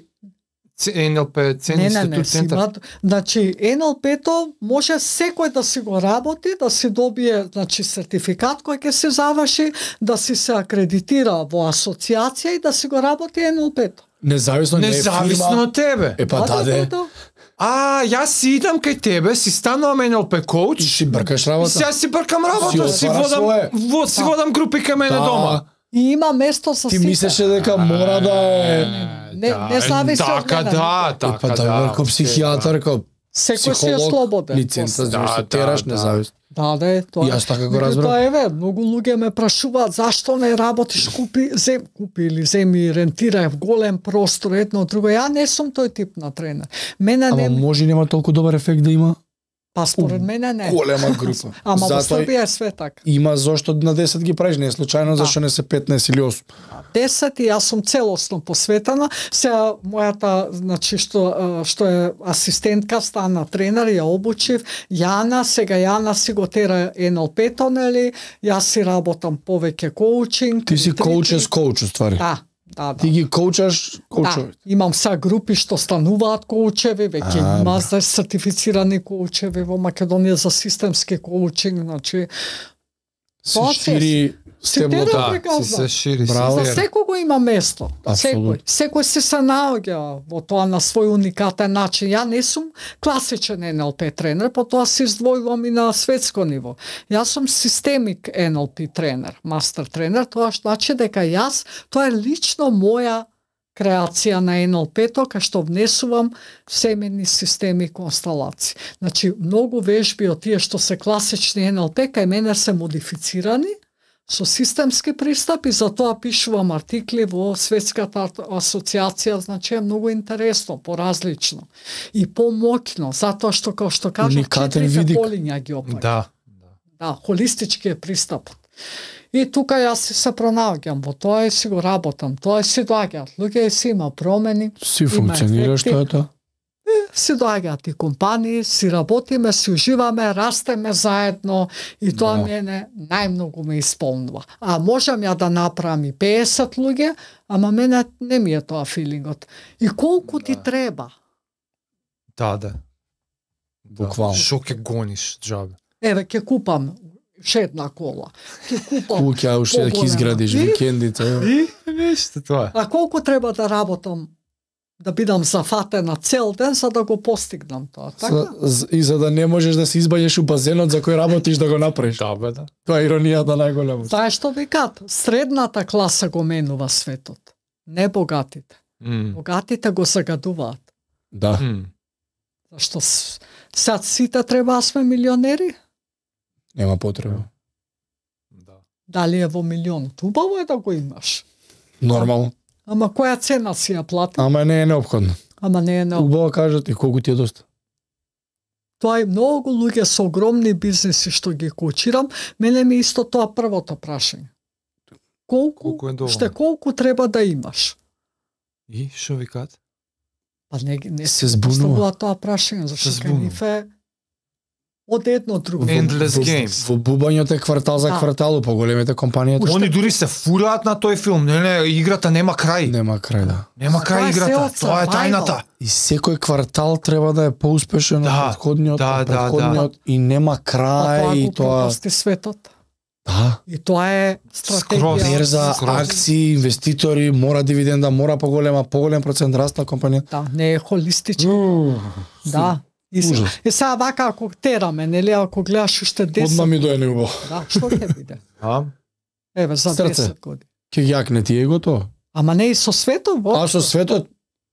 НЛП, институт, центар. Значи, НЛП-то може секој да си го работи, да си добие, значи, сертификат кој ќе се заврши, да си се акредитира во асоциација и да си го работи НЛП-то. Независно од тебе. Па даде. Јас си идам кај тебе, си станувам НЛП коуч. И си бркаш работа. Сега си бркам работа, си водам групи кај мене дома. И има место за Ти мислеше дека мора да е... Не зависи од мене. Така, да. Како психијатар, како секој си е слободен. Лиценца за тераш независно. Да, тоа. Јас така го разбрав. Тоа еве, многу луѓе ме прашуваат зашто не работиш, купи или земи, рентирај голем простор, едно друго. Ја не сум тој тип на тренер. Мене не може нема толку добар ефект да има. Па според мене не. Голема група. Ама во Србија е све така. Има зошто на 10 ги правиш, не е случајно зашто не се 15 или 8. 10 и јас сум целосно посветена. Сега мојата, значи што е асистентка, стана тренер, ја обучив. Јана, сега Јана си го тера НЛП-то, нели? Јас си работам повеќе коучинг. Ти си коучес коуч, ствари. Да. Ти ги коучаш коучови. Да, имам сега групи што стануваат коучеви, веќе има сертифицирани коучеви во Македонија за системски коучинг, значи се шири стеблото. Се шири. Браво. За секого има место. Секој се наоѓа во тоа на свој уникатен начин. Ја не сум класичен НЛП тренер, потоа се издвојувам и на светско ниво. Јас сум системик НЛП тренер, мастер тренер, тоа значи дека јас, тоа е лично моја креација на НЛП-то, кај што внесувам семени системи и констелации. Значи, многу вежби од тие што се класични НЛП, кај мене се модифицирани, со системски пристап и затоа пишувам артикли во Светската асоциација, значи е многу интересно, поразлично и помоќно, затоа што како што кажав, четирите полиња ги опаѓа. Да, холистички е пристапот. И тука јас се пронаоѓам во тоа и си го работам, тоа си доаѓаат луѓе и си има промени, си функционира што е тоа? Си доаѓаат и компании, си работиме, си уживаме, растеме заедно и тоа мене најмногу ме исполнува. А можам ја да направам и 50 луѓе, ама мене не ми е тоа филингот. И колку ти треба? Да. Буквално. Шо ќе гониш, џабе? Еве, ќе купам шедна кола. Ќе купам куќа, уште да ќе изградиш викендите. И нешто тоа. А колку треба да работам да бидам зафатена цел ден за да го постигнам тоа, така? И за да не можеш да се избаѓаш у базенот за кој работиш да го направиш. Да, бе, да. Тоа е иронијата најголема. Знаеш што викаат? Средната класа го менува светот, не богатите. Богатите го загадуваат. Да. Зашто сега сите треба да сме милионери? Нема потреба. Да. Дали е во милионот? Убаво е да го имаш. Нормално. Ама која цена си ја плати? Ама не е неопходно. Убаво кажат и колку ти е доста. Тоа е многу луѓе со огромни бизнеси што ги коучирам, мене ми исто тоа првото прашање. Колку треба да имаш? И што викаат? Па не се збунува тоа прашање, зашто кај нив е од едно друго. Endless game. Во бубањето е квартал за квартал, по големите компании. Они дури се фураат на тој филм. Не, играта нема крај. Нема крај, да. Нема крај играта. Тоа е тајната. И секој квартал треба да е поуспешен од претходниот и нема крај и тоа пропусти светот. Да. И тоа е стратегија. Берза, акции, инвеститори, мора дивиденда, мора поголем процент раст на компанијата. Да, не е холистички. Да. И сега вака ако тераме, нели, ако гледаш уште 10... Одма ми дојде убаво. Да, што ќе биде? Еве, за 10 години. Ке јакне ти его тоа? Ама не и со светот, А со светот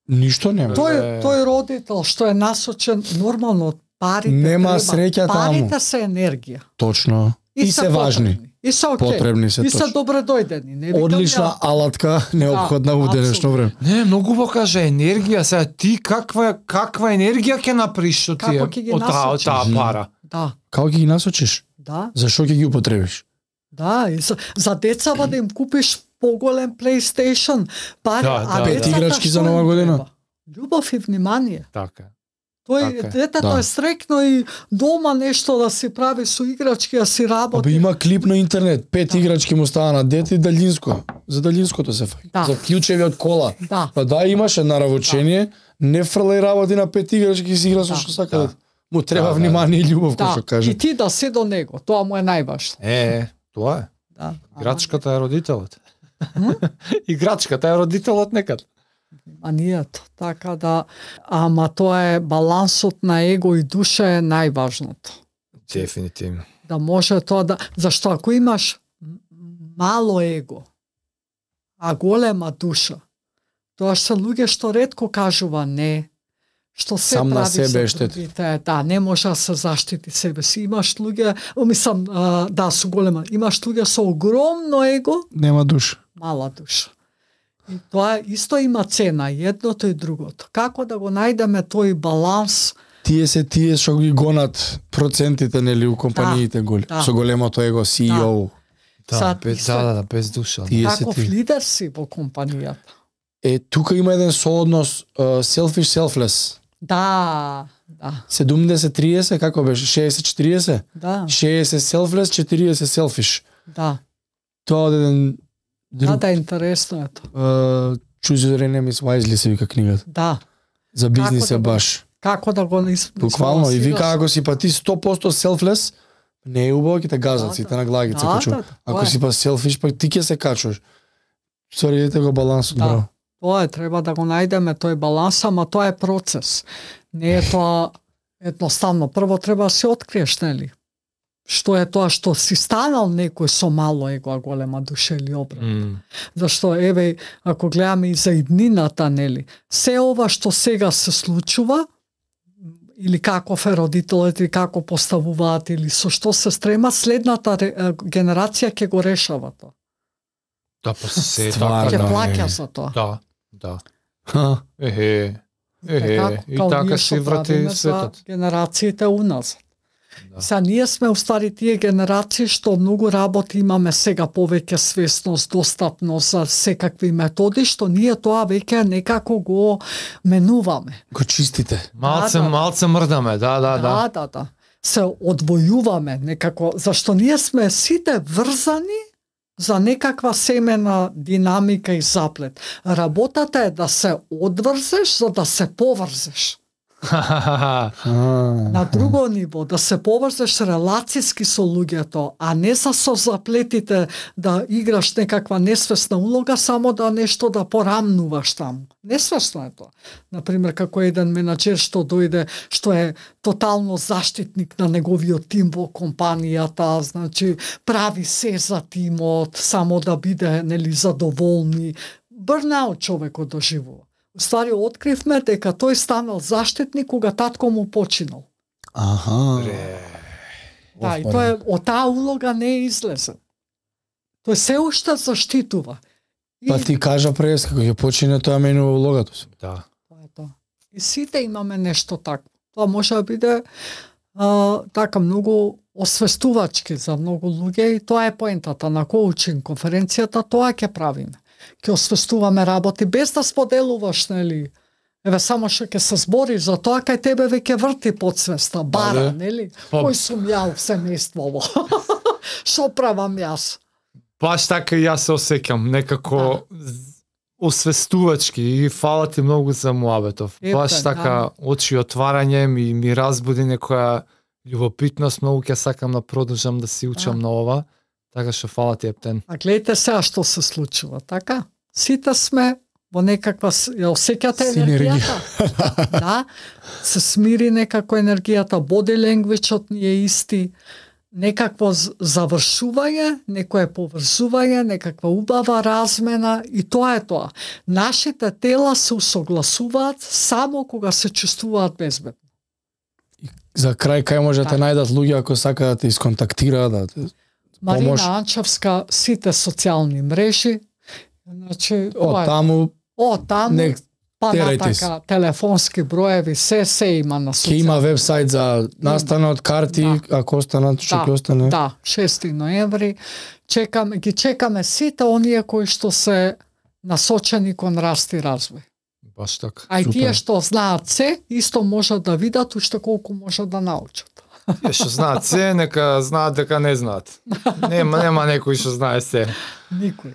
ништо нема. Тој родител што е насочен нормално од парите. Нема среќа таму. Парите се енергија. Точно. И се важни. И се окей. Потребни се. И се добре дојдени. Одлична алатка неопходна во денешно време. Не, многу во каже енергија, сега ти каква енергија ќе направиш од таа пара? Да. Како ќе ги насочиш? Да. Зашо ќе ги употребиш? Да, и за децава да им купиш поголем PlayStation, пари, пет играчки за нова година. Љубов и внимание. Така. Тој детето е среќно и дома нешто да си прави со играчки, да си работи. Има клип на интернет, 5 играчки му става на дете и далинско. За далинското се фаќа. За клучеви од кола. Па имаше наравочение, не фрлај работи на 5 играчки и си игра со што сака. Му треба внимание и љубов, како што кажа. И ти да си до него, тоа му е најважно. Тоа е. Играчката е родителот. Играчката е родителот некад. Манијата, така да, ама тоа е балансот на его и душа е најважното. Дефинитивно. Да може тоа да, зашто ако имаш мало его, а голема душа, тоа се луѓе што ретко кажува не, што се сам прави на себе за другите, не може да се заштити себе си. Имаш луѓе, мислам, со голема, имаш луѓе со огромно его, нема душа. Мала душа. И тоа исто има цена, едното и другото. Како да го најдеме тој баланс? Тие што ги гонат процентите нели у компаниите голи, со големото его CEO. Без душа. Каков лидер си во компанијата? Тука има еден сооднос selfish selfless. Да. 70-30, како беше? 60-40? Да. 60 selfless, 40 selfish. Да. Тоа од еден Да, интересно е тоа. Choose your enemies wisely се вика книгата. Да. За бизнис е баш. Како да го буквално и вика ако си па ти 100% selfless, не е убаво ќе те газат сите на главите се качува. Ако си па selfish, па ти ќе се качуваш. Стварите го балансот, браво. Тоа е, треба да го најдеме тој баланс, ама тоа е процес. Не е тоа едноставно. Прво треба да се откриеш, нели? Што е тоа што си станал некој со мало его, а голема душа или обратно. Зашто, еве, ако гледаме и за иднината, нели, се ова што сега се случува, или каков е родителот, или како поставуваат, или со што се стрема, следната генерација ќе го решава тоа. Да, па се ќе плаќа за тоа. Да. И така се врати светот. Генерациите уназад. Са ние сме устави тие генерации што многу работи имаме сега повеќе свесност, достапност за секакви методи, што ние тоа веќе некако го менуваме. Го чистите. Малце мрдаме, да. Се одвојуваме некако, зашто ние сме сите врзани за некаква семена динамика и заплет. Работата е да се одврзеш за да се поврзеш. На друго ниво, да се поврзеш релацијски со луѓето, а не со заплетите да играш некаква несвесна улога, само да нешто да порамнуваш таму. Несвесно е тоа. Например, како еден менаџер што дојде, што е тотално заштитник на неговиот тим во компанијата, значи прави се за тимот, само да биде нели задоволни. Бърнаут човекот доживува. Устари откривме дека тој станал заштитник кога татко му починал. Да, и тоа е, од таа улога не е излезен. Тој се уште заштитува. Па ти кажа прес, како ќе почине, тоа менува улогата си. Да. Тоа е тоа. И сите имаме нешто такво. Тоа може да биде така многу освестувачки за многу луѓе и тоа е поентата на коучинг конференцијата, тоа ќе правиме. Ќе освестуваме работи без да споделуваш, нели? Еве само што ќе се збори за тоа, кај тебе веќе врти подсвеста, бара, нели? Кој сум ја в семејствово? Што правам јас? Баш така и јас се осеќам, некако освестувачки и фала ти многу за муабетов. Баш така очи отварање ми разбуди некоја љубопитност, многу ќе сакам да продолжам да си учам на ова. Така што фала ти, Ептен. А гледате сега што се случува, така? Сите сме во некаква, ја осеќате енергијата? Да, се смири некако енергијата, body language-от ни е исти, некакво завршување, некое поврзување, некаква убава размена и тоа е тоа. Нашите тела се усогласуваат само кога се чувствуваат безбедно. За крај, кај можете најдат луѓе ако сакаат да те исконтактираат, да те Марина Анчевска, сите социјални мрежи, значи, таму па натака, телефонски броеви, се има на социјални. Ке има вебсайт за настанот, карти, ако останат, што ќе остане. Да, 6 ноември. Ги чекаме сите оние кои што се насочени кон раст и развој. Баш така. А и тие што знаат се, исто можат да видат уште колку можат да научат. Тие што знаат се, нека знаат дека не знаат. Нема некој што знае се. Никој.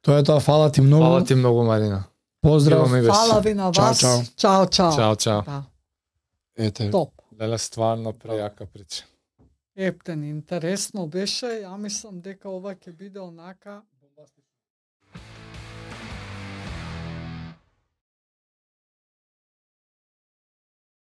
Тоа е тоа, фала ти многу. Фала ти многу, Марина. Поздрав. Фала ви на вас. Чао. Чао. Да. Ете. Топ. Леле, стварно прејака прича. Ептен, интересно беше. Ја мислам дека ова ќе биде онака